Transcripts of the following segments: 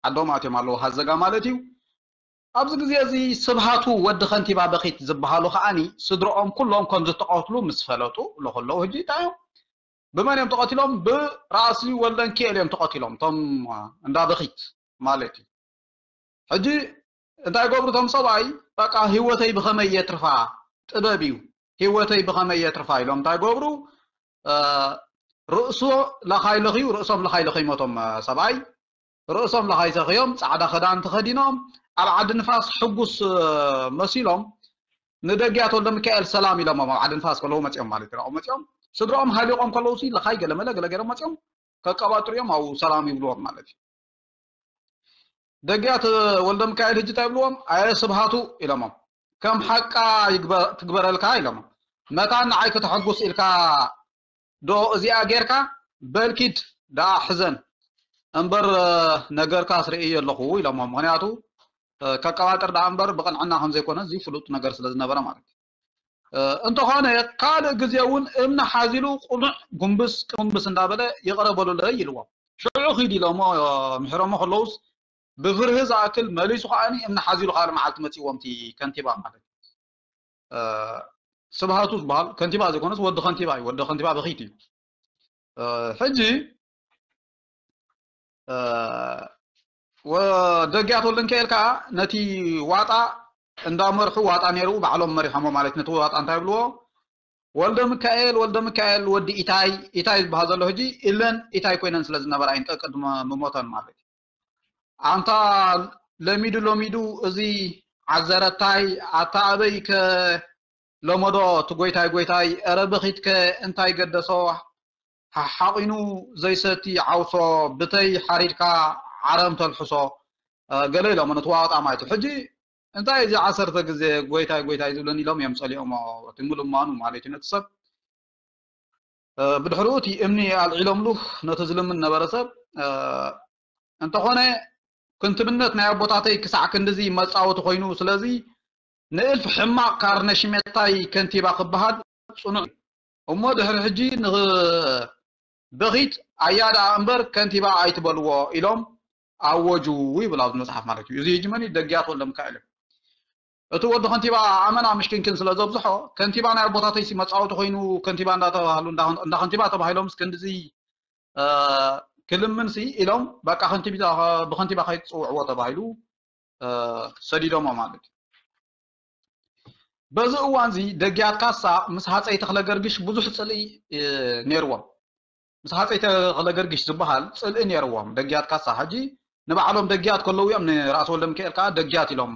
ዓዶም ኣትዮም ኣለዉ፣ ሃዘጋ ማለት እዩ። ኣብዚ ግዜ እዚ ስብሃቱ ወዲ ከንቲባ በኺት ዝበሃሉ ከዓኒ ስድሮኦም ኩሎም ከም ዝተቐትሉ ምስ ፈለጡ ለኸለዉ ሕጂ እንታይ እዮም? ብመን እዮም ተቐቲሎም? ብራእሲ ወልደንኪኤል እዮም ተቐቲሎም፣ እቶም እንዳ በኺት ማለት እዩ። ሕጂ እንታይ ገብሩ እቶም ሰብኣይ? በቃ ህይወተይ ብኸመይ የትርፋ? ጥበብ እዩ። ህይወተይ ብኸመይ የትርፋ ኢሎም እንታይ ገብሩ? ርእሶ ለኻይ ለኽዩ፣ ርእሶም ለኻይ ለኽዩ ሞቶም ሰብኣይ ርእሶም ለኻይ ሰኽዮም፣ ጻዕዳ ክዳን ተኸዲኖም፣ ኣብ ዓዲ ንፋስ ሕጉስ መሲሎም ንደግያት ወልደ ሚካኤል ሰላም ኢሎሞም። ኣብ ዓዲ ንፋስ ከለዉ መጺኦም ማለት እዩ። መጺኦም ስድራኦም ሃሊቖም ከለዉ ሲ ለኻይ ገለመለ ገለ ገይሮም መጺኦም ከቀባጥሩ እዮም፣ ኣብኡ ሰላም ይብልዎም ማለት እዩ። ደግያት ወልደ ሚካኤል ሕጂ እንታይ ይብልዎም? ኣየ ስብሃቱ ኢሎሞም፣ ከም ሓቃ ይግበ- ትግበረልካ ኢሎሞም። መታን ንዓይ ከተሐጉስ ኢልካ ዶ እዚኣ ጌርካ? በል ኪድ ደኣ ሕዘን እምበር ነገርካስ ርእየ ኣለኹ ኢሎሞም። ምኽንያቱ ከቀባጥር ደኣ እምበር ብቕንዕና ከም ዘይኮነ እዚ ፍሉጥ ነገር ስለ ዝነበረ ማለት እዩ። እንተኾነ ካልእ ግዜ እውን እምኒ ሓዚሉ ቁኑዕ ጉንብስ ቅምብስ እንዳበለ ይቕረ በሉለይ ኢልዎም። ሽዑ ኺድ ኢሎሞ ምሕሮሞ ከለውስ ብፍርሂ ዝኣክል መሊሱ ከዓኒ እምኒ ሓዚሉ ካልእ መዓልቲ መጺእዎም እቲ ከንቲባ ማለት እዩ። ስብሃቱ ዝበሃል ከንቲባ ዘይኮነስ ወዲ ከንቲባ እዩ። ወዲ ከንቲባ በኺት እዩ። ሕጂ ደጊያት ወልደንኪኤል ከዓ ነቲ ዋጣ እንዳመርሑ ዋጣ ነይሩ ባዕሎም መሪሖሞ ማለት ነቲ ዋጣ እንታይ ይብልዎ? ወልደ ሚካኤል ወልደ ሚካኤል ወዲ ኢታይ ኢታይ ዝበሃል ዘሎ ሕጂ ኢለን ኢታይ ኮይነን ስለ ዝነበራ እየን ቀቅድሚ ምሞተን ማለት እዩ። ኣንታ ለሚዱ ለሚዱ እዚ ዓዘረታይ ኣታ ኣበይ ከ ለመዶ እቲ ጎይታይ ጎይታይ፣ ኧረ በኺትከ እንታይ ገደሶ፣ ሓሓቒኑ ዘይሰቲ ዓውሶ፣ ብተይ ሓሪድካ ዓረም ተልሕሶ፣ ገለ ኢሎም ነቲ ዋጣ ማለት እዩ። ሕጂ እንታይ እዚ ዓሰርተ ግዜ ጎይታይ ጎይታይ ዝብለኒ ኢሎም እዮም ጸሊኦሞ፣ እቲ ምልማኑ ማለት እዩ ነቲ ሰብ። ብድሕሪኡ እቲ እምኒ ኣልዒሎምሉ ነቲ ዝልምን ነበረ ሰብ። እንተኾነ ክንትብነት ናይ ኣቦታተይ ክሳዕ ክንድዚ መጻወቲ ኮይኑ፣ ስለዚ ንእልፍ ሕማቕ ካርነ ሽሜታይ ከንቲባ ክበሃል ጽኑዕ እዩ። እሞ ድሕሪ ሕጂ ንበኺት ኣያ ደኣ እምበር ከንቲባ ኣይትበልዎ ኢሎም ኣወጁ ይብል ኣብዚ መጽሓፍ ማለት እዩ። እዚ ሕጂ መን እዩ? ደግያት ወልደ ሚካኤል እዩ። እቲ ወዲ ከንቲባ ኣመና ምሽኪንኪን ስለ ዘብዝሖ ከንቲባ ናይ ኣቦታተይሲ መጻወቲ ኮይኑ ከንቲባ እንዳተባህሉ እንዳ ከንቲባ ተባሂሎምስ ክንድዚ ክልምንሲ ኢሎም በቃ ከንቲባ ብከንቲባ ከይትጽውዕዎ ተባሂሉ ሰዲዶሞ ማለት እዩ። በዚ እዋን እዚ ደግያት ካሳ ምስ ሃፀይ ተክለ ገርግሽ ብዙሕ ፅልኢ ነይርዎም። ምስ ሃፀይ ተክለ ገርግሽ ዝበሃል ፅልኢ ነይርዎም ደግያት ካሳ። ሕጂ ንባዕሎም ደግያት ከለዉ እዮም ንራእሲ ወልደ ሚካኤል ከዓ ደግያት ኢሎም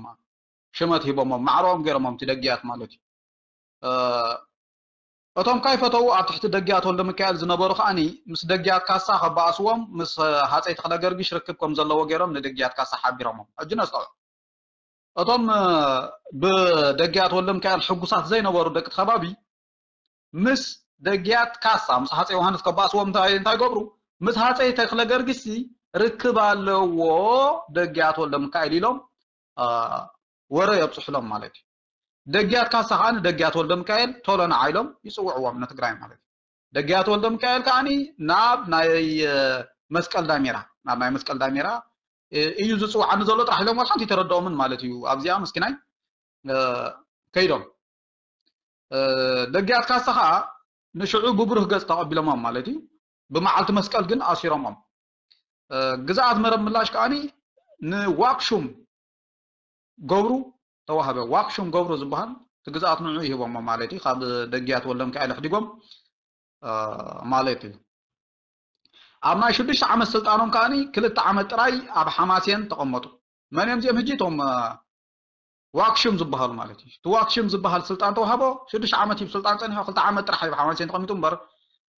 ሽመት ሂቦሞም ማዕረኦም ገይሮሞም እቲ ደግያት ማለት እዩ። እቶም ካይፈተዉ ኣብ ትሕቲ ደግያት ወልደ ሚካኤል ዝነበሩ ከዓኒ ምስ ደግያት ካሳ ከባእስዎም ምስ ሃፀይ ተክለ ገርግሽ ርክብ ከም ዘለዎ ገይሮም ንደግያት ካሳ ሓቢሮሞም። ሕጂ ነስተውዕል። እቶም ብደግያት ወልደ ሚካኤል ሕጉሳት ዘይነበሩ ደቂ ከባቢ ምስ ደግያት ካሳ ምስ ሃፀይ ዮሃንስ ከባእስዎም እንታይ እንታይ ገብሩ? ምስ ሃፀይ ተክለ ገርግስ ርክብ ኣለዎ ደግያት ወልደ ሚካኤል ኢሎም ወረ የብፅሕሎም ማለት እዩ። ደግያት ካሳ ከዓ ንደግያት ወልደ ሚካኤል ቶሎ ንዓ ኢሎም ይፅውዕዎም ንትግራይ ማለት እዩ። ደግያት ወልደ ሚካኤል ከዓኒ ናብ ናይ መስቀል ዳሜራ ናብ ናይ መስቀል ዳሜራ እዩ ዝፅውዓኒ ዘሎ ጥራሕ ኢሎም ወላ ሓንቲ ተረድኦምን ማለት እዩ። ኣብዚኣ መስኪናይ ከይዶም ደግያት ካሳ ከዓ ንሽዑ ብብሩህ ገፅ ተቐቢሎሞም ማለት እዩ። ብመዓልቲ መስቀል ግን ኣሲሮሞም። ግዝኣት መረብ ምላሽ ከዓኒ ንዋክሹም ገብሩ ተዋህበ። ዋክሹም ገብሩ ዝበሃል እቲ ግዝኣት ንዑ ይህቦሞ ማለት እዩ። ካብ ደግያት ወልደ ሚካኤል ኣሕዲጎም ማለት እዩ። ኣብ ናይ ሽዱሽተ ዓመት ስልጣኖም ከዓኒ ክልተ ዓመት ጥራይ ኣብ ሓማሴን ተቐመጡ። መን እዮም እዚኦም ሕጂ? እቶም ዋክሹም ዝበሃሉ ማለት እዩ። እቲ ዋክሹም ዝበሃል ስልጣን ተዋህቦ ሽዱሽተ ዓመት እዩ ስልጣን ፀኒሖ። ክልተ ዓመት ጥራሕ እዩ ኣብ ሓማሴን ተቐሚጡ እምበር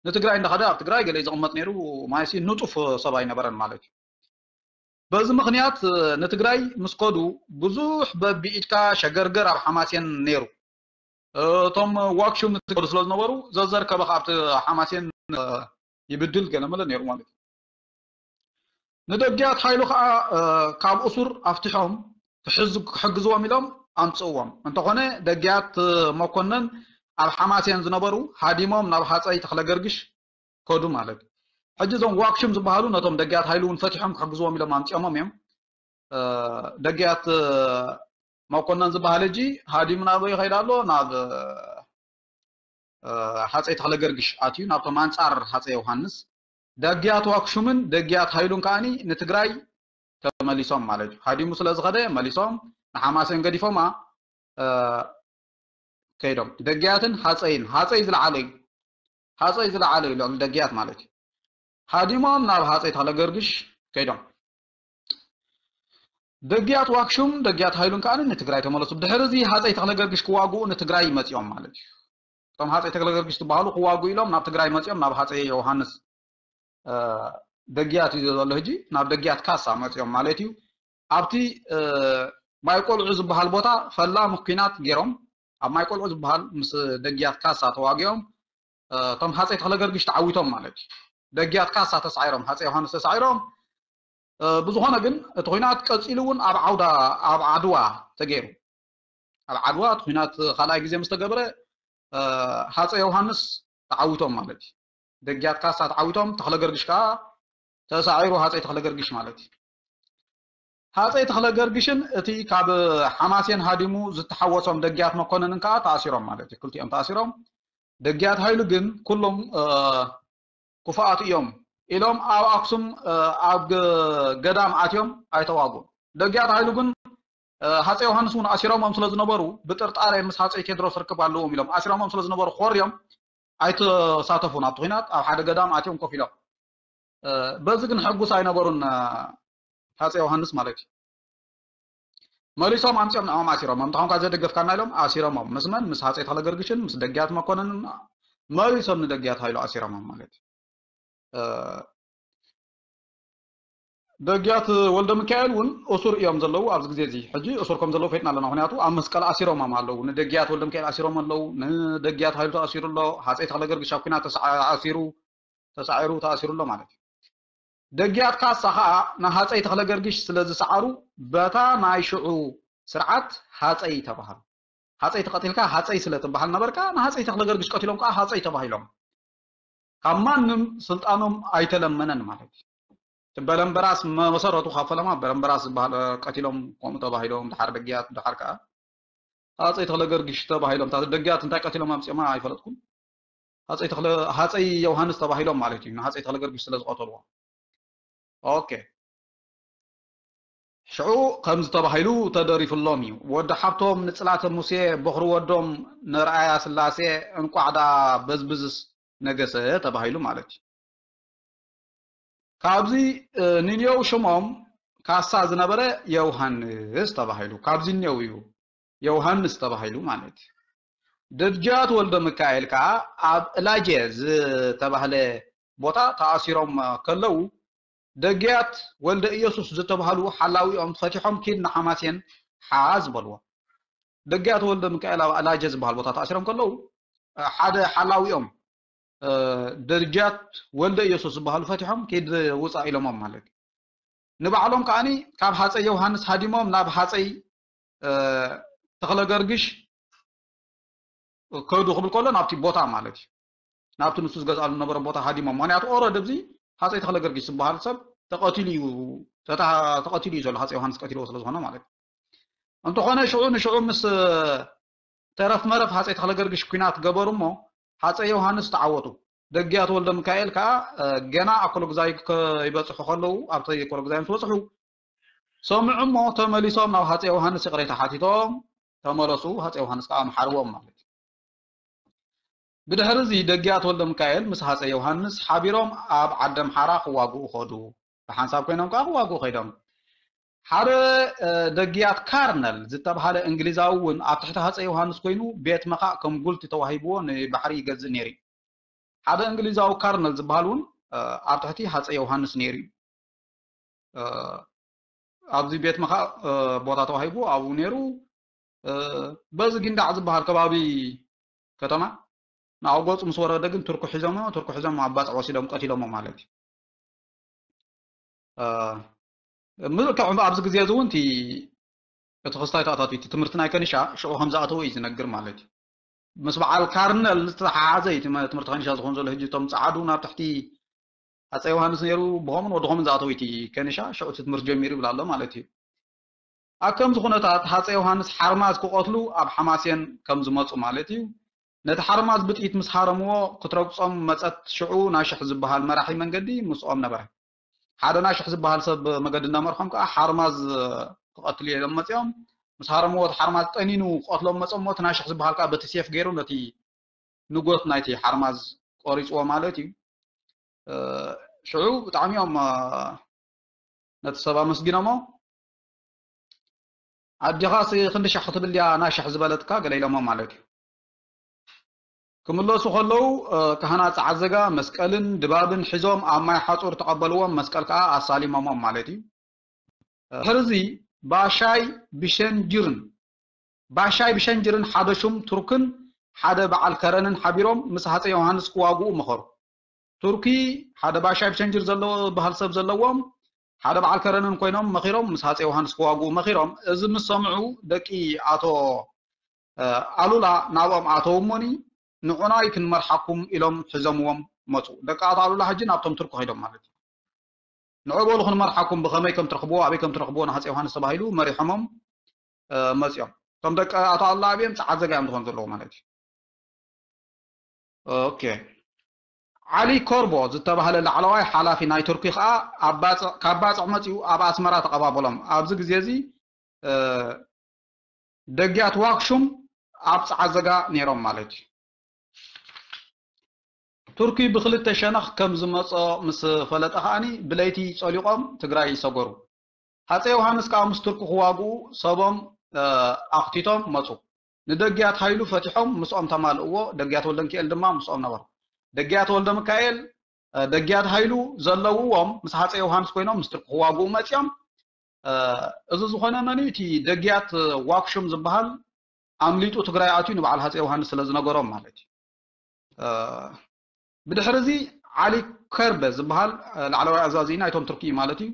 ንትግራይ እንዳኸደ ኣብ ትግራይ ገለ እዩ ዝቕመጥ ነይሩ። ማለትሲ ንጡፍ ሰብ ኣይነበረን ማለት እዩ። በዚ ምኽንያት ንትግራይ ምስ ከዱ ብዙሕ በቢኢድካ ሸገርገር ኣብ ሓማሴን ነይሩ። እቶም ዋክሹም ንትግራይ ስለ ዝነበሩ ዘዘርከበ ካብቲ ሓማሴን ይብድል ገለመለ ነይሩ ማለት እዩ። ንደግያት ሓይሉ ከዓ ካብ እሱር ኣፍትሖም ክሕግዝዎም ኢሎም ኣምፅእዎም። እንተኾነ ደግያት መኮነን ኣብ ሓማሴን ዝነበሩ ሃዲሞም ናብ ሃፀይ ተክለገርግሽ ከዱ ማለት እዩ። ሕጂ እዞም ዋክሹም ዝበሃሉ ነቶም ደጊያት ሃይሉ እውን ፈቲሖም ክሕግዝዎም ኢሎም ኣምፂኦሞም እዮም። እ፣ ደግያት፣ እ፣ መኮነን ዝበሃል ሕጂ ሃዲሙ ናበይ ይኸይድ ኣሎ? ናብ፣ እ፣ ሃፀይ ተኽለ ገርግሽ ኣትዩ፣ ናብቶም ኣንፃር ሃፀይ ዮሃንስ። ደግያት ዋክሹምን ደግያት ሃይሉን ከኣኒ ንትግራይ ተመሊሶም ማለት እዩ። ሃዲሙ ስለ ዝኸደ መሊሶም ንሓማሴን ገዲፎማ፣ እ፣ ከይዶም። ደግያትን ሃፀይን፣ ሃፀይ ዝለዓለ እዩ። ሃፀይ ዝለዓለ እዩ ልዕሊ ደግያት ማለት እዩ። ሃዲሞም ናብ ሃፀይ ተኽለ ገርግሽ ከይዶም። ደግያት ዋክሹም፣ ደግያት ሃይሉን ከኣ ንትግራይ ተመለሱ። ብድሕሪ እዚ ሃፀይ ተኽለ ገርግሽ ክዋግኡ ንትግራይ መፂኦም ማለት እዩ። እቶም ሃፀይ ተኽለ ገርግሽ ዝበሃሉ ክዋግኡ ኢሎም ናብ ትግራይ መፂኦም ናብ ሃፀይ ዮሃንስ፣ እ፣ ደግያት እዩ ዘሎ ሕጂ፣ ናብ ደግያት ካሳ መፂኦም ማለት እዩ። ኣብቲ፣ እ፣ ማይ ቆልዑ ዝበሃል ቦታ ፈላሚ ኲናት ገይሮም፣ ኣብ ማይ ቆልዑ ዝበሃል ምስ ደግያት ካሳ ተዋጊኦም፣ እ፣ እቶም ሃፀይ ተኽለ ገርግሽ ተዓዊቶም ማለት እዩ። ደግያት ካሳ ተሳዒሮም፣ ሃፀይ ዮሃንስ ተሳዒሮም። እ፣ ብዝኾነ ግን እቲ ኲናት ቀፂሉ እውን ኣብ ዓውዳ፣ ኣብ ዓድዋ ተገይሩ። ኣብ ዓድዋ እቲ ኲናት ካልኣይ ግዜ ምስ ተገብረ፣ እ፣ ሃፀይ ዮሃንስ ተዓዊቶም ማለት እዩ። ደግያት ካሳ ተዓዊቶም፣ ተኽለ ገርግሽ ከዓ ተሳዒሩ፣ ሃፀይ ተኽለ ገርግሽ ማለት እዩ። ሃፀይ ተኽለ ገርግሽን እቲ ካብ ሓማሴን ሃዲሙ ዝተሓወሶም ደግያት መኮነንን ከዓ ተኣሲሮም ማለት እዩ። ክልቲኦም ተኣሲሮም። ደግያት ሃይሉ ግን ኩሎም፣ እ፣ ክፉኣት እዮም ኢሎም ኣብ ኣክሱም፣ እ፣ ኣብ ገ-፣ ገዳም ኣትዮም ኣይተዋጉን። ደግያት ሃይሉ ግን፣ እ፣ ሃፀይ ዮሃንስ እውን ኣሲሮሞም ስለ ዝነበሩ ብጥርጣሬ ምስ ሃፀይ ቴድሮስ ርክብ ኣለዎም ኢሎም ኣሲሮሞም ስለ ዝነበሩ ክኾርዮም ኣይተሳተፉን ኣብቲ ኲናት። ኣብ ሓደ ገዳም ኣትዮም ኮፍ ኢሎም። እ፣ በዚ ግን ሕጉስ ኣይነበሩን፣ እ፣ ሃፀይ ዮሃንስ ማለት እዩ። መሊሶም ኣምፂኦም ንዕኦም ኣሲሮሞም። እንተኾንካ ዘደገፍካና ኢሎም ኣሲሮሞም። ምስ መን? ምስ ሃፀይ ተኽለ ገርግሽን ምስ ደግያት መኮነንን መሊሶም ንደግያት ሃይሉ ኣሲሮሞም ማለት እዩ። እ፣ ደግያት ወልደ ሚካኤል እውን እሱር እዮም ዘለዉ ኣብዚ ግዜ እዚ። ሕጂ እሱር ከም ዘለዉ ፈይጥና ኣለና። ምኽንያቱ ኣብ መስቀል ኣሲሮሞም ኣለዉ። ንደግያት ወልደ ሚካኤል ኣሲሮም ኣለዉ። ንደግያት ሃይሉ ተኣሲሩ ኣሎ። ሃፀይ ተኽለ ገርግሽ ኣብ ኲናት ተሰዓ-፣ ኣሲሩ፣ ተሳዒሩ፣ ተኣሲሩ ኣሎ ማለት እዩ። ደግያት ካሳ ኸዓ ንሃፀይ ተኽለ ገርግሽ ስለ ዝሰዓሩ በታ ናይ ሽዑ ስርዓት ሃፀይ ተባሃሉ። ሃፀይ ተቐቲልካ ሃፀይ ስለ ትበሃል ነበርካ፣ ንሃፀይ ተኽለ ገርግሽ ቀቲሎም ከዓ ሃፀይ ተባሂሎም። ካብ ማንም ስልጣኖም ኣይተለመነን ማለት እዩ። እቲ በለምበራስ መሰረቱ ካብ ፈለማ በለምበራስ ዝበሃል፣ እ፣ ቀቲሎም ከምኡ ተባሂሎም፣ ድሓር ደግያት፣ ድሓር ከዓ ሃፀይ ተኽለ ገርግሽ ተባሂሎም። እታ ደግያት እንታይ ቀቲሎም ኣምፂኦማ ኣይፈለጥኩን። ሃፀይ ተኽለ፣ ሃፀይ ዮሃንስ ተባሂሎም ማለት እዩ፣ ንሃፀይ ተኽለ ገርግሽ ስለ ዝቐተልዎ። ኦኬ። ሽዑ ከምዚ ተባሂሉ ተደሪፉሎም እዩ። ወዲ ሓብቶም ንጽላተ ሙሴ በኹሪ ወዶም ንርኣያ ስላሴ እንቋዕ ደኣ በዝብዝስ ነገሰ ተባሂሉ ማለት እዩ። ካብዚ፣ እ፣ ንንዮው ሽሞም ካሳ ዝነበረ የውሃንስ ተባሂሉ። ካብዚ እኒው እዩ የውሃንስ ተባሂሉ ማለት እዩ። ደጃት ወልደ ሚካኤል ከኣ ኣብ እላጀ ዝተባህለ ቦታ ተኣሲሮም ከለዉ፣ ደግያት ወልደ ኢየሱስ ዝተባህሉ ሓላዊኦም ፈቲሖም ኪድ ንሓማሴን ሓዝ በልዎ። ደግያት ወልደ ሚካኤል ኣብ እላጀ ዝበሃል ቦታ ተኣሲሮም ከለዉ፣ ሓደ ሓላዊኦም፣ እ፣ ደጃት ወልደ ኢየሱስ ዝበሃሉ ፈቲሖም ኪድ ውፃእ ኢሎሞም ማለት እዩ። ንባዕሎም ከኣኒ ካብ ሃፀይ ዮሃንስ ሃዲሞም ናብ ሃፀይ፣ እ፣ ተኽለ ገርግሽ ከዱ ክብል ከሎ ናብቲ ቦታ ማለት እዩ። ናብቲ ንሱ ዝገዝኣሉ ዝነበረ ቦታ ሃዲሞም። ምኽንያቱ ኦረዲ ኣብዚ ሃፀይ ተኽለ ገርግሽ ዝበሃል ሰብ ተቐቲሉ እዩ፣ ተታ-፣ ተቐቲሉ እዩ ዘሎ፣ ሃፀይ ዮሃንስ ቀቲልዎ ስለ ዝኾነ ማለት እዩ። እንተኾነ ሽዑ ንሽዑ ምስ ተረፍ መረፍ ሃፀይ ተኽለ ገርግሽ ኲናት ገበሩ እሞ ሃፀይ ዮሃንስ ተዓወቱ። ደግያት ወልደ ሚካኤል ከኣ፣ እ፣ ገና ኣኮሎግዛይ ከይበፅሑ ከለዉ፣ ኣብቲ ኣኮሎግዛይ ምስ በፅሑ ሰምዑ እሞ ተመሊሶም ናብ ሃፀይ ዮሃንስ ይቕሬታ ሓቲቶም ተመለሱ። ሃፀይ ዮሃንስ ከኣ መሓርዎም ማለት እዩ። ብድሕሪ እዚ ደግያት ወልደ ሚካኤል ምስ ሃፀይ ዮሃንስ ሓቢሮም ኣብ ዓዲ ኣምሓራ ክዋግኡ ከዱ። ብሓንሳብ ኮይኖም ከኣ ክዋግኡ ከይዶም። ሓደ፣ እ፣ ደግያት ካርነል ዝተባሃለ እንግሊዛዊ እውን ኣብ ትሕቲ ሃፀይ ዮሃንስ ኮይኑ ቤት መኻእ ከም ጉልቲ ተዋሂብዎ ንባሕሪ ይገዝእ ነይሩ እዩ። ሓደ እንግሊዛዊ ካርነል ዝበሃል እውን፣ እ፣ ኣብ ትሕቲ ሃፀይ ዮሃንስ ነይሩ እዩ። እ፣ ኣብዚ ቤት መኻእ፣ እ፣ ቦታ ተዋሂቡ ኣብኡ ነይሩ። እ፣ በዚ ጊንዳዕ ዝበሃል ከባቢ ከተማ ንኣው ገፁ ምስ ወረደ ግን ቱርኩ ሒዞሞ፣ ቱርኩ ሒዞም ኣብ ባፅዕ ወሲዶም ቀቲሎሞ ማለት እዩ። እ፣ ምልክዕ ኣብዚ ግዜ እዚ እውን እቲ፣ እቲ ክስታይ ተኣታትዩ፣ እቲ ትምህርቲ ናይ ከኒሻ ሽዑ ከም ዝኣተወ እዩ ዝነግር ማለት እዩ። ምስ በዓል ካርነል ዝተተሓሓዘ እዩ እቲ መ-፣ ትምህርቲ ከኒሻ ዝኾን ዘሎ። ሕጂ እቶም ጸዓዱ ናብ ትሕቲ ኣፀ ዮሃንስ ነይሩ፣ ብኸምን ወዲ ኸምን ዝኣተወ እዩ እቲ ከኒሻ፣ ሽዑ እቲ ትምህርቲ ጀሚሩ ይብል ኣሎ ማለት እዩ። ኣብ ከምዚ ኩነታት ሃፀይ ዮሃንስ ሓርማዝ ክቐትሉ ኣብ ሓማሴን ከም ዝመፁ ማለት እዩ። ነቲ ሓርማዝ ብጥይት ምስ ሃረምዎ ክትረግፆም መፀት ሽዑ ናሽሕ ዝበሃል መራሒ መንገዲ ምስኦም ነበረ። ሓደ ናሽሕ ዝበሃል ሰብ መገዲ እናመርሖም ከዓ ሓርማዝ ክቐትሉ እዮም መፂኦም። ምስ ሃረምዎ እቲ ሓርማዝ ጠኒኑ ክቐትሎም መፀሞ እቲ ናሽሕ ዝበሃል ከዓ በቲ ሴፍ ገይሩ ነቲ ንጎት ናይቲ ሓርማዝ ቆሪፅዎ ማለት እዩ። ሽዑ ብጣዕሚ እዮም ነቲ ሰብ ኣመስጊኖሞ። ኣዴኻስ ክንዲ ሻሕ ክትብል ድያ ናሽሕ ዝበለትካ ገለ ኢሎሞ ማለት እዩ። ክምለሱ ከለዉ ካህናት ፃዓዘጋ መስቀልን ድባብን ሒዞም ኣብ ማይ ሓፁር ተቐበልዎም፣ መስቀል ከዓ ኣሳሊሞሞም ማለት እዩ። ድሕርዚ ባሻይ ብሸንጅርን ባሻይ ብሸንጅርን ሓደ ሹም ቱርክን ሓደ በዓል ከረንን ሓቢሮም ምስ ሃፀይ ዮሃንስ ክዋግኡ መኸሩ። ቱርኪ ሓደ ባሻይ ብሸንጅር ዘለዎ በሃል ሰብ ዘለዎም ሓደ በዓል ከረንን ኮይኖም መኺሮም ምስ ሃፀይ ዮሃንስ ክዋግኡ መኺሮም። እዚ ምስ ሰምዑ ደቂ ኣቶ ኣሉላ ናብኦም ኣተው እሞኒ ንዑናይ ክንመርሓኩም ኢሎም ሒዞምዎም መፁ። ደቂ ኣቶ ኣሉላ ሕጂ ናብቶም ቱርኪ ከይዶም ማለት እዩ። ንዑ በሉ ክንመርሓኩም ብኸመይ ከም ትረኽብዎ ኣበይ ከም ትረኽብዎ ንሃፀይ ዮሃንስ ተባሂሉ መሪሖሞም መፂኦም። እቶም ደቂ ኣቶ ኣሉላ ኣብኦም ፀዓት ዘጋ እዮም ዝኾኑ ዘለዉ ማለት እዩ። ኦኬ። ዓሊ ኮርቦ ዝተባህለ ላዕለዋይ ሓላፊ ናይ ቱርኪ ከዓ ካብ ባፅዕ መፂኡ ኣብ ኣስመራ ተቐባበሎም። ኣብዚ ግዜ እዚ ደግያት ዋክሹም ኣብ ፀዓዘጋ ነይሮም ማለት እዩ። ቱርኪ ብክልተ ሸነኽ ከም ዝመፆ ምስ ፈለጠ ከዓኒ ብለይቲ ፀሊቖም ትግራይ ይሰገሩ። ሃፀይ ዮሃንስ ከዓ ምስ ቱርኪ ክዋግኡ ሰቦም ኣኽቲቶም መፁ። ንደጊያት ሃይሉ ፈቲሖም ምስኦም ተማልእዎ። ደጊያት ወልደሚካኤል ድማ ምስኦም ነበሩ። ደጊያት ወልደሚካኤል፣ ደጊያት ሃይሉ ዘለውዎም ምስ ሃፀይ ዮሃንስ ኮይኖም ምስ ቱርኪ ክዋግኡ መፂኦም። እዚ ዝኾነ መን እዩ? እቲ ደጊያት ዋክሹም ዝበሃል ኣምሊጡ ትግራይ ኣትዩ ንበዓል ሃፀይ ዮሃንስ ስለ ዝነገሮም ማለት እዩ። ብድሕሪ እዚ ዓሊ ከርበ ዝበሃል ላዕለዋይ ኣዛዚ ናይቶም ቱርኪ እዩ ማለት እዩ።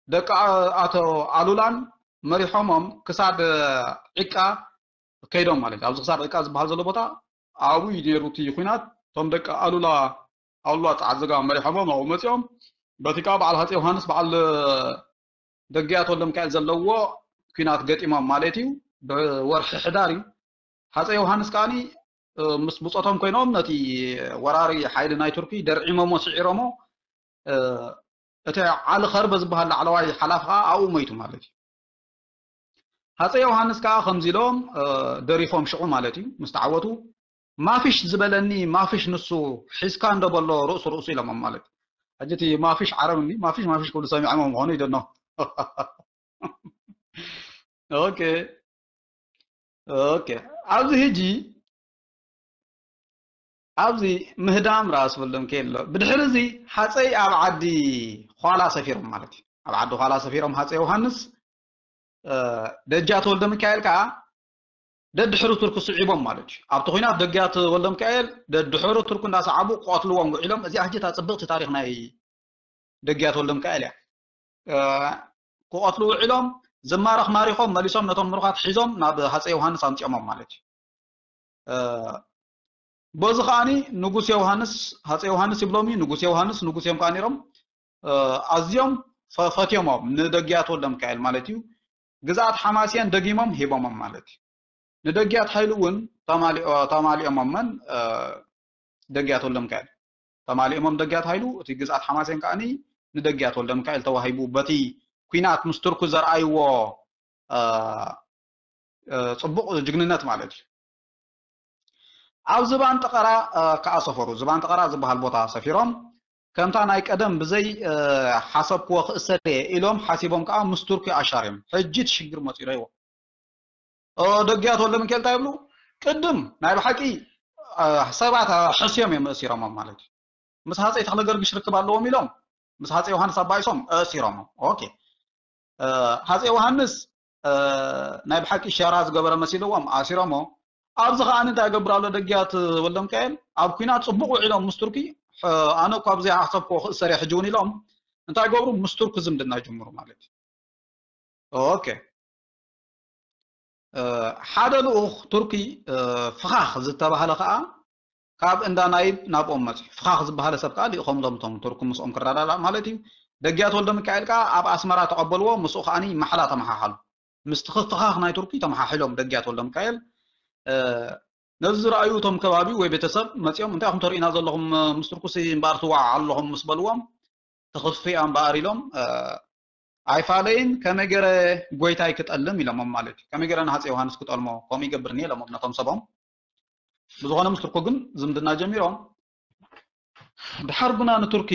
ደቂ ኣቶ ኣሉላን መሪሖሞም ክሳድ ዒቃ ከይዶም ማለት እዩ። ኣብዚ ክሳድ ዒቃ ዝበሃል ዘሎ ቦታ ኣብኡ እዩ ነይሩ እቲ ኹናት። እቶም ደቂ ኣሉላ ኣሉላ ፃዓዘጋ መሪሖሞም ኣብኡ መፂኦም። በቲ ከዓ በዓል ሃፀይ ዮሃንስ በዓል ደግያት ወልደሚካኤል ዘለዎ ኲናት ገጢሞም ማለት እዩ። ብወርሒ ሕዳር እዩ። ሃፀይ ዮሃንስ ከዓኒ ምስ ብፆቶም ኮይኖም ነቲ ወራሪ ሓይሊ ናይ ቱርኪ ደርዒሞሞ ስዒሮሞ። እቲ ዓሊ ኸርበ ዝበሃል ላዕለዋይ ሓላፊ ከዓ ኣብኡ ሞይቱ ማለት እዩ። ሃፀይ ዮሃንስ ከዓ ከምዚ ኢሎም ደሪፎም ሽዑ ማለት እዩ ምስ ተዓወቱ ማፍሽ ዝበለኒ ማፍሽ ንሱ ሒዝካ እንዶ በሎ ርእሱ ርእሱ ኢሎሞም ማለት እዩ። ሕጂ እቲ ማፍሽ ዓረብ እንዲ ማፍሽ ማፍሽ ክብሉ ሰሚዖም ምዃኑ ይደኖ። ኦኬ ኦኬ ኣብዚ ሕጂ ኣብዚ ምህዳም ራስ ወልደሚካኤል ኣሎ። ብድሕሪ እዚ ሃፀይ ኣብ ዓዲ ዃላ ሰፊሮም ማለት እዩ። ኣብ ዓዲ ዃላ ሰፊሮም ሃፀይ ዮሃንስ ደጃት ወልደሚካኤል ከዓ ደድሕሪ ቱርኪ ስዒቦም ማለት እዩ። ኣብቲ ኹናት ደግያት ወልደሚካኤል ደድሕሪ ቱርኪ እንዳሰዓቡ ክቐትልዎም ውዒሎም። እዚኣ ሕጂ እታ ፅብቕቲ ታሪክ ናይ ደግያት ወልደሚካኤል እያ። ክቐትሉ ውዒሎም ዝማረኽ ማሪኾም መሊሶም ነቶም ምሩኻት ሒዞም ናብ ሃፀይ ዮሃንስ ኣምፂኦሞም ማለት እዩ። በዚ ከዓኒ ንጉስ ዮሃንስ ሃፀይ ዮሃንስ ይብሎም እዩ ንጉስ ዮሃንስ ንጉስ እዮም ከዓ ነይሮም። ኣዝዮም ፈትዮሞም ንደጊያት ወልደሚካኤል ማለት እዩ። ግዝኣት ሓማስየን ደጊሞም ሂቦሞም ማለት እዩ። ንደጊያት ሃይሉ እውን ተማሊኦሞመን ደግያት ወልደሚካኤል ተማሊኦሞም ደግያት ሃይሉ እቲ ግዝኣት ሓማስየን ከዓኒ ንደጊያት ወልደሚካኤል ተዋሂቡ በቲ ኲናት ምስ ቱርኩ ዘርኣይዎ ፅቡቕ ጅግንነት ማለት እዩ። ኣብ ዝባን ጠቐራ ከዓ ሰፈሩ። ዝባን ጠቐራ ዝበሃል ቦታ ሰፊሮም ከምታ ናይ ቀደም ብዘይ ሓሰብክዎ ክእሰር እየ ኢሎም ሓሲቦም ከዓ ምስ ቱርኪ ኣሻርዮም። ሕጂ እቲ ሽግር መፂኡ ዶ ይዎ። ደግያት ወልደሚካኤል እንታይ ይብሉ? ቅድም ናይ ብሓቂ ሰባት ሕስዮም እዮም እሲሮሞም ማለት እዩ። ምስ ሃፀይ ተክለ ገርግሽ ርክብ ኣለዎም ኢሎም ምስ ሃፀይ ዮሃንስ ኣባይሶም እሲሮሞም። ኦኬ ሃፀይ ዮሃንስ ናይ ብሓቂ ሸራ ዝገበረ መሲልዎም ኣሲሮሞ። ኣብዚ ከዓ እንታይ ገብር ኣሎ ደግያት ወልደሚካኤል ኣብ ኩናት ፅቡቅ ውዒሎም ምስ ቱርኪ ኣነ እኳ ብዘይ ሓሰብክዎ ክእሰር እየ ሕጂ እውን ኢሎም እንታይ ገብሩ ምስ ቱርኪ ዝምድና ይጅምሩ ማለት እዩ። ኦኬ ሓደ ልኡኽ ቱርኪ ፍኻኽ ዝተባህለ ከዓ ካብ እንዳ ናይብ ናብኦም መፅዩ። ፍኻኽ ዝበሃለ ሰብ ከዓ ልኢኾም ሎም እቶም ቱርኪ ምስኦም ክረዳዳእ ማለት እዩ። ደግያት ወልደሚካኤል ከዓ ኣብ ኣስመራ ተቐበልዎ። ምስኡ ከዓኒ ማሕላ ተመሓሓሉ። ምስቲ ክፍኻኽ ናይ ቱርኪ ተመሓሒሎም ደግያት ወልደሚካኤል ነዚ ዝረኣዩ እቶም ከባቢ ወይ ቤተሰብ መፂኦም እንታይ ኢኹም ተርእዩና ዘለኹም ምስ ቱርኩሲ እምበኣር ትወዓዓ ኣለኹም ምስ በልዎም ትኽፍያ እምበኣር ኢሎም ኣይፋለይን ከመይ ገረ ጎይታይ ክጠልም ኢሎሞም ማለት እዩ። ከመይ ገረ ንሃፀይ ዮሃንስ ክጠልሞ ከምኡ ይገብርኒ ኢሎሞም ነቶም ሰቦም። ብዝኾነ ምስ ቱርኩ ግን ዝምድና ጀሚሮም ድሓር ግና ንቱርኪ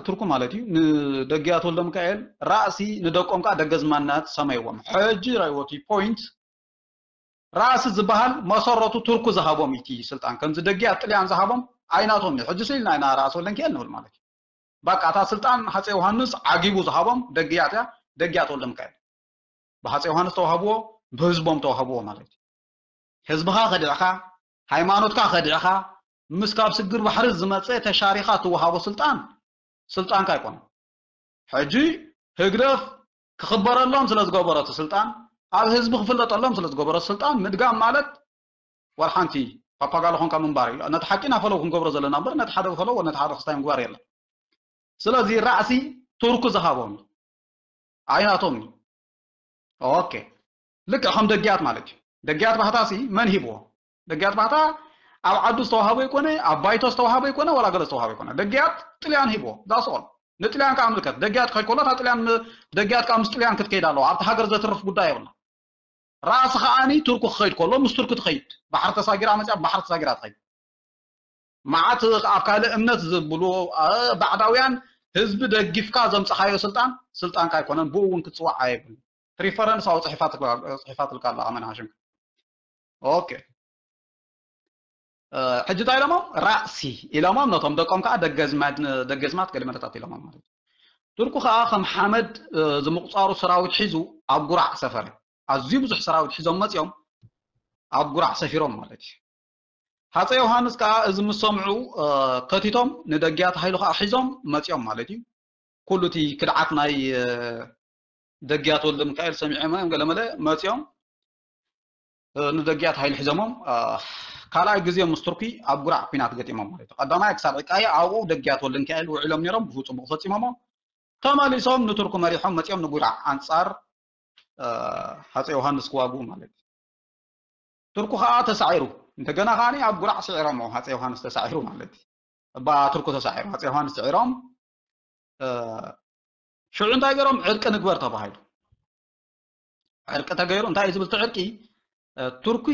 ቱርኩ ማለት እዩ ንደጊያት ወልደ ሚካኤል ራእሲ ንደቆም ከዓ ደገዝማናት ሰመይዎም። ሕጂ ራይዎ እቲ ፖይንት ራእሲ ዝበሃል መሰረቱ ቱርኩ ዝሃቦም እቲ ስልጣን ከምዚ ደጊያት ጥልያን ዝሃቦም ኣይናቶም እዩ። ሕጂ ስኢልና ኢና ራእሲ ወልደ ሚካኤል ንብል ማለት እዩ። በቃ እታ ስልጣን ሃፀ ዮሃንስ ዓጊቡ ዝሃቦም ደጊያት እያ። ደጊያት ወልደ ሚካኤል ብሃፀ ዮሃንስ ተዋህብዎ ብህዝቦም ተዋህብዎ ማለት እዩ። ህዝብኻ ከዲዕኻ ሃይማኖትካ ከዲዕኻ ምስ ካብ ስግር ባሕሪ ዝመፀ ተሻሪኻ ትወሃቦ ስልጣን ስልጣንካ ኣይኮነን። ሕጂ ህግደፍ ክኽበረሎም ስለ ዝገበሮ እቲ ስልጣን ኣብ ህዝቢ ክፍለጠሎም ስለ ዝገበሮ ስልጣን ምድጋም ማለት ዋላ ሓንቲ ፓፓጋሎ ኾንካ ምንባር እዩ። ነቲ ሓቂ ኢና ፈለው ክንገብሮ ዘለና እምበር ነቲ ሓደ ፈለው ነቲ ሓደ ክስታይ ምግባር የለን። ስለዚ ራእሲ ቱርኩ ዝሃቦም ኣይናቶም እዩ። ኦኬ ልክዕ ከም ደጊያት ማለት እዩ። ደጊያት ባህታሲ መን ሂብዎ? ደጊያት ባህታ ኣብ ዓዱ ዝተዋሃበ ይኮነ ኣብ ባይቶ ዝተዋሃበ ይኮነ ዋላ ገለ ዝተዋሃበ ይኮነ ደጊያት ጥልያን ሂብዎ ዳስኦል ንጥልያን ከዓ ምልከት ደጊያት ከይድ ከሎ እታ ጥልያን ደጊያት ከዓ ምስ ጥልያን ክትከይድ ኣለዋ ኣብቲ ሃገር ዘትርፍ ጉዳይ የብላ። ራእሲ ከዓኒ ቱርኩ ክኸይድ ከሎ ምስ ቱርኪ ትኸይድ ባሕሪ ተሳጊራ መፅያ ባሕሪ ተሳጊራ ትኸይድ። መዓት ኣብ ካልእ እምነት ዝብሉ ባዕዳውያን ህዝቢ ደጊፍካ ዘምፀኻዮ ስልጣን ስልጣንካ ኣይኮነን ብኡ እውን ክትፅዋዕ ኣይብሉ። ሪፈረንስ ኣው ፅሒፋትልካ ኣላ ኣመን ሃሽም። ኦኬ ሕጂ እንታይ ኢሎሞም ራእሲ ኢሎሞም ነቶም ደቆም ከዓ ደገዝማት ገሊመለታት ኢሎሞም ማለት እዩ። ቱርኩ ከዓ ከም ሓመድ ዝምቁፃሩ ሰራዊት ሒዙ ኣብ ጉራዕ ሰፈረ። ኣዝዩ ብዙሕ ሰራዊት ሒዞም መፂኦም ኣብ ጉራዕ ሰፊሮም ማለት እዩ። ሃፀ ዮሃንስ ከዓ እዚ ምስ ሰምዑ ከቲቶም ንደጊያት ሃይሉ ከዓ ሒዞም መፂኦም ማለት እዩ። ኩሉ እቲ ክድዓት ናይ ደጊያት ወልደ ሚካኤል ሰሚዖም እዮም ገለመለ መፂኦም ንደጊያት ሃይሉ ሒዞሞም ካልኣይ ግዜ ምስ ቱርኪ ኣብ ጉራዕ ኩናት ገጢሞም ማለት እዩ። ቀዳማይ ክሳብ ዕቃየ ኣብኡ ደጊያት ወልደ ሚካኤል ውዒሎም ነይሮም ብኡ ፅቡቅ ፈፂሞሞ ተመሊሶም ንቱርኪ መሪሖም መፂኦም ንጉራዕ ኣንፃር ሃፀ ዮሃንስ ክዋግኡ ማለት እዩ። ቱርኩ ከዓ ተሳዒሩ እንደገና ከዓ ኣብ ጉራዕ ስዒሮሞ ሃፀ ዮሃንስ ተሳዒሩ ማለት እዩ። እባ ቱርኩ ተሳዒሩ ሃፀ ዮሃንስ ስዒሮም ሽዑ እንታይ ገይሮም ዕርቂ ንግበር ተባሂሉ። ዕርቂ ተገይሩ እንታይ እዩ ዝብል እቲ ዕርቂ ቱርኪ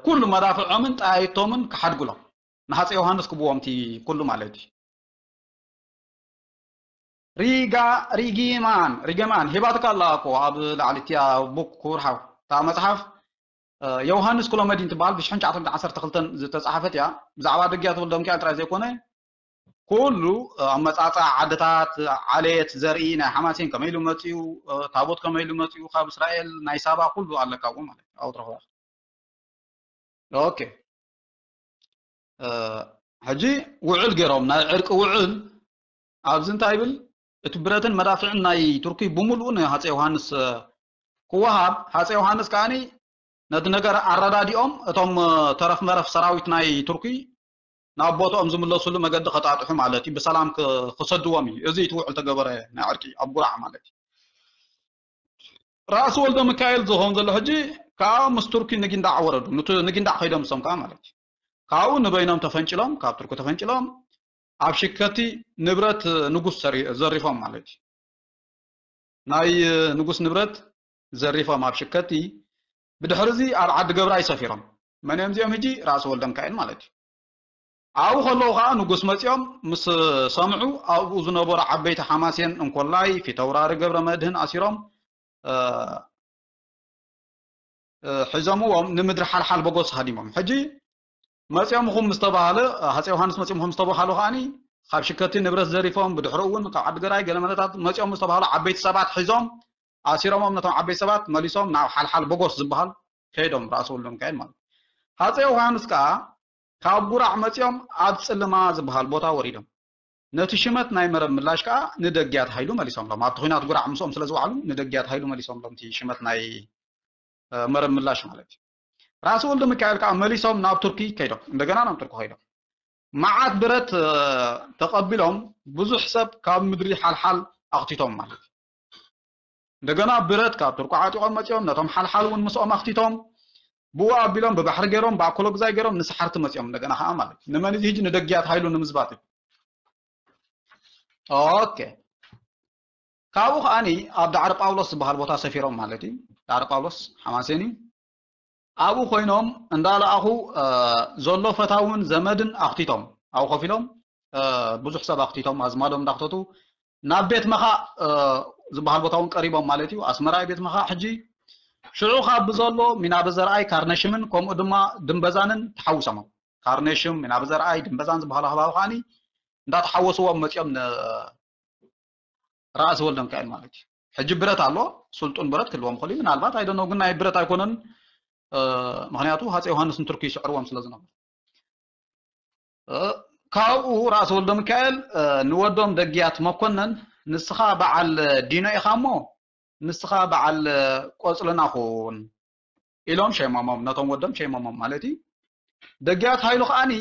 ኩሉ መዳፍዖምን ጣይቶምን ክሓድጉሎም ንሃፀ ዮሃንስ ክብዎም እቲ ኩሉ ማለት እዩ። ሪጋ ሪጊማን ሪገማን ሂባትካ ኣላ እኮ ኣብ ላዕሊ እቲያ ቡክ ክቡር ሓው እታ መፅሓፍ ዮሃንስ ክሎመዲን ትበሃል ብሽሕን ትሽዓተ ሚእትን ዓሰርተ ክልተን ዝተፃሓፈት እያ። ብዛዕባ ደጊያት ወልደ ሚካኤል ጥራይ ዘይኮነ ኩሉ ኣመፃፃ ዓድታት ዓሌት ዘርኢ ናይ ሓማሴን ከመይ ኢሉ መፅኡ ታቦት ከመይ ኢሉ መፅኡ ካብ እስራኤል ናይ ሳባ ኩሉ ኣለካ ኣብኡ ማለት እዩ። ኣብኡ ትረኽባ ኦኬ ሕጂ ውዕል ገይሮም ናይ ዕርቂ ውዕል ኣብዚ እንታይ ይብል እቲ ብረትን መዳፍዕን ናይ ቱርኪ ብምሉኡ ንሃፀ ዮሃንስ ክወሃብ ሃፀ ዮሃንስ ከዓኒ ነቲ ነገር ኣረዳዲኦም እቶም ተረፍ መረፍ ሰራዊት ናይ ቱርኪ ናብ ቦትኦም ዝምለስሉ መገዲ ከጣጥሑ ማለት እዩ ብሰላም ክሰድዎም እዩ። እዚ እቲ ውዕል ተገበረ ናይ ዕርቂ ኣብ ጉራዕ ማለት እዩ። ራእሲ ወልደ ሚካኤል ዝኸውን ዘሎ ሕጂ ከዓ ምስ ቱርኪ ንጊንዳዕ ወረዱ። ንጊንዳዕ ከይዶም እሶም ከዓ ማለት እዩ። ካብኡ ንበይኖም ተፈንጭሎም፣ ካብ ቱርኪ ተፈንጭሎም ኣብ ሽከቲ ንብረት ንጉስ ዘሪፎም ማለት እዩ። ናይ ንጉስ ንብረት ዘሪፎም ኣብ ሽከቲ ብድሕሪ እዚ ኣብ ዓዲ ገብራይ ሰፊሮም። መን እዮም እዚኦም ሕጂ? ራእሲ ወልደ ሚካኤል ማለት እዩ። ኣብኡ ከለዉ ከዓ ንጉስ መፂኦም ምስ ሰምዑ ኣብኡ ዝነበሩ ዓበይቲ ሓማሴን እንኮላይ ፊተውራሪ ገብረ መድህን ኣሲሮም ሒዞምዎም ንምድሪ ሓልሓል በጎስ ሃዲሞም። ሕጂ መፂኦም ኹም ምስተባሃለ ሃፀ ዮሃንስ መፂኦም ኹም ምስተባሃሉ ከዓኒ ካብ ሽከቲ ንብረት ዘሪፎም ብድሕሩ እውን ካብ ዓዲ ገራይ ገለ መለታት መፂኦም ምስተባሃሉ ዓበይቲ ሰባት ሒዞም ኣሲሮሞም ነቶም ዓበይቲ ሰባት መሊሶም ናብ ሓልሓል በጎስ ዝበሃል ከይዶም ራእሲ ወልደ ሚካኤል ማለት ሃፀ ዮሃንስ ከዓ ካብ ጉራዕ መፂኦም ኣብ ፅልማ ዝበሃል ቦታ ወሪዶም ነቲ ሽመት ናይ መረብ ምላሽ ከዓ ንደጊያት ሃይሉ መሊሶምሎም ኣብቲ ኩናት ጉራዕ ምስኦም ስለ ዝወዓሉ ንደጊያት ሃይሉ መሊሶምሎም እቲ ሽመት ናይ መረብ ምላሽ ማለት እዩ። ራእሲ ወልደ ሚካኤል ከዓ መሊሶም ናብ ቱርኪ ከይዶም እንደገና ናብ ቱርኪ ከይዶም መዓት ብረት ተቐቢሎም ብዙሕ ሰብ ካብ ምድሪ ሓልሓል ኣኽቲቶም ማለት እዩ። እንደገና ብረት ካብ ቱርኩ ዓጢቖም መፂኦም፣ ነቶም ሓልሓል እውን ምስኦም ኣኽቲቶም፣ ብኡ ኣቢሎም ብባሕሪ ገይሮም፣ ብኣኮሎግዛይ ገይሮም ንሰሓርቲ መፂኦም። እንደገና ከዓ ማለት እዩ። ንመን እዚ ሕጂ? ንደጊያት ሃይሉ ንምዝባጥ እዩ። ኦኬ። ካብኡ ከዓኒ ኣብ ዳዕሮ ጳውሎስ ዝበሃል ቦታ ሰፊሮም ማለት እዩ። ዳዕሮ ጳውሎስ ሓማሴን እዩ። ኣብኡ ኮይኖም እንዳለኣኹ፣ እ፣ ዘሎ ፈታውን ዘመድን ኣኽቲቶም፣ ኣብኡ ኮፍ ኢሎም፣ እ፣ ብዙሕ ሰብ ኣኽቲቶም፣ ኣዝማዶም እንዳኽተቱ ናብ ቤት መኻእ፣ እ፣ ዝበሃል ቦታ እውን ቀሪቦም ማለት እዩ። ኣስመራ እዩ ቤት መኻእ ሕጂ። ሽዑ ካብ ብዘሎ ሚናበ ዘርኣይ፣ ካርነሽምን ከምኡ ድማ ድምበዛንን ተሓዊሶም። ካርነሽም፣ ሚናበ ዘርኣይ፣ ድምበዛን ዝበሃሉ ከባቢ ከዓኒ እንዳተሓወስዎም መፂኦም ን-፣ ራእሲ ወልደ ሚካኤል ማለት እዩ። ሕጂ ብረት ኣሎ፣ ስልጡን ብረት ክህልዎም ይኽእል እዩ። ምናልባት ኣይደነው ግን ናይ ብረት ኣይኮነን። እ፣ ምኽንያቱ ሃፀይ ዮሃንስ ንቱርኪ ይስዕርዎም ስለ ዝነበሩ። እ፣ ካብኡ ራእሲ ወልደ ሚካኤል፣ እ፣ ንወዶም ደግያት መኮነን፣ "ንስኻ በዓል ዲኖ ኢኻ እሞ ንስኻ በዓል ቆጽልና ኩን" ኢሎም ሸይሞሞም፣ ነቶም ወዶም ሸይሞሞም ማለት እዩ። ደግያት ሃይሉ ከዓኒ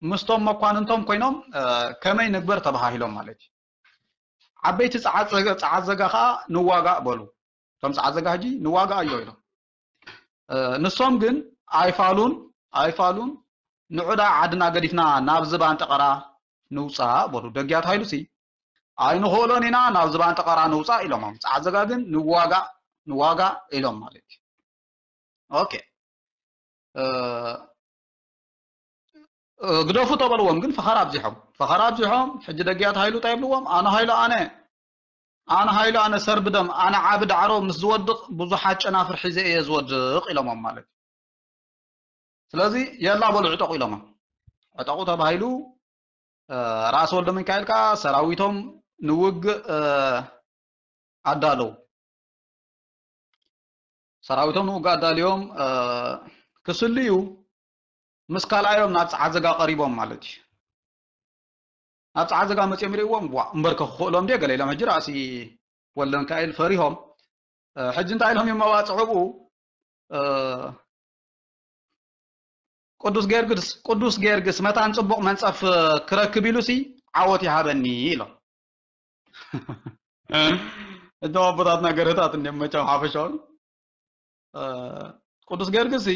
ምስቶም መኳንንቶም ኮይኖም፣ እ፣ ከመይ ንግበር ተባሃሂሎም ማለት እዩ። ዓበይቲ ጸዓት ዘጋ፣ ጸዓት ዘጋ ከኣ ንዋጋእ በሉ። እቶም ጸዓት ዘጋ ሕጂ ንዋጋእ ኣዮ ኢሎም። እ፣ ንሶም ግን ኣይፋሉን፣ ኣይፋሉን፣ "ንዑዳ ዓድና ገዲፍና ናብ ዝባን ጠቐራ ንውጻእ" በሉ። ደግያት ሃይሉሲ "ኣይንኽእሎን ኢና፣ ናብ ዝባን ጠቐራ ንውጻእ" ኢሎሞም። ጸዓት ዘጋ ግን "ንዋጋእ፣ ንዋጋእ" ኢሎም ማለት እዩ። ኦኬ። እ፣ እ፣ ግደፉ ተበልዎም ግን ፈኸራ ኣብዚሖም። ፈኸራ ኣብዚሖም፣ ሕጂ ደግያት ሃይሉ እንታይ ይብልዎም? "ኣነ ሃይሉ ኣነ፣ ኣነ ሃይሉ ኣነ ሰርቢ ደም፣ ኣነ ዓቢ ዳዕሮ ምስ ዝወድቕ ብዙሓት ጨናፍር ሒዘ እየ ዝወድቕ" ኢሎሞም ማለት እዩ። ስለዚ "የላ በሉ ዕጠቑ" ኢሎሞም። ዕጠቑ ተባሂሉ፣ እ፣ ራእሲ ወልደ ሚካኤል ከኣ ሰራዊቶም ንውግእ፣ እ፣ ኣዳለዉ። ሰራዊቶም ንውግእ ኣዳልዮም፣ እ፣ ክስልዩ ምስ ካልኣዮም ናብ ጸዓት ዘጋ ቀሪቦም ማለት እዩ። ናብ ጸዓት ዘጋ መጺኦም ይርእይዎም፣ "ዋ፣ እምበርከ ክኽእሎም ድየ?" ገለ ኢሎም። ሕጂ ራእሲ ወልደ ሚካኤል ፈሪሆም፣ እ፣ ሕጂ እንታይ ኢሎም እዮም መባጽዑ ብኡ? እ፣ "ቅዱስ ጊዮርጊስ፣ ቅዱስ ጊዮርጊስ መታን ጽቡቕ መንጸፍ ክረክብ ኢሉሲ ዓወት ይሃበኒ" ኢሎም። እቶም ኣቦታትና ገርህታት እንዲም መቸም ሓፈሻውን። እ፣ ቅዱስ ጊዮርጊስ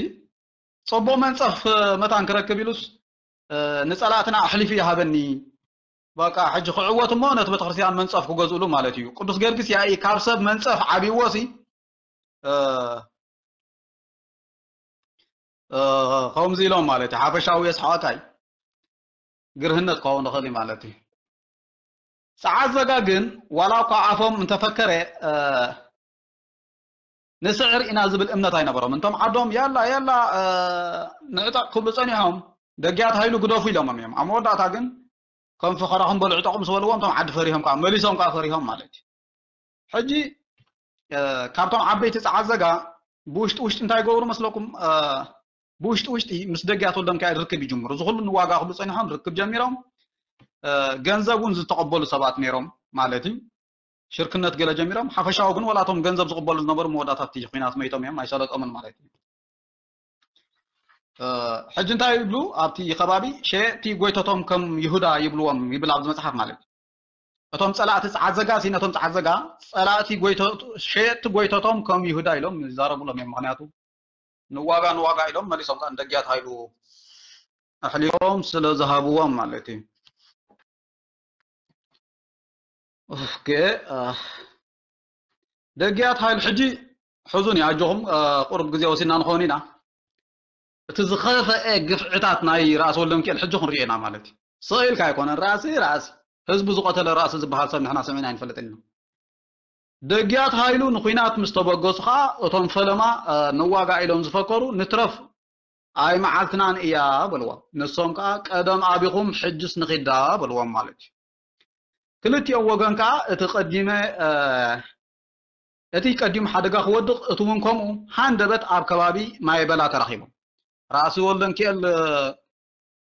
"ጽቡቕ መንጸፍ መታን ክረክብ ኢሉስ፣ እ፣ ንጸላእትና ኣሕሊፉ ይሃበኒ። በቃ ሕጂ ክዕወት እሞ ነቲ ቤተክርስትያን መንጸፍ ክገዝእሉ ማለት እዩ። ቅዱስ ጊዮርጊስ ያኢ ካብ ሰብ መንጸፍ ዓብይዎ ሲ፣ እ፣ እ፣ ከምዚ ኢሎም ማለት እዩ። ሓፈሻዊ የስሓቃይ ግርህነት ክኸውን ይኽእል እዩ ማለት እዩ። ጸዓት ዘጋ ግን ዋላ እኳ ኣፎም እንተፈከረ፣ እ፣ ንስዕር ኢና ዝብል እምነት ኣይነበሮም። እንቶም ዓዶም "ያላ፣ ያላ፣ እ፣ ንዕጠቕ" ክብሉ ጸኒሖም፣ "ደግያት ሃይሉ ግደፉ" ኢሎሞም እዮም። ኣብ መወዳእታ ግን ከም ፈኸራኹም በሉ ዕጠቑ ምስ በልዎም፣ እቶም ዓዲ ፈሪሆም ከኣ፣ መሊሶም ከኣ ፈሪሆም ማለት እዩ። ሕጂ፣ እ፣ ካብቶም ዓበይቲ ጸዓት ዘጋ ብውሽጢ ውሽጢ እንታይ ይገብሩ መስለኩም? እ፣ ብውሽጢ ውሽጢ ምስ ደግያት ወልደሚካኤል ርክብ ይጅምሩ። እዚ ኩሉ ንዋጋ ክብሉ ጸኒሖም ርክብ ጀሚሮም፣ እ፣ ገንዘብ እውን ዝተቐበሉ ሰባት ነይሮም ማለት እዩ። ሽርክነት ገለ ጀሚሮም፣ ሓፈሻዊ ግን ዋላ እቶም ገንዘብ ዝቕበሉ ዝነበሩ መወዳእታ እቲ ኲናት መይቶም እዮም፣ ኣይሰለጦምን ማለት እዩ። እ፣ ሕጂ እንታይ ይብሉ? ኣብቲ ከባቢ ሸየጥቲ ጎይተቶም ከም ይሁዳ ይብልዎም ይብል ኣብዚ መጽሓፍ ማለት እዩ። እቶም ጸላእቲ ጸዓት ዘጋ ሲ ነቶም ጸዓት ዘጋ ጸላእቲ ጎይተ-፣ ሸየጥቲ ጎይተቶም ከም ይሁዳ ኢሎም ይዛረቡሎም እዮም። ምኽንያቱ ንዋጋ ንዋጋ ኢሎም መሊሶም ከኣ ንደግያት ሃይሉ ኣሕሊፎም ስለ ዝሃብዎም ማለት እዩ። ኦኬ፣ እ፣ ደግያት ሃይሉ ሕጂ ሕዙኒ ኣጆኹም፣ እ፣ ቁሩብ ግዜ ወሲድና ንኸውን ኢና። እቲ ዝኸፍአ ግፍዕታት ናይ ራእሲ ወልደሚካኤል ሕጂ ክንሪኦ ኢና ማለት እዩ። ስቕ ኢልካ ኣይኮነን፣ ራእሲ ራእሲ ህዝቡ ዝቐተለ ራእሲ ዝበሃል ሰብ ንሕና ሰሚዕና ኣይንፈልጥን ኢና። ደግያት ሃይሉ ንኹናት ምስ ተበገሱ ኸኣ እቶም ፈለማ፣ እ፣ ንዋጋእ ኢሎም ዝፈከሩ ንትረፍ ኣይ መዓልትናን እያ በልዎም። ንሶም ከኣ ቀደም ኣቢኹም ሕጅስ ንኺዳ በልዎም ማለት እዩ። ክልቲኦም ወገን ከኣ እቲ ቀዲመ፣ እ፣ እቲ ቀዲሙ ሓደጋ ክወድቕ፣ እቲ እውን ከምኡ ሃንደበት ኣብ ከባቢ ማይ በላ ተራኺቦም። ራእሲ ወልደንኪኤል፣ እ፣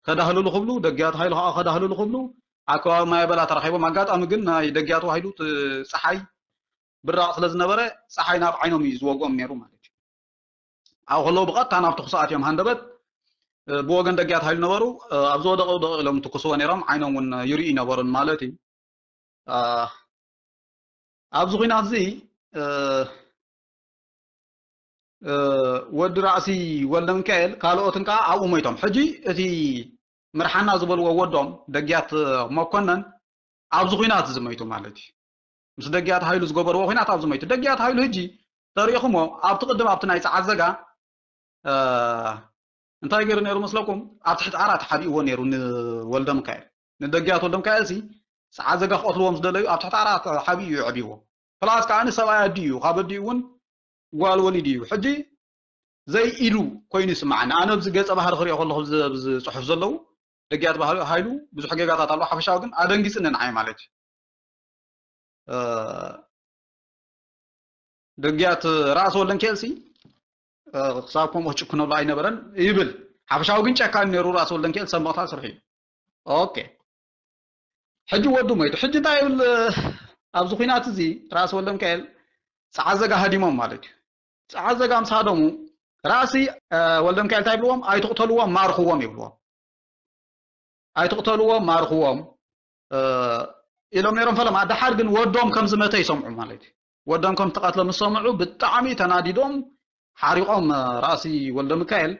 ከዳህልሉ ክብሉ፣ ደግያት ሃይሉ ከኣ ከዳህልሉ ክብሉ ኣብ ከባቢ ማይ በላ ተራኺቦም። ኣጋጣሚ ግን ናይ ደግያቱ ሃይሉ እቲ ጸሓይ ብራቕ ስለ ዝነበረ ጸሓይ ናብ ዓይኖም እዩ ዝወግኦም ነይሩ ማለት እዩ። ኣብኡ ከለዉ ብቐጥታ ናብ ተኹሲ ኣትዮም ሃንደበት፣ እ፣ ብወገን ደግያት ሃይሉ ነበሩ። እ፣ ኣብ ዝወደቐ ውደቕ ኢሎም ትኩስዎ ነይሮም፣ ዓይኖም እውን ይርእዩ ነበሩን ማለት እዩ። እ፣ ኣብዚ ኹናት እዚ፣ ወዲ ራእሲ ወልደ ሚካኤል ካልኦትን ከዓ ኣብኡ ሞይቶም። ሕጂ እቲ ምርሓና ዝበልዎ ወዶም ደግያት መኮነን ኣብዚ ኹናት ዝመይቱ ማለት እዩ። ምስ ደግያት ሃይሉ ዝገበርዎ ኹናት ኣብዚ መይቱ። ደግያት ሃይሉ ሕጂ ተሪእኹሞ ኣብቲ ቅድም ኣብቲ ናይ ጸዓዘጋ እንታይ ገይሩ ነይሩ መስለኩም? ኣብ ትሕቲ ዓራት ሓቢእዎ ነይሩ ንወልደ ሚካኤል። ንደግያት ወልደ ሚካኤል ሲ ጸዓዘጋ ክቐትልዎም ዝደለዩ ኣብ ትሕቲ ዓራት ሓቢኡ እዩ ኣዕቢዎ። ፕላስ ከዓ ንሰብኣይ ኣዲኡ እዩ፣ ካብ ኣዲኡ እውን ጓል ወሊዱ እዩ። ሕጂ ዘይኢዱ ኮይኑ ይስምዓኒ። ኣነ ኣብዚ ገጸ ባህሪ ክሪኦ ከለኹ ኣብዚ ኣብዚ ጽሑፍ ዘለዉ ደግያት ባህሪ ሃይሉ ብዙሕ ጌጋታት ኣለዎ። ሓፈሻዊ ግን ኣደንጊጽኒ ንዓይ ማለት እዩ። እ፣ ደግያት ራእሲ ወልደ ሚካኤል ሲ እ፣ ክሳብ ከምኡ ክጭክነሉ ኣይነበረን ይብል። ሓፈሻዊ ግን ጨካን ነይሩ ራእሲ ወልደ ሚካኤል ሰብ መቕታል ስርሑ እዩ። ኦኬ። ሕጂ ወዱ ሞይቱ። ሕጂ እንታይ ይብል? ኣብዚ ኹናት እዚ ራእሲ ወልደ ሚካኤል ጸዓዘጋ ሃዲሞም ማለት እዩ። ጸዓዘጋ ምስ ሃደሙ ራእሲ እ፣ ወልደ ሚካኤል እንታይ ይብልዎም? ኣይትቕተልዎም፣ ማርኽዎም ይብልዎም። ኣይትቕተልዎም፣ ማርኽዎም እ፣ ኢሎም ነይሮም ፈለማ። ደሓር ግን ወዶም ከም ዝመተ ይሰምዑ ማለት እዩ። ወዶም ከም ዝተቐትለ ምስ ሰምዑ ብጣዕሚ ተናዲዶም ሓሪቖም እ፣ ራእሲ ወልደ ሚካኤል።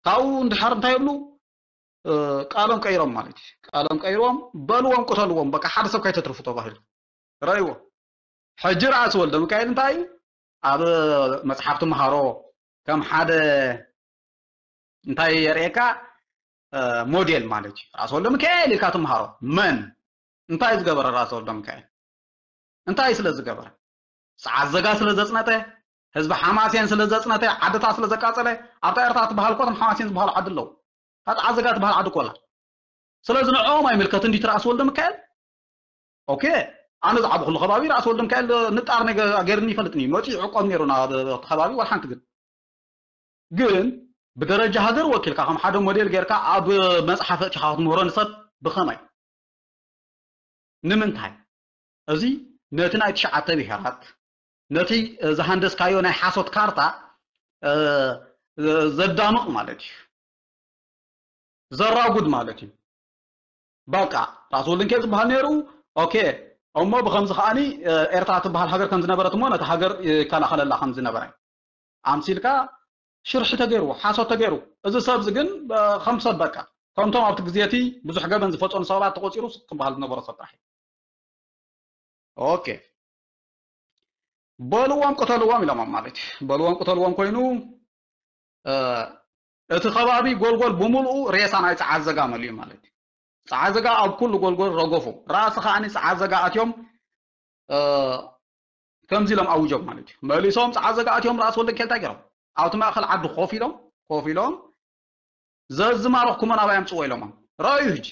ካብኡ እንድሓር እንታይ ይብሉ? እ፣ ቃሎም ቀይሮም ማለት እዩ። ቃሎም ቀይሮም በልዎም፣ ቅተልዎም፣ በቃ ሓደ ሰብ ከይተትርፉ ተባሂሉ። ረእይዎ። ሕጂ ራእሲ ወልደ ሚካኤል እንታይ እዩ? ኣብ መጽሓፍ ትምሃሮ ከም ሓደ እንታይ የርእየካ? እ፣ ሞዴል ማለት እዩ። ራእሲ ወልደ ሚካኤል ኢልካ ትምሃሮ። መን? እንታይ ዝገበረ ራእሲ ወልደ ሚካኤል? እንታይ ስለ ዝገበረ? ጸዓዘጋ ስለ ዘጽነተ፣ ህዝቢ ሓማሴን ስለ ዘጽነተ፣ ዓድታት ስለ ዘቃጸለ፣ ኣብታ ኤርትራ ትበሃል እኮ እቶም ሓማሴን ዝበሃሉ ዓዲ ኣለዉ። እታ ጸዓዘጋ ትበሃል ዓዲ እኮ ኣላ። ስለዚ ንዕኦም ኣይምልከትን ድዩ እቲ ራእሲ ወልደ ሚካኤል? ኦኬ፣ ኣነ ዝዓበኹሉ ከባቢ ራእሲ ወልደ ሚካኤል ንጣር ነገ-፣ ገይሩኒ ይፈልጥኒ እዩ። መፂኡ ይዕቆብ ነይሩ ናብ እቲ ከባቢ ዋላ ሓንቲ ግን። ግን ብደረጃ ሃገር ወኪልካ ከም ሓደ ሞዴል ጌርካ ኣብ መፅሓፍ ኣእቲኻ ክትምህሮ ንሰብ ብኸመይ? ንምንታይ? እዚ ነቲ ናይ ትሽዓተ ብሄራት፣ ነቲ ዝሃንደስካዮ ናይ ሓሶት ካርታ፣ እ፣ ዘዳምቕ ማለት እዩ። ዘራጉድ ማለት እዩ። በቃ ራስ ወልደ ሚካኤል ዝበሃል ነይሩ። ኦኬ፣ እሞ ብኸምዚ ከዓኒ፣ እ፣ ኤርትራ ትበሃል ሃገር ከም ዝነበረት እሞ ነቲ ሃገር ይከላኸለላ ከም ዝነበረ ኣምሲልካ ሽርሒ ተገይርዎ፣ ሓሶት ተገይሩ። እዚ ሰብ እዚ ግን፣ እ፣ ከም ሰብ በቃ ከምቶም ኣብቲ ግዜ እቲ ብዙሕ ገበን ዝፈጸሙ ሰባት ተቖጺሩ ስቕ ክበሃል ዝነበሮ ሰብ ጥራሕ እዩ። ኦኬ። በልዎም ቅተልዎም ኢሎሞም ማለት እዩ። በልዎም ቅተልዎም ኮይኑ፣ እ፣ እቲ ከባቢ ጎልጎል ብምልኡ ሬሳ ናይ ጸዓዘጋ መሊኡ ማለት እዩ። ጸዓዘጋ ኣብ ኩሉ ጎልጎል ረገፉ። ራእሲ ከዓኒ ጸዓዘጋ ኣትዮም፣ እ፣ ከምዚ ኢሎም ኣውጆም ማለት እዩ። መሊሶም ጸዓዘጋ ኣትዮም ራእሲ ወልደ ሚካኤል እንታይ ገይሮም? ኣብቲ ማእከል ዓዲ ኮፍ ኢሎም፣ ኮፍ ኢሎም፣ "ዘዝማረኽኩሞ ናባይ ኣምጽዎ" ኢሎሞም። ረኣዩ ሕጂ።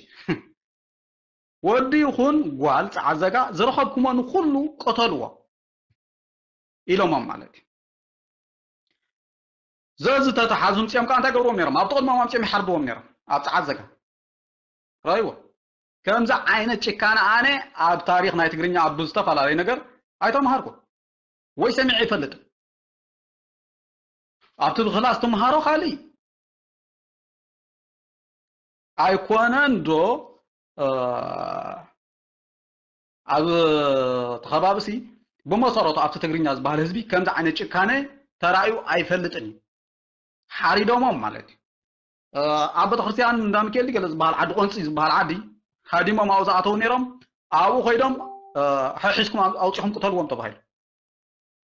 ወዲ ይኹን ጓል ጸዓዘጋ ዝረኸብኩሞ ንኹሉ ቅተልዎ ኢሎሞም ማለት እዩ። ዘዝተተሓዙ ምጽኦም ከኣ እንታይ ገብርዎም ነይሮም? ኣብቲ ቅድሞም ኣምጽኦም ይሓርድዎም ነይሮም። ኣብ ጸዓዘጋ። ረኣይዎ። ከምዚ ዓይነት ጭካነ ኣነ ኣብ ታሪኽ ናይ ትግርኛ ኣብ ዝተፈላለየ ነገር ኣይተምሃርኩ ወይ ሰሚዐ ኣይፈልጥን። ኣብቲ ብክላስ ትምሃሮ ካልእ ኣይኮነን ዶ? እ፣ ኣብ እቲ ከባቢሲ ብመሰረቱ ኣብቲ ትግርኛ ዝበሃል ህዝቢ ከምዚ ዓይነት ጭካነ ተራእዩ ኣይፈልጥን እዩ። ሓሪዶሞም ማለት እዩ። እ፣ ኣብ ቤተክርስትያን እንዳ ሚካኤል ገለ ዝበሃል ዓዲ፣ ቆንፂ ዝበሃል ዓዲ ሃዲሞም ኣብኡ ዝኣተው ነይሮም። ኣብኡ ከይዶም፣ እ፣ "ሕሒዝኩም ኣው-፣ ኣውፂኹም ቅተልዎም" ተባሂሉ።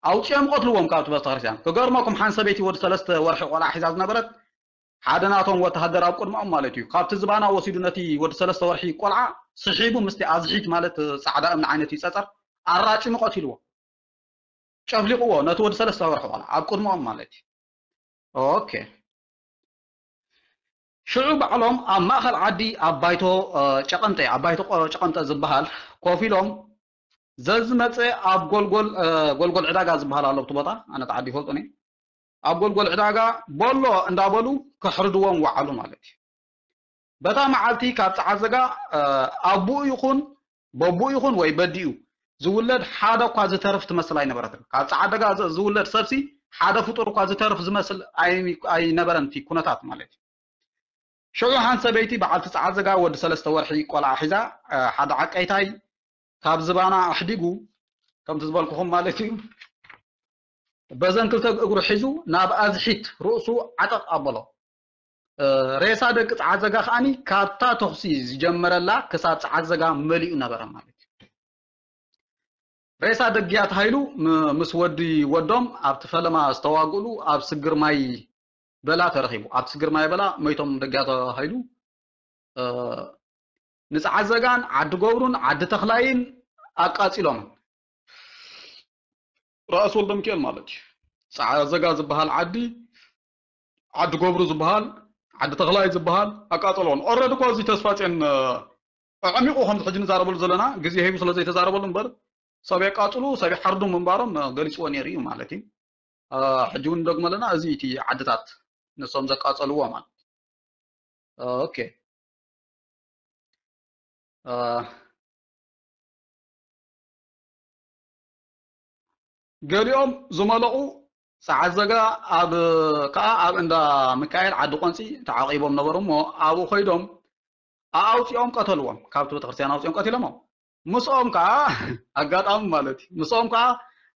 ኣውፂኦም ቀትልዎም ካብቲ ቤተክርስትያን። ክገርመኩም፣ ሓንቲ ሰበይቲ ወዲ ሰለስተ ወርሒ ቆልዓ ሒዛ ዝነበረት፣ ሓደ ናቶም ወተሃደር ኣብ ቅድመኦም ማለት እዩ፣ ካብቲ ዝባና ወሲዱ ነቲ ወዲ ሰለስተ ወርሒ ቆልዓ ስሒቡ ምስቲ ኣዝሒት ማለት ጻዕዳ እምኒ ዓይነት እዩ ጸጸር ኣራጭሙ ቀቲልዎ። ጨፍሊቕዎ ነቲ ወዲ ሰለስተ ወርሒ ቆልዓ ኣብ ቅድመኦም ማለት እዩ። ኦኬ። ሽዑ ባዕሎም ኣብ ማእከል ዓዲ ኣብ ባይቶ፣ እ፣ ጨቐንጠ፣ ኣብ ባይቶ ቆ-፣ ጨቐንጠ ዝበሃል ኮፍ ኢሎም ዘዝመጸ ኣብ ጎልጎል፣ እ፣ ጎልጎል ዕዳጋ ዝበሃል ኣሎ ኣብቲ ቦታ፣ ኣነ እቲ ዓዲ ይፈልጦን እየ። ኣብ ጎልጎል ዕዳጋ ቦሎ እንዳበሉ ከሕርድዎም ወዓሉ ማለት እዩ። በታ መዓልቲ ካብ ጸዓዘጋ፣ እ፣ ኣቦኡ ይኹን በቦኡ ይኹን ወይ በዲኡ ዝውለድ ሓደ እኳ ዝተርፍ ትመስል ኣይነበረትን። ካብ ጸዓዘጋ ዝ-፣ ዝውለድ ሰብሲ ሓደ ፍጡር እኳ ዝተርፍ ዝመስል ኣይ-፣ ኣይነበረን እቲ ኩነታት ማለት እዩ። ሽዑ ሓንቲ ሰበይቲ በዓልቲ ጸዓዘጋ ወዲ ሰለስተ ወርሒ ቆልዓ ሒዛ፣ እ፣ ሓደ ዓቀይታይ ካብ ዝባና ኣሕዲጉ፣ ከምቲ ዝበልኩኹም ማለት እዩ፣ በዘን ክልተ እግሩ ሒዙ ናብ ኣዝሒት ርእሱ ዓጠቕ ኣበሎ። ሬሳ ደቂ ጸዓት ዘጋ ከዓኒ ካብታ ተኹሲ ዝጀመረላ ክሳብ ጸዓት ዘጋ መሊኡ ነበረ ማለት እዩ። ሬሳ ደግያት ሃይሉ ምስ ወዲ ወዶም ኣብቲ ፈለማ ዝተዋግእሉ ኣብ ስግር ማይ በላ ተረኺቡ። ኣብቲ ስግር ማይ በላ መይቶም ደግያት ሃይሉ ንጸዓት ዘጋን ዓዲ ገብሩን ዓዲ ተኽላይን ኣቃጺሎም። ራእሲ ወልደ ሚካኤል ማለት እዩ። ጸዓት ዘጋ ዝበሃል ዓዲ ዓዲ ገብሩ ዝበሃል ዓዲ ተኽላይ ዝበሃል ኣቃጸልዎን። ኦረድ እኮ እዚ ተስፋ ጽዮን ኣዕሚቑ ከምዚ ሕጂ ንዛረበሉ ዘለና ግዜ ሂቡ ስለ ዘይተዛረበሉ እምበር ሰብ የቃጽሉ ሰብ ይሓርዱ ምንባሮም ገሊጽዎ ነይሩ እዩ ማለት እዩ። ሕጂ እውን እንደግሞ ኣለና እዚ እቲ ዓድታት ንሶም ዘቃጸልዎ ማለት ኦኬ። ገሊኦም ዝመለቑ ጸዓት ዘጋ ኣብ ከዓ ኣብ እንዳ ሚካኤል ዓዲ ቆንፂ ተዓቂቦም ነበሩ እሞ ኣብኡ ኮይዶም ኣውፂኦም ቀተልዎም። ካብቲ ቤተክርስትያን ኣውፂኦም ቀቲሎሞም። ምስኦም ከዓ ኣጋጣሚ ማለት እዩ ምስኦም ከዓ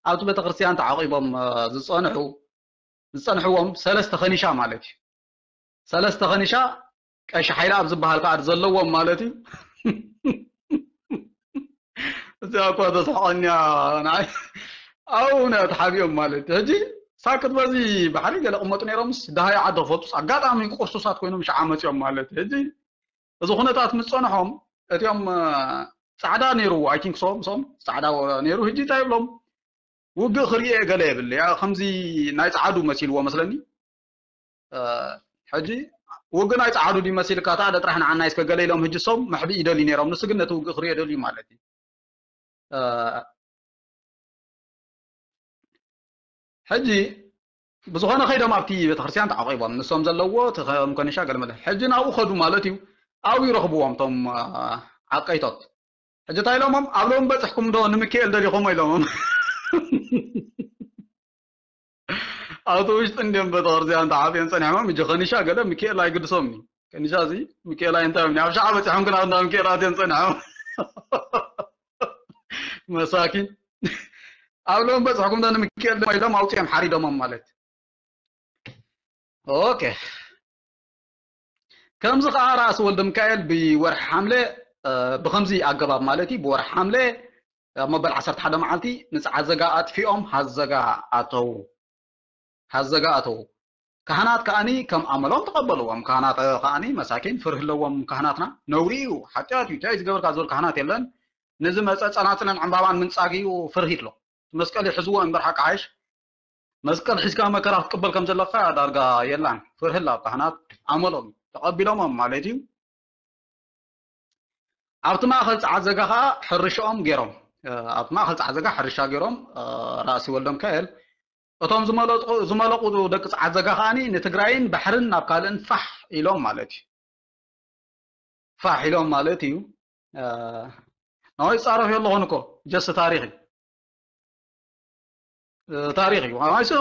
ኣብቲ ቤተክርስትያን ተዓቂቦም ዝፀንሑ ዝፀንሕዎም ሰለስተ ከኒሻ ማለት እዩ። ሰለስተ ከኒሻ ቀሺ ሓይለ ኣብ ዝበሃል ከዓ ዘለዎም ማለት እዩ። እዚኣ እኳ ተስሕቐኒ እያ ንዓይ። ኣብኡ ናይ ተሓቢኦም ማለት እዩ። ሕጂ ሳክት በዚ ባሕሪ ገለ ቅመጡ ነይሮምስ ደሃይ ዓዲ ክፈልጡስ ኣጋጣሚ ቅርሱሳት ኮይኖም ሸዓ መፂኦም ማለት እዩ። ሕጂ እዚ ኩነታት ምስ ፀንሖም እቲኦም ፃዕዳ ነይሩ I think so ምስኦም ፃዕዳ ነይሩ ሕጂ እንታይ ይብሎም ውግእ ክርእየ ገለ የብል ከምዚ ናይ ፃዓዱ መሲልዎ መስለኒ። ሕጂ ውግእ ናይ ፃዓዱ ድዩ መሲልካ ታዕደ ጥራሕ ንዓናይ እስከ ገለ ኢሎም ሕጂ ሶም መሕብኢ ይደልዩ ነይሮም ንሱ ግን ነቲ ውግእ ክርእዮ ደልዩ ማለት እዩ። ሕጂ ብዝኾነ ከይዶም ኣብቲ ቤተክርስትያን ተዓቂቦም ንሶም ዘለዎ ተኸምኮኒሻ ገለመለ ሕጂ ናብኡ ከዱ ማለት እዩ። ኣብኡ ይረኽብዎም እቶም ዓቀይቶት ሕጂ እንታይ ኢሎሞም ኣብ ሎም በፅሕኩም ዶ ንምክኤል ደሊኹሞ ኢሎሞም ኣብቲ ውሽጢ እንዲም ቤተክርስትያን ተዓፅዮም ፀኒሖም ሕጂ ከኒሻ ገለ ምክኤል ኣይግድሶም እዩ። ከኒሻ እዚ ምክኤል ኣይንታዮም ኣብ ሸዓ በፂሖም ግን ኣብንዳ ምክኤል ኣትዮም ፀኒሖም መሳኪን ኣብ ሎም በፅሕኩም ዶ ንምክኤል ዶ ኢሎም ኣውፅኦም ሓሪዶሞም ማለት ኦኬ። ከምዚ ከዓ ራእሲ ወልደ ሚካኤል ብወርሒ ሓምለ ብከምዚ ኣገባብ ማለት እዩ ብወርሒ ሓምለ ኣብ መበል ዓሰርተ ሓደ መዓልቲ ንፀዓት ዘጋ ኣጥፊኦም ሃዘጋ ኣተዉ። ሃዘጋ ኣተዉ። ካህናት ከዓኒ ከም ኣመሎም ተቐበልዎም። ካህናት ከዓኒ መሳኪን ፍርህ ኣለዎም ካህናትና። ነውሪ እዩ፣ ሓጢኣት እዩ፣ እንታይ ዝገበርካ ዝብል ካህናት የለን። ንዝመፀ ፀናፅልን ዕምባባን ምንፃግ እዩ ፍርህ ይትሎ። መስቀል ይሕዝዎ እምበር ሓቂ ሓይሽ መስቀል ሒዝካ መከራ ክትቅበል ከም ዘለካ ዳርጋ የላን። ፍርህላ ኣብ ካህናት ኣመሎም ተቐቢሎሞም ማለት እዩ። ኣብቲ ማእኸል ጸዓት ዘጋ ከዓ ሕርሻኦም ገይሮም ኣብቲ ማእኸል ጸዓት ዘጋ ሕርሻ ገይሮም ራእሲ ወልደ ሚካኤል እቶም ዝመለጡ ደቂ ጸዓት ዘጋ ከዓኒ ንትግራይን ባሕርን ናብ ካልእን ፋሕ ኢሎም ማለት እዩ። ፋሕ ኢሎም ማለት እዩ። ናወይ ጻረፍ የለኹን እኮ ጀስ ታሪኽ እዩ። ታሪኽ እዩ።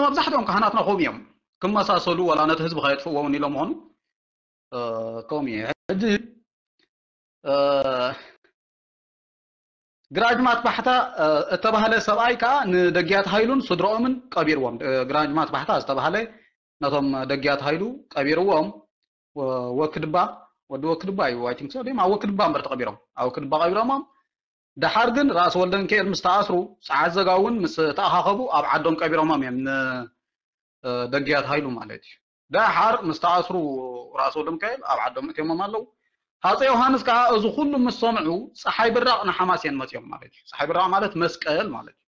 መብዛሕትኦም ካህናትና ከምኡ እዮም። ክመሳሰሉ ዋላ ነቲ ህዝቢ ከየጥፍእዎ እውን ኢሎም ምኾኑ ከምኡ እዩ። ሕጂ ግራጅማት ባሕታ እተባህለ ሰብኣይ ከዓ ንደጊያት ሃይሉን ስድረኦምን ቀቢርዎም። ግራጅማት ባሕታ ዝተባህለ ነቶም ደግያት ሃይሉ ቀቢርዎም። ወክድባ ወዲ ወክድባ እዩ I think so ድም ኣብ ወክድባ እምበር ተቐቢሮም ኣብ ወክድባ ቀቢሮሞም። ደሓር ግን ራእሲ ወልደ ሚካኤል ምስ ተኣስሩ ጸዓት ዘጋ እውን ምስ ተኣኻኸቡ ኣብ ዓዶም ቀቢሮሞም እዮም ንደግያት ሃይሉ ማለት እዩ። ደሓር ምስ ተኣስሩ ራእሲ ወልደ ሚካኤል ኣብ ዓዶም እትዮሞም ኣለዉ። ሃፀ ዮሃንስ ከዓ እዚ ኩሉ ምስ ሰምዑ ፀሓይ ብራቕ ንሓማስየን መፅኦም ማለት እዩ። ፀሓይ ብራቕ ማለት መስቀል ማለት እዩ።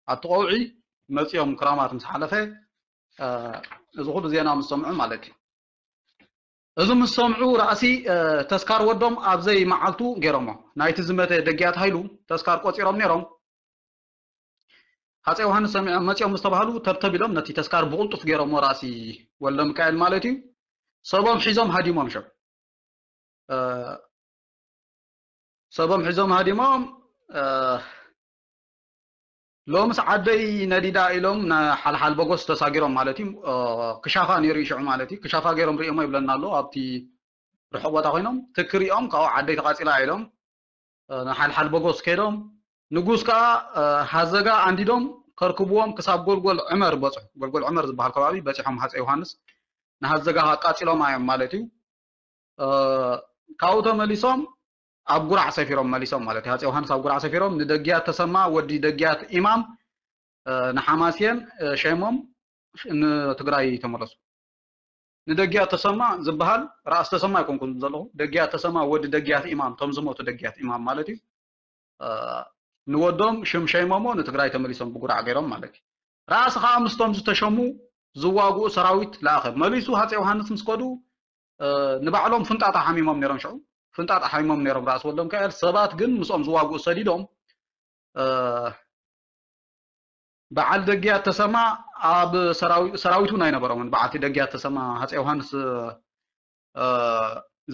ኣብቲ ቀውዒ መፅኦም ክራማት ምስ ሓለፈ እዚ ኩሉ ዜና ምስ ሰምዑ ማለት እዩ። እዚ ምስ ሰምዑ ራእሲ ተስካር ወዶም ኣብዘይ መዓልቱ ገይሮሞ ናይቲ ዝመተ ደግያት ሃይሉ ተስካር ቆፂሮም ነይሮም። ሃፀ ዮሃንስ ሰሚዖም መፂኦም ምስ ተባሃሉ ተብተብ ኢሎም ነቲ ተስካር ብቕልጡፍ ገይሮሞ ራእሲ ወልደ ሚካኤል ማለት እዩ። ሰቦም ሒዞም ሃዲሞም ሸው ሰቦም ሒዞም ሃዲሞም ሎምስ ዓደይ ነዲዳ ኢሎም ሓልሓል በጎስ ተሳጊሮም ማለት እዩ። ክሻፋ ነይሩ ይሽዑ ማለት እዩ። ክሻፋ ገይሮም ርእዮሞ ይብለና ኣሎ ኣብቲ ርሑቕ ቦታ ኮይኖም ትክሪኦም ካብኡ ዓደይ ተቃፂላ ኢሎም ንሓልሓል በጎስ ከይዶም ንጉስ ከዓ ሃዘጋ ኣንዲዶም ከርክብዎም ክሳብ ጎልጎል ዕመር በፅሑ። ጎልጎል ዕመር ዝበሃል ከባቢ በፂሖም ሃፀይ ዮሃንስ ንሃዘጋ ኣቃፂሎም እዮም ማለት እዩ። ካብኡ ተመሊሶም ኣብ ጉራዕ ሰፊሮም መሊሶም ማለት እዩ። ሃፀይ ዮሃንስ ኣብ ጉራዕ ሰፊሮም ንደጊያት ተሰማ ወዲ ደግያት ኢማም ንሓማስየን ሸይሞም ንትግራይ ተመለሱ። ንደጊያት ተሰማ ዝበሃል ራእሲ ተሰማ ኣይኮንኩን ዘለኹ። ደግያት ተሰማ ወዲ ደግያት ኢማም፣ ቶም ዝሞቱ ደግያት ኢማም ማለት እዩ። ንወዶም ሽም ሸይሞሞ ንትግራይ ተመሊሶም ብጉራዕ ገይሮም ማለት እዩ። ራእሲ ከዓ ምስቶም ዝተሸሙ ዝዋግኡ ሰራዊት ለኣኸ። መሊሱ ሃፀይ ዮሃንስ ምስ ከዱ ንባዕሎም ፍንጣጣ ሓሚሞም ነይሮም። ሽዑ ፍንጣጣ ሓሚሞም ነይሮም ራእሲ ወልደሚካኤል። ሰባት ግን ምስኦም ዝዋግኡ ሰዲዶም በዓል ደግያት ተሰማ ኣብ ሰራዊት እውን ኣይነበሮምን። በዓልቲ ደግያት ተሰማ ሃፀይ ዮሃንስ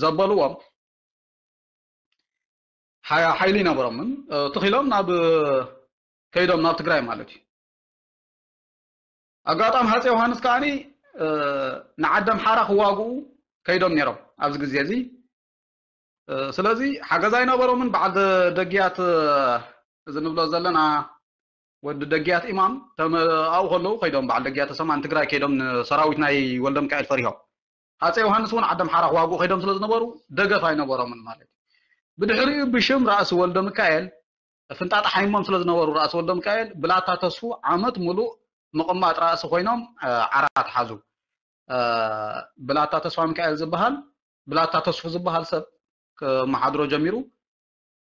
ዘበልዎም ሓይሊ ይነበሮምን ትኺሎም ናብ ከይዶም ናብ ትግራይ ማለት እዩ። ኣጋጣሚ ሃፀይ ዮሃንስ ከዓኒ ንዓዲ ኣምሓራ ክዋግኡ ከይዶም ነይሮም ኣብዚ ግዜ እዚ። ስለዚ ሓገዝ ኣይነበሮምን። በዓል ደግያት እዚ ንብሎ ዘለና ወዲ ደግያት ኢማም ኣብኡ ከለዉ ከይዶም በዓል ደግያት ተሰማ ንትግራይ ከይዶም ንሰራዊት ናይ ወልደሚካኤል ፈሪሆም። ሃፀይ ዮሃንስ እውን ዓዲ ኣምሓራ ክዋግኡ ከይዶም ስለ ዝነበሩ ደገፍ ኣይነበሮምን ማለት እዩ። ብድሕሪኡ ብሽም ራእሲ ወልደሚካኤል ፍንጣጣ ሓይሞም ስለ ዝነበሩ ራእሲ ወልደሚካኤል ብላታ ተስፉ ዓመት ሙሉእ ምቕማጥ ራእሲ ኮይኖም ዓራት ሓዙ። ብላታ ተስፋ ሚካኤል ዝበሃል ብላታ ተስፉ ዝበሃል ሰብ ክመሓድሮ ጀሚሩ።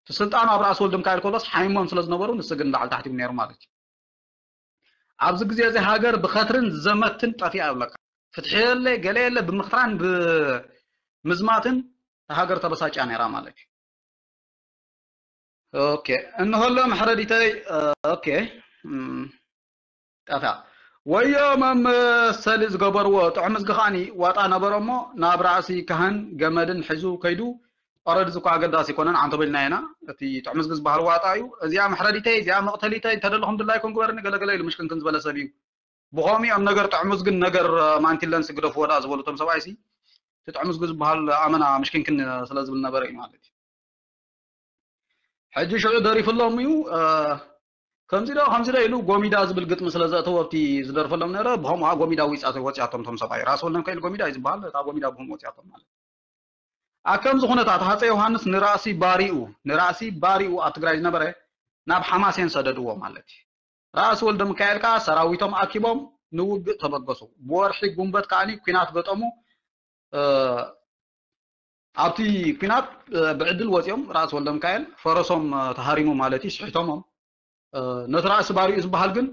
እቲ ስልጣኑ ኣብ ራእሲ ወልደሚካኤል ከሎስ ሓይሞም ስለ ዝነበሩ ንሱ ግን ላዕሊ ታሕቲ ነይሩ ማለት እዩ። ኣብዚ ግዜ እዚ ሃገር ብኸትርን ዘመትን ጠፊኣ ይብለካ። ፍትሒ የለ ገለ የለ ብምኽትራን ብምዝማትን ሃገር ተበሳጫ ነይራ ማለት እዩ። ኦኬ እንሆሎ መሕረዲተይ። ኦኬ ጠፋ። ወዮ መመሰሊ ዝገበርዎ ጥዑም ዝጊ ከዓኒ ዋጣ ነበሮ እሞ ናብ ራእሲ ካህን ገመድን ሒዙ ከይዱ። ኦረዲ ዝኮ ኣገዳሲ ይኮነን ዓንቶ በልና ኢና። እቲ ጥዑም ዝጊ ዝበሃል ዋጣ እዩ። እዚኣ መሕረዲተይ እዚኣ መቕተሊተይ እንተደለኹም ድላይኩም ግበርኒ ገለገለ ኢሉ ምሽክንክን ዝበለ ሰብ እዩ። ብኸምኡ እዮም ነገር ጥዑም ዝግን ነገር ማንቲለን ስግደፍዎ ዳ ዝበሉ እቶም ሰብኣይሲ እቲ ጥዑም ዝጊ ዝበሃል ኣመና ምሽክንክን ስለ ዝብል ነበረ እዩ ማለት እዩ። ሕጂ ሽዑ ደሪፍሎም እዩ። ከምዚ ዶ ከምዚ ዶ ኢሉ ጎሚዳ ዝብል ግጥሚ ስለ ዘእተወ ኣብቲ ዝደርፈሎም ነረ ብኸምኡ ጎሚዳ ወፂኣቶም ቶም ሰብኣይ ራስ ወልደሚካኤል ጎሚዳ እዩ ዝበሃል። እታ ጎሚዳ ብኸምኡ ወፂኣቶም ማለት ኣከምዚ ኩነታት ሃፀ ዮሃንስ ንራእሲ ባሪኡ ንራእሲ ባሪኡ ኣብ ትግራይ ዝነበረ ናብ ሓማሴን ሰደድዎ ማለት እዩ። ራእሲ ወልደሚካኤል ከዓ ሰራዊቶም ኣኪቦም ንውግእ ተበገሱ። ብወርሒ ጉንበት ከዓ ኩናት ገጠሙ። ኣብቲ ኩናት ብዕድል ወፂኦም ራእሲ ወልደሚካኤል ፈረሶም ተሃሪሙ ማለት እዩ ስሒቶሞም። ነቲ ራእሲ ባሪኡ ዝበሃል ግን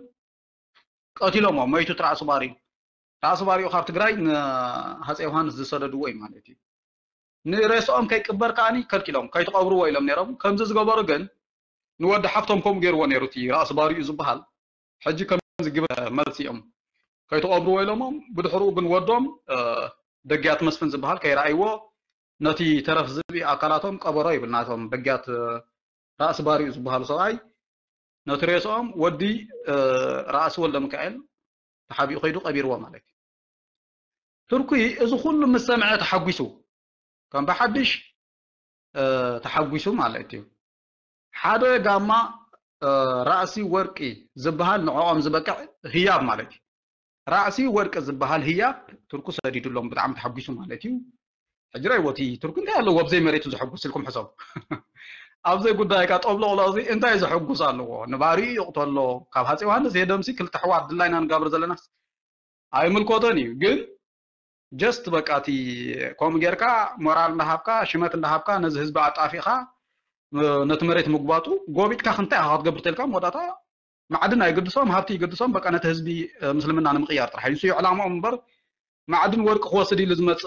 ቀቲሎሞ መይቱ እቲ ራእሲ ባሪኡ። ራእሲ ባሪኡ ካብ ትግራይ ንሃፀ ዮሃንስ ዝሰደድዎ እዩ ማለት እዩ። ንሬስኦም ከይቅበር ከዓኒ ከልኪሎም ከይትቐብርዎ ኢሎም ነይሮም። ከምዚ ዝገበሩ ግን ንወዲ ሓፍቶም ከምኡ ገይርዎ ነይሩ እቲ ራእሲ ባሪኡ ዝበሃል። ሕጂ ከምዚ ግብር መልሲ እዮም ከይትቐብርዎ ኢሎሞም። ብድሕርኡ ግን ወዶም ደግያት መስፍን ዝበሃል ከይረኣይዎ ነቲ ተረፍ ዝብኢ ኣካላቶም ቀበሮ ይብል ናቶም ደግያት ራእሲ ባሪኡ ዝበሃሉ ሰብኣይ ነቲ ሬስኦም ወዲ ራእሲ ወልደ ሚካኤል ተሓቢኡ ከይዱ ቀቢርዎ ማለት እዩ። ትርኩይ እዚ ኩሉ ምስ ሰምዐ ተሓጒሱ ከም ብሓድሽ ተሓጒሱ ማለት እዩ። ሓደ ጋማ ራእሲ ወርቂ ዝበሃል ንዕኦም ዝበቅዕ ህያብ ማለት እዩ። ራእሲ ወርቂ ዝበሃል ህያብ ትርኩ ሰዲዱሎም ብጣዕሚ ተሓጒሱ ማለት እዩ። ሕጂ ረይዎ እቲ ትርኩ እንታይ ኣለዎ ኣብዘይ መሬቱ ዘሐጉስ ኢልኩም ሕሰቡ። ኣብዘይ ጉዳይ ካ ጠብሎቕሎቕ እዚ እንታይ ዘሐጉስ ኣለዎ? ንባሪኡ ይቕተሎ ካብ ሃፀ ዮሃንስ የደምሲ ክልተ ኣሕዋት ድላይና ንጋብር ዘለናስ ኣይምልከቶን እዩ። ግን just በቃ እቲ ከምኡ ጌርካ ሞራል እንዳሃብካ ሽመት እንዳሃብካ ነዚ ህዝቢ ኣጣፊእካ ነቲ መሬት ምግባጡ ጎቢጥካ ክንታይ ኢኻ ክትገብር ተልካ መወዳእታ ማዕድን ኣይግድሶም ሃብቲ ይግድሶም በቃ ነቲ ህዝቢ ምስልምና ንምቕያር ጥራሕ እዩ። ንሱ እዩ ዕላምኦም እምበር ማዕድን ወርቂ ክወስድ ኢሉ ዝመፅእ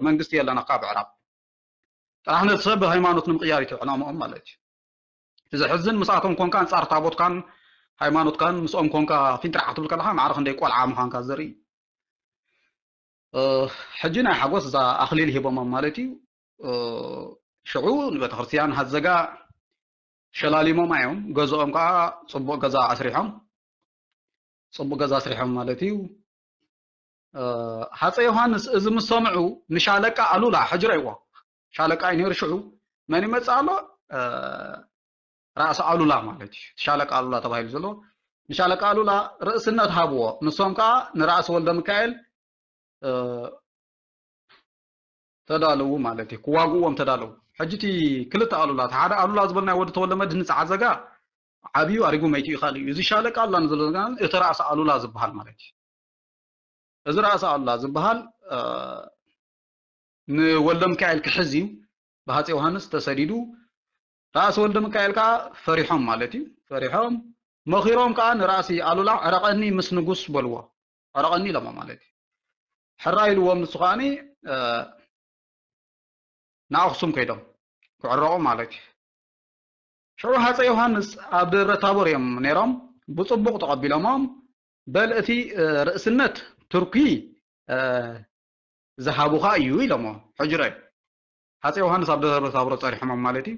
መንግስቲ የለን ካብ ኣዕራብ። ጥራሕ ነቲ ሰብ ሃይማኖት ንምቕያር እዩ ዕላምኦም ማለት እዩ። እቲ ዘሕዝን ምስኣቶም ኮንካ ኣንፃር ታቦትካን ሃይማኖትካን ምስኦም ኮንካ ፊንጥራሕ ክትብል ከለካ ማዕረ ክንደይ ቆልዓ ምዃንካ ዘርኢ እዩ። ሕጂ ናይ ሓጎስ እዛ ኣኽሊል ሂቦሞም ማለት እዩ። ሽዑ ንቤተክርስትያን ሃዘጋ ሸላሊሞም እዮም። ገዝኦም ከዓ ፅቡቕ ገዛ ኣስሪሖም ፅቡቕ ገዛ ኣስሪሖም ማለት እዩ። ሃፀ ዮሃንስ እዚ ምስ ሰምዑ ንሻለቃ ኣሉላ ሕጂ ረይዎ ሻለቃ እዩ ነይሩ ሽዑ መን ይመፅእ ኣሎ? ራእሲ ኣሉላ ማለት እዩ። ሻለቃ ኣሉላ ተባሂሉ ዘሎ ንሻለቃ ኣሉላ ርእስነት ሃብዎ። ንሶም ከዓ ንራእሲ ወልደ ሚካኤል ተዳለዉ ማለት እዩ፣ ክዋግእዎም ተዳለዉ። ሕጂ እቲ ክልተ ኣሉላ፣ እቲ ሓደ ኣሉላ ዝበልናዮ ወዲ ተወልደ መድህን ጸዓዘጋ ዓብዩ ኣሪጉ መይቱ ይኽእል እዩ። እዚ ሻለቃ ኣሉላ ንዘለና እቲ ራእሲ ኣሉላ ዝበሃል ማለት እዩ። እዚ ራእሲ ኣሉላ ዝበሃል ንወልደ ሚካኤል ክሕዝ እዩ ብሃፀ ዮሃንስ ተሰዲዱ። ራእሲ ወልደ ሚካኤል ከዓ ፈሪሖም ማለት እዩ። ፈሪሖም መኺሮም ከዓ ንራእሲ ኣሉላ ዕረቐኒ ምስ ንጉስ በልዎ። ዕረቐኒ ኢሎሞ ማለት እዩ። ሕራ ኢልዎም ንሱ ከዓኒ ንኣኽሱም ከይዶም ክዕረቑ ማለት እዩ። ሽዑ ሃፀ ዮሃንስ ኣብ ደብረ ታቦር እዮም ነይሮም። ብፅቡቕ ተቐቢሎሞም በል እቲ ርእስነት ቱርኪ ዝሃቡኻ እዩ ኢሎሞ። ሕጅረ ሃፀ ዮሃንስ ኣብ ደብረ ታቦር ፀሪሖሞም ማለት እዩ።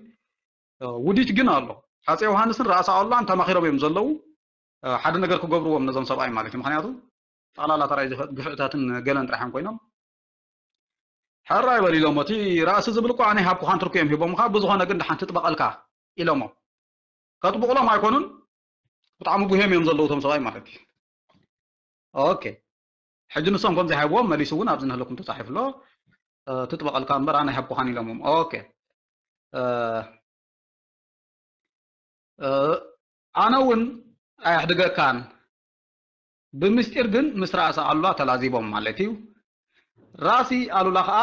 ውዲት ግን ኣሎ። ሃፀ ዮሃንስን ራእሲ ኣሉላን ተማኺሮም እዮም ዘለዉ። ሓደ ነገር ክገብርዎም ነዞም ሰብኣይ ማለት እዩ። ምክንያቱ ጠቕላላ ተራይ ግፍዕታትን ገለን ጥራሕ እዮም ኮይኖም። ሕራይ በል ኢሎም እቲ ራእሲ ዝብል እኮ ኣነ ሃብኩኻን ትርኩ እዮም ሂቦምኻ። ብዝኾነ ግን ደሓን ትጥበቐልካ ኢሎሞ። ከጥብቕሎም ኣይኮኑን። ብጣዕሚ ጉሄም እዮም ዘለዉ እቶም ሰብኣይ ማለት እዩ። ኦኬ ሕጂ ንሶም ከም ዘይሃብዎም መሊሱ እውን ኣብዚ ንህለኩም ተፃሒፉ ኣሎ። ትጥበቐልካ እምበር ኣነ ሃብኩኻን ኢሎሞም። ኦኬ ኣነ እውን ኣየሕድገካን። ብምስጢር ግን ምስ ራእሲ ኣሉላ ተላዚቦም ማለት እዩ። ራእሲ ኣሉላ ከዓ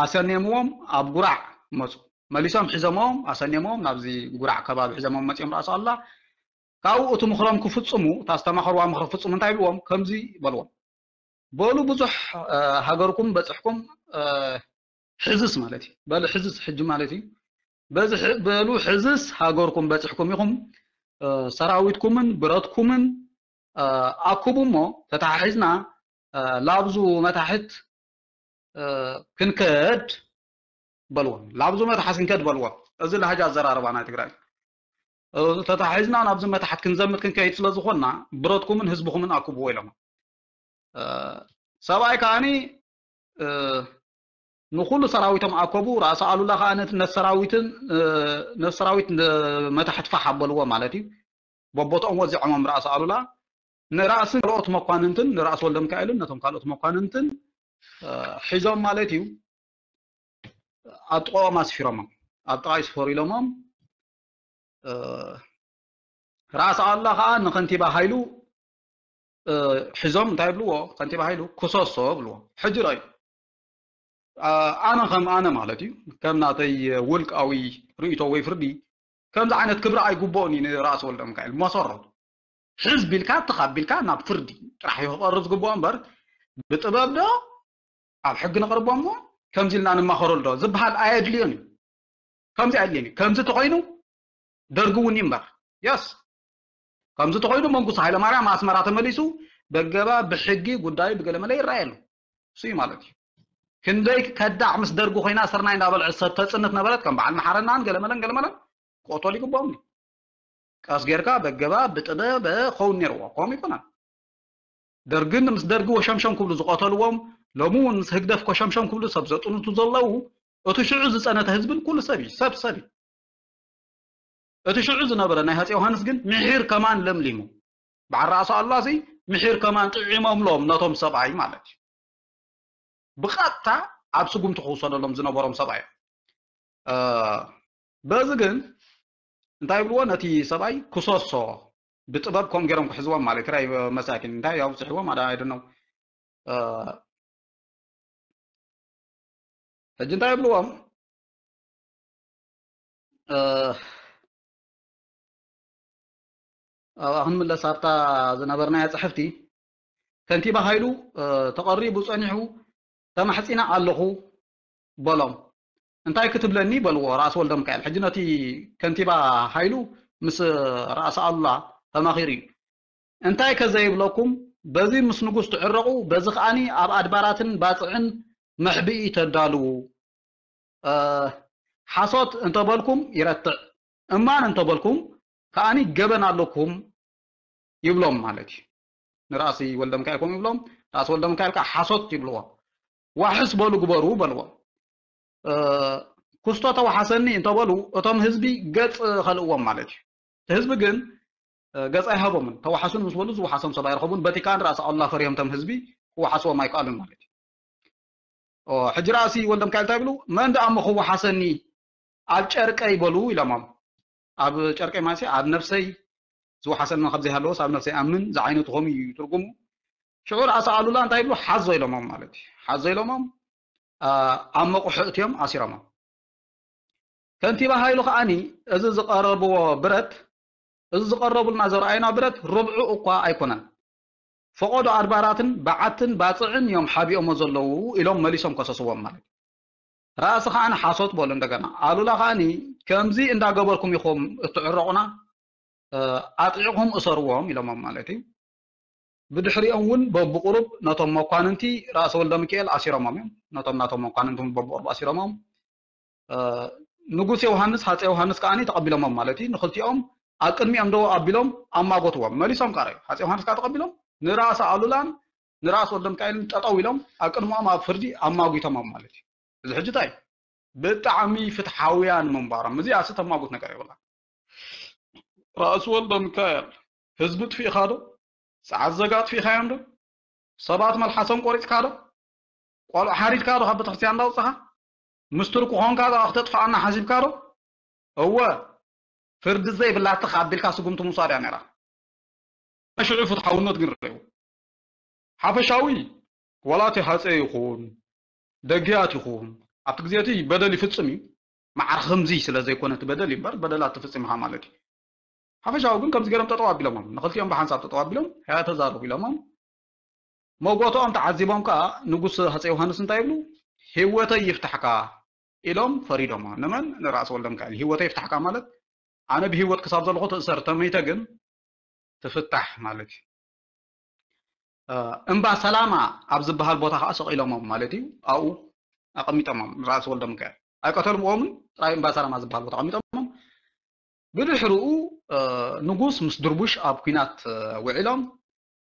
ኣሰንየምዎም ኣብ ጉራዕ መፁ። መሊሶም ሒዘምዎም ኣሰንየምዎም ናብዚ ጉራዕ ከባቢ ሒዘምዎም መፂኦም ራእሲ ኣሉላ። ካብኡ እቲ ምኽሮም ክፍፅሙ እታ ዝተማኸርዋ ምኽሪ ክፍፅሙ እንታይ ይብልዎም ከምዚ በልዎም። በሉ ብዙሕ ሃገርኩም በፅሕኩም ሕዝስ ማለት እዩ። በሉ ሕዝስ ሕጂ ማለት እዩ። በሉ ሕዝስ ሃገርኩም በፅሕኩም ኢኹም ሰራዊትኩምን ብረትኩምን ኣኩቡ እሞ ተተሓሒዝና ላብዙ መታሕት ክንከድ በልዎ። ላብዙ መታሕት ክንከድ በልዎ። እዚ ላህጃ ኣዘራርባ ናይ ትግራይ ተተሓሒዝና ናብዚ መታሕት ክንዘምት ክንከይድ ስለ ዝኾንና ብረትኩምን ህዝብኹምን ኣኩብዎ ኢሎም። ሰብኣይ ከዓኒ ንኩሉ ሰራዊቶም ኣኮቡ። ራእሲ ኣሉላ ከዓ ነቲ ነቲ ሰራዊትን ነቲ ሰራዊት መታሕት ፋሕ ኣበልዎ ማለት እዩ። በቦትኦም ወዚዖሞም ራእሲ ኣሉላ ንራእሲ ካልኦት መኳንንትን ንራእሲ ወልደ ሚካኤልን ነቶም ካልኦት መኳንንትን ሒዞም ማለት እዩ ኣብ ጥቃኦም ኣስፊሮሞም። ኣብ ጥቃይ ስፈሩ ኢሎሞም። ራእሲ ኣሉላ ከዓ ንከንቲባ ሃይሉ ሒዞም እንታይ ይብልዎ? ከንቲባ ሃይሉ ክሰሶ ብልዎ። ሕጂ ረዩ ኣነ ከም ኣነ ማለት እዩ ከም ናተይ ውልቃዊ ርእቶ ወይ ፍርዲ ከምዚ ዓይነት ክብሪ ኣይግብኦን እዩ ንራእሲ ወልደ ሚካኤል መሰረቱ። ሕዝቢ ኢልካ ተኻቢልካ ናብ ፍርዲ ጥራሕ እዩ ክቐርብ ዝግብኦ እምበር ብጥበብ ዶ ኣብ ሕጊ ነቕርቦ እሞ ከምዚ ኢልና ንማኸረሉ ዶ ዝበሃል ኣየድልዮን እዩ። ከምዚ ኣድልየኒ ከምዚ ተኮይኑ ደርጊ እውን ይንበር የስ ከምዚ ተኮይኑ መንግስቱ ሃይለማርያም ኣስመራ ተመሊሱ በገባ ብሕጊ ጉዳዩ ብገለመለ ይረኣየሉ እሱ እዩ ማለት እዩ። ክንደይ ከዳዕ ምስ ደርጊ ኮይና ስርናይ እንዳበልዐ ሰብ ተፅንት ነበረት ከም በዓል መሓረናን ገለመለን ገለመለን ክቆተሉ ይግባኦም እዩ። ቀስ ጌርካ በገባ ብጥበብ ከውን ነርዎ ከምኡ ይኮናል። ደርግን ምስ ደርጊ ወሸምሸም ክብሉ ዝቆተልዎም ሎሚ እውን ምስ ህግደፍ ኮሸምሸም ክብሉ ሰብ ዘጥንቱ ዘለዉ እቲ ሽዑ ዝጸነተ ህዝብን ኩሉ ሰብ እዩ ሰብ ሰብ እዩ። እቲ ሽዑ ዝነበረ ናይ ሃፀ ዮሃንስ ግን ምሒር ከማን ለምሊሙ በዓል ራእሲ ኣሉላ ሲ ምሒር ከማን ጥዒሞምሎም ነቶም ሰብኣይ ማለት እዩ። ብቐጥታ ኣብ ስጉምቲ ክውሰደሎም ዝነበሮም ሰብኣይ እዮም። በዚ ግን እንታይ ይብልዎ ነቲ ሰብኣይ ክሰሶ ብጥበብ ከም ገይሮም ክሕዝዎም ማለት ራይ መሳኪን እንታይ ኣውፅሕዎም ኣዳ ኣይደነው ሕጂ እንታይ ይብልዎም ኣብኣ ክንምለስ ኣብታ ዝነበርናያ ፅሕፍቲ ከንቲባ ሃይሉ ተቐሪቡ ፀኒሑ ተማሕፂና ኣለኹ በሎም። እንታይ ክትብለኒ በልዎ ራእሲ ወልደ ሚካኤል። ሕጂ ነቲ ከንቲባ ሃይሉ ምስ ራእሲ ኣሉላ ተማኺሩ እዩ። እንታይ ከዘይብለኩም በዚ ምስ ንጉስ ትዕረቑ በዚ ከዓኒ ኣብ ኣድባራትን ባፅዕን መሕብኢ ተዳልዉ። ሓሶት እንተበልኩም ይረትዕ እማን እንተበልኩም ከዓኒ ገበን ኣለኩም ይብሎም ማለት እዩ። ንራእሲ ወልደ ሚካኤል ከምኡ ይብሎም። ራእሲ ወልደ ሚካኤል ከዓ ሓሶት ይብልዎ። ዋሕስ በሉ ግበሩ በልዎ። ክስቶ ተዋሓሰኒ እንተበሉ እቶም ህዝቢ ገፅ ከልእዎም ማለት እዩ። እቲ ህዝቢ ግን ገጽ ኣይሃቦምን። ተዋሓሱን ምስ በሉ ዝወሓሶም ሰብ ኣይረኸቡን። በቲ ከኣ ንራእሲ ኣሉላ ፈሪሆም እቶም ህዝቢ ክወሓስዎም ኣይከኣሉን ማለት እዩ። ሕጂ ራእሲ ወልደ ሚካኤል እንታይ ይብሉ? መን ደኣ እሞ ክወሓሰኒ ኣብ ጨርቀይ በሉ ኢሎሞም። ኣብ ጨርቀይ ማለት ኣብ ነፍሰይ ዝወሓሰኒ ካብ ዘይሃለወስ ኣብ ነፍሰይ ኣምን ዝዓይነቱ ከምኡ እዩ ትርጉሙ። ሽዑ ራእሲ ኣሉላ እንታይ ይብሉ? ሓዞ ኢሎሞም ማለት እዩ። ሓዞ ኢሎሞም ኣብ መቑሑ እትዮም ኣሲሮሞም። ከንቲባ ሃይሉ ከዓኒ እዚ ዝቐረብዎ ብረት፣ እዚ ዝቐረቡልና ዘርኣዩና ብረት ርብዑ እኳ ኣይኮነን። ፈቐዶ ኣድባራትን በዓትን ባፅዕን እዮም ሓቢኦሞ ዘለዉ ኢሎም መሊሶም ከሰስዎም ማለት እዩ። ራእሲ ከዓኒ ሓሶት በሉ እንደገና። ኣሉላ ከዓኒ ከምዚ እንዳገበርኩም ኢኹም እትዕረቑና፣ ኣጥዒቕኹም እሰርዎም ኢሎሞም ማለት እዩ። ብድሕሪኦም እውን በብቁሩብ ነቶም መኳንንቲ ራእሲ ወልደ ሚካኤል ኣሲሮሞም እዮም። ነቶም ናቶም መኳንንቲ እውን በብቁሩብ ኣሲሮሞም ንጉስ ዮሃንስ ሃፀ ዮሃንስ ከዓኒ ተቐቢሎሞም ማለት እዩ። ንክልቲኦም ኣብ ቅድሚኦም ደው ኣቢሎም ኣማጎትዎም። መሊሶም ከዓ ሃፀ ዮሃንስ ከዓ ተቐቢሎም ንራእሲ ኣሉላን ንራእሲ ወልደ ሚካኤልን ጠጠው ኢሎም ኣብ ቅድሚኦም ኣብ ፍርዲ ኣማጒቶሞም ማለት እዩ። እዚ ሕጂ እንታይ ብጣዕሚ ፍትሓውያን ምንባሮም እዚኣ ሲ ተማጉት ነገር የብላ። ራእሲ ወልደ ሚካኤል ህዝቢ ጥፊእኻ ዶ? ሰዓት ዘጋ ኣጥፊእኻዮም ዶ? ሰባት መልሓሶም ቆሪፅካ ዶ? ቆልዑ ሓሪድካ ዶ ካብ ቤተክርስትያን እንዳውፅኻ? ምስትር ክኾንካ ዶ ክተጥፍኣና ሓሲብካ ዶ? እወ ፍርዲ ዘይብላ ትኽ ኣቢልካ ስጉምቲ ምውሳድ እያ ነይራ። ሽዑ ፍትሓውነት ግን ረእዩ ሓፈሻዊ ዋላ እቲ ሃፀ ይኹን ደግያት ይኹን ኣብቲ ግዜ እቲ በደል ይፍፅም እዩ። ማዕረ ከምዚ ስለ ዘይኮነ እቲ በደል እዩ እምበር በደላት ትፍፅም ኢኻ ማለት እዩ። ሓፈሻዊ ግን ከምዚ ገይሮም ጠጠው ኣቢሎሞም ንክልቲኦም ብሓንሳብ ጠጠው ኣቢሎም ያ ተዛረቡ ኢሎሞም መጎትኦም ተዓዚቦም ከዓ ንጉስ ሃፀ ዮሃንስ እንታይ ይብሉ? ህይወተይ ይፍታሕካ ኢሎም ፈሪዶሞ። ንመን? ንራእሲ ወልደ ሚካኤል። ህይወተይ ይፍታሕካ ማለት ኣነ ብህይወት ክሳብ ዘለኹ ትእሰር ተመይተ ግን ትፍታሕ ማለት እዩ። እምባ ሰላማ ኣብ ዝበሃል ቦታ ከዓ ሰቒሎሞም ማለት እዩ። ኣብኡ ኣቐሚጦሞም ንራእሲ ወልደ ሚካኤል ኣይቀተልምኦምን። ጥራይ እምባ ሰላማ ዝበሃል ቦታ ኣቐሚጦሞም። ብድሕርኡ ንጉስ ምስ ድርቡሽ ኣብ ኲናት ውዒሎም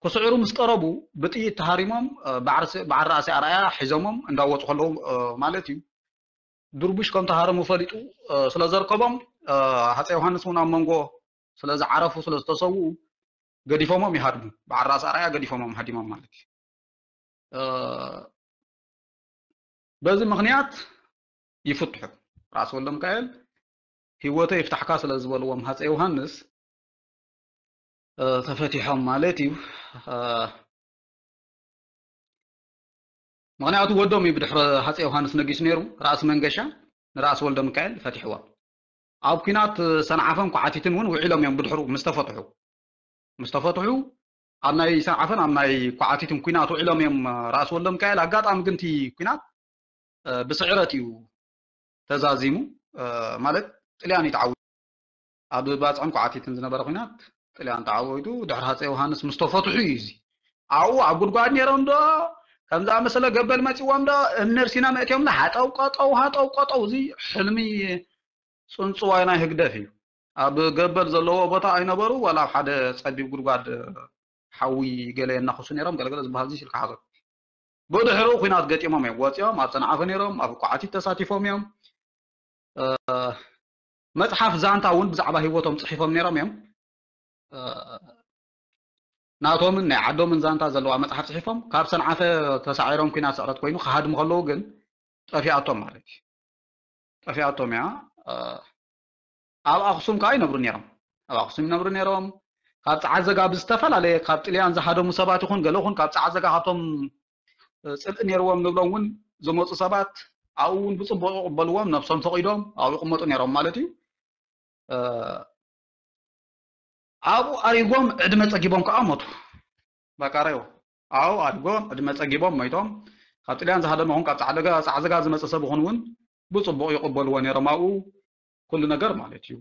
ክስዕሩ ምስ ቀረቡ ብጥይት ተሃሪሞም በዓል ራእሲ ኣርኣያ ሒዞሞም እንዳወፁ ከለዉ ማለት እዩ። ድርቡሽ ከም ተሃረሙ ፈሊጡ ስለ ዘርከቦም ሃፀ ዮሃንስ እውን ኣብ መንጎ ስለ ዝዓረፉ ስለ ዝተሰውኡ ገዲፎሞም ይሃድሙ። በዓል ራእሲ ኣርኣያ ገዲፎሞም ሃዲሞም ማለት እዩ። በዚ ምኽንያት ይፍትሑ። ራእሲ ወልደ ሚካኤል ህይወተይ ይፍታሕካ ስለ ዝበልዎም ሃፀ ዮሃንስ ተፈቲሖም ማለት እዩ። ምኽንያቱ ወዶም እዩ ብድሕሪ ሃፀ ዮሃንስ ነጊሱ ነይሩ። ራእሲ መንገሻ ንራእሲ ወልደ ሚካኤል ፈቲሕዎም። ኣብ ኲናት ሰንዓፈን ኳዕቲትን እውን ውዒሎም እዮም ብድሕሩ ምስ ተፈትሑ ምስ ተፈትሑ ኣብ ናይ ሰንዓፈን ኣብ ናይ ኳዕቲትን ኲናት ውዒሎም እዮም ራእሲ ወልደ ሚካኤል። ኣጋጣሚ ግን እቲ ኲናት ብስዕረት እዩ ተዛዚሙ ማለት ጥልያን እዩ ተዓዊቱ። ኣብ ባፅዕን ኳዕቲትን ዝነበረ ኲናት ጥልያን ተዓዊቱ ድሕሪ ሃፀ ዮሃንስ ምስ ተፈትሑ እዩ እዚ ኣብኡ ኣብ ጉድጓድ ነይሮም ዶ ከም ዝኣመሰለ ገበል መፂዎም ዶ እምኒ ርሲና መእትዮም ዶ ሃጠው ቀጠው ሃጠው ቀጠው እዚ ሕልሚ ፅንፅዋይ ናይ ህግደፍ እዩ። ኣብ ገበል ዘለዎ ቦታ ኣይነበሩ ዋላ ኣብ ሓደ ፀቢብ ጉድጓድ ሓዊ ገለ የናኽሱ ነይሮም ገለገለ ዝበሃል እዚ ኢልካ ሓዞ። ብድሕሩ ኲናት ገጢሞም እዮም ወፂኦም ኣብ ሰንዓፈ ነይሮም ኣብ ኳዕቲት ተሳቲፎም እዮም። መፅሓፍ ዛንታ እውን ብዛዕባ ህይወቶም ፅሒፎም ነይሮም እዮም። ናቶምን ናይ ዓዶምን ዛንታ ዘለዋ መፅሓፍ ፅሒፎም ካብ ሰንዓፈ ተሳዒሮም ኲናት ስዕረት ኮይኑ ክሃድሙ ከለዉ ግን ጠፊኣቶም ማለት እዩ። ጠፊኣቶም እያ። ኣብ ኣክሱም ከዓ ይነብሩ ነይሮም። ኣብ ኣክሱም ይነብሩ ነይሮም። ካብ ፀዓት ዘጋ ብዝተፈላለየ ካብ ጥልያን ዝሃደሙ ሰባት ይኹን ገለ ይኹን ካብ ፀዓት ዘጋ ካብቶም ፅልኢ ነይርዎም ንብሎም እውን ዝመፁ ሰባት ኣብኡ እውን ብፅቡቅ ይቕበልዎም። ነብሶም ፈቒዶም ኣብኡ ይቕመጡ ነይሮም ማለት እዩ። ኣብኡ ኣሪጎም ዕድመ ፀጊቦም ከዓ ሞቱ። በቃ ረዮ ኣብኡ ኣሪጎም ዕድመ ፀጊቦም ሞይቶም። ካብ ጥልያን ዝሃደመ ይኹን ካብ ፃዕዘጋ ዝመፀ ሰብ ይኹን እውን ብፅቡቅ ይቕበልዎ ነይሮም ኣብኡ ኩሉ ነገር ማለት እዩ።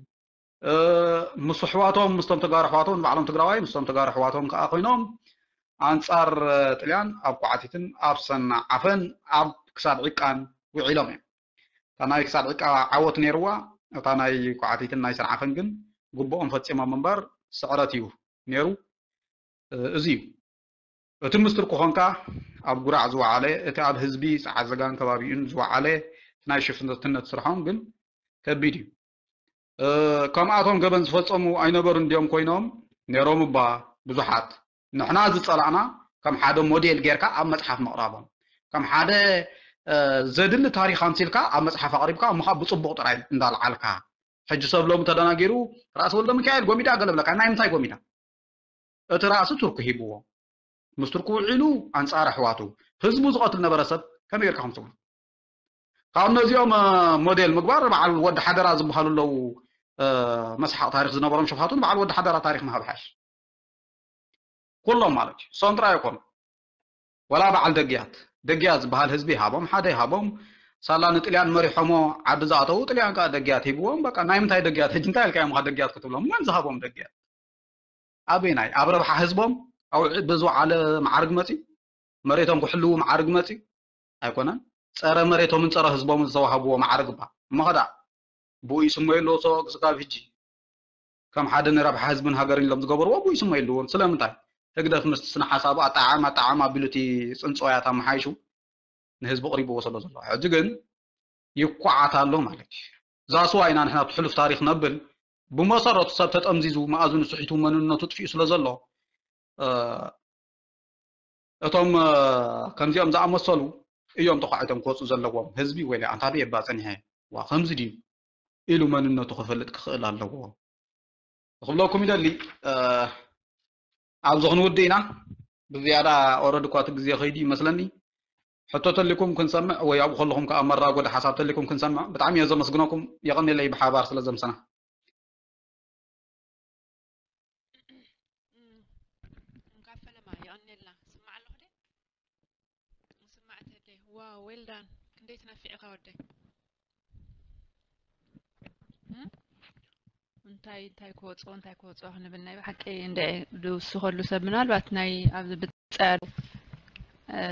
ምስ ኣሕዋቶም ምስቶም ተጋሩ ኣሕዋቶም ንባዕሎም ትግራዋይ ምስቶም ተጋሩ ኣሕዋቶም ከዓ ኮይኖም ኣንፃር ጥልያን ኣብ ኳዕቲትን ኣብ ሰንዓፈን ኣብ ክሳብ ዕቃን ውዒሎም እዮም። እታ ናይ ክሳብ ዕቃ ዓወት ነይርዋ እታ ናይ ኳዕቲትን ናይ ሰንዓፈን ግን ግቡኦም ፈፂሞም እምበር ስዕረት እዩ ነይሩ። እዚ እዩ እቲ ምስጢር ክኾንካ ኣብ ጉራዕ ዝወዓለ እቲ ኣብ ህዝቢ ፃዓዘጋን ከባቢኡን ዝወዓለ ናይ ሽፍትነት ስርሖም ግን ከቢድ እዩ። ከምኣቶም ገበን ዝፈፀሙ ኣይነበሩን ድዮም ኮይኖም ነይሮም እባ ብዙሓት። ንሕና ዝጸላእና ከም ሓደ ሞዴል ጌርካ ኣብ መጽሓፍ ምቕራቦም፣ ከም ሓደ ዘድሊ ታሪኽ ኣምሲልካ ኣብ መጽሓፍ ኣቕሪብካ፣ እሞ ብጽቡቕ ጥራይ እንዳልዓልካ። ሕጂ ሰብ ሎሚ ተደናጊሩ፣ ራእሲ ወልደ ሚካኤል ጎሚዳ ገለ ብለካ። ናይ ምንታይ ጎሚዳ? እቲ ራእሲ ቱርኪ ሂብዎ። ምስ ቱርኪ ውዒሉ ኣንጻር ኣሕዋቱ ህዝቡ ዝቐትል ነበረ ሰብ ከመይ ጌርካ ከምስሉ? ካብ ነዚኦም ሞዴል ምግባር በዓል ወዲ ሓደራ ዝበሃሉ ኣለዉ። መስሓቕ ታሪኽ ዝነበሮም ሸፋቱን በዓል ወዲ ሓደራ ታሪኽ ምሃብ ሓሽ ኩሎም ማለት እዩ። እሶም ጥራይ ኣይኮኑ። ወላ በዓል ደግያት፣ ደግያት ዝበሃል ህዝቢ ይሃቦም፣ ሓደ ይሃቦም። ሳላ ንጥልያን መሪሖሞ ዓዲ ዝኣተዉ፣ ጥልያን ከዓ ደግያት ሂብዎም። በቃ ናይ ምንታይ ደግያት? ሕጂ እንታይ ኢልካ እዮም ከ ደግያት ክትብሎም? መን ዝሃቦም ደግያት? ኣበይናይ? ኣብ ረብሓ ህዝቦም ኣብ ብዝወዓለ መዓርግ መፂ መሬቶም ክሕልዉ መዓርግ መፂ ኣይኮነን። ፀረ መሬቶምን ፀረ ህዝቦምን ዝተዋህብዎ መዓርግ እባ እሞ ኸዳ ብኡ ይስመዩ ኣለዉ። ሰው ክስካብ ሕጂ ከም ሓደ ንረብሓ ህዝብን ሃገርን ኢሎም ዝገበርዎ ብኡ ይስመዩ ኣለዎም። ስለምንታይ? ህግደፍ ምስቲ ስነ ሓሳቡ ኣጠዓዕም ኣጠዓዕም ኣቢሉ እቲ ፅንፅዋያት ኣመሓይሹ ንህዝቢ ቅሪብዎ ስለ ዘሎ። ሕጂ ግን ይኳዓት ኣሎ ማለት እዩ። ዛስዋ ኢና ንሕና እቲ ሕሉፍ ታሪኽ ነብል። ብመሰረቱ ሰብ ተጠምዚዙ መኣዝኑ ስሒቱ መንነቱ ጥፊኡ ስለ ዘሎ እቶም ከምዚኦም ዝኣመሰሉ እዮም ተኳዒቶም ክወፁ ዘለዎም። ህዝቢ ወይ ኣንታ ኣበይ እባ ፀኒሐ ዋ ከምዚ ድዩ ኢሉ መንነቱ ክፈልጥ ክኽእል ኣለዎ ክብለኩም ይደሊ። ኣብዚ ክንውድእ ኢና። ብዝያዳ ኦረድ እኳ እቲ ግዜ ከይዱ ይመስለኒ። ሕቶ ተሊኩም ክንሰምዕ ወይ ኣብኡ ከለኹም ከዓ መራጎዲ ሓሳብ ተሊኩም ክንሰምዕ ብጣዕሚ እየ ዘመስግነኩም። የቐንየለይ ብሓባር ስለ ዘምሰና። እንካፈለማ የቐንየልና። ስማዕ ኣለኹ ደ ስማዕ ተደይ ዋ ዌልዳን ክንደይ ትነፊዕኻ ወደይ እንታይ እንታይ ክወፅኦ እንታይ ክወፅኦ ክንብል ናይ ብሓቂ እንደ ዝውስኸሉ ሰብ ምናልባት ናይ ኣብዚ ብፃ ያሉ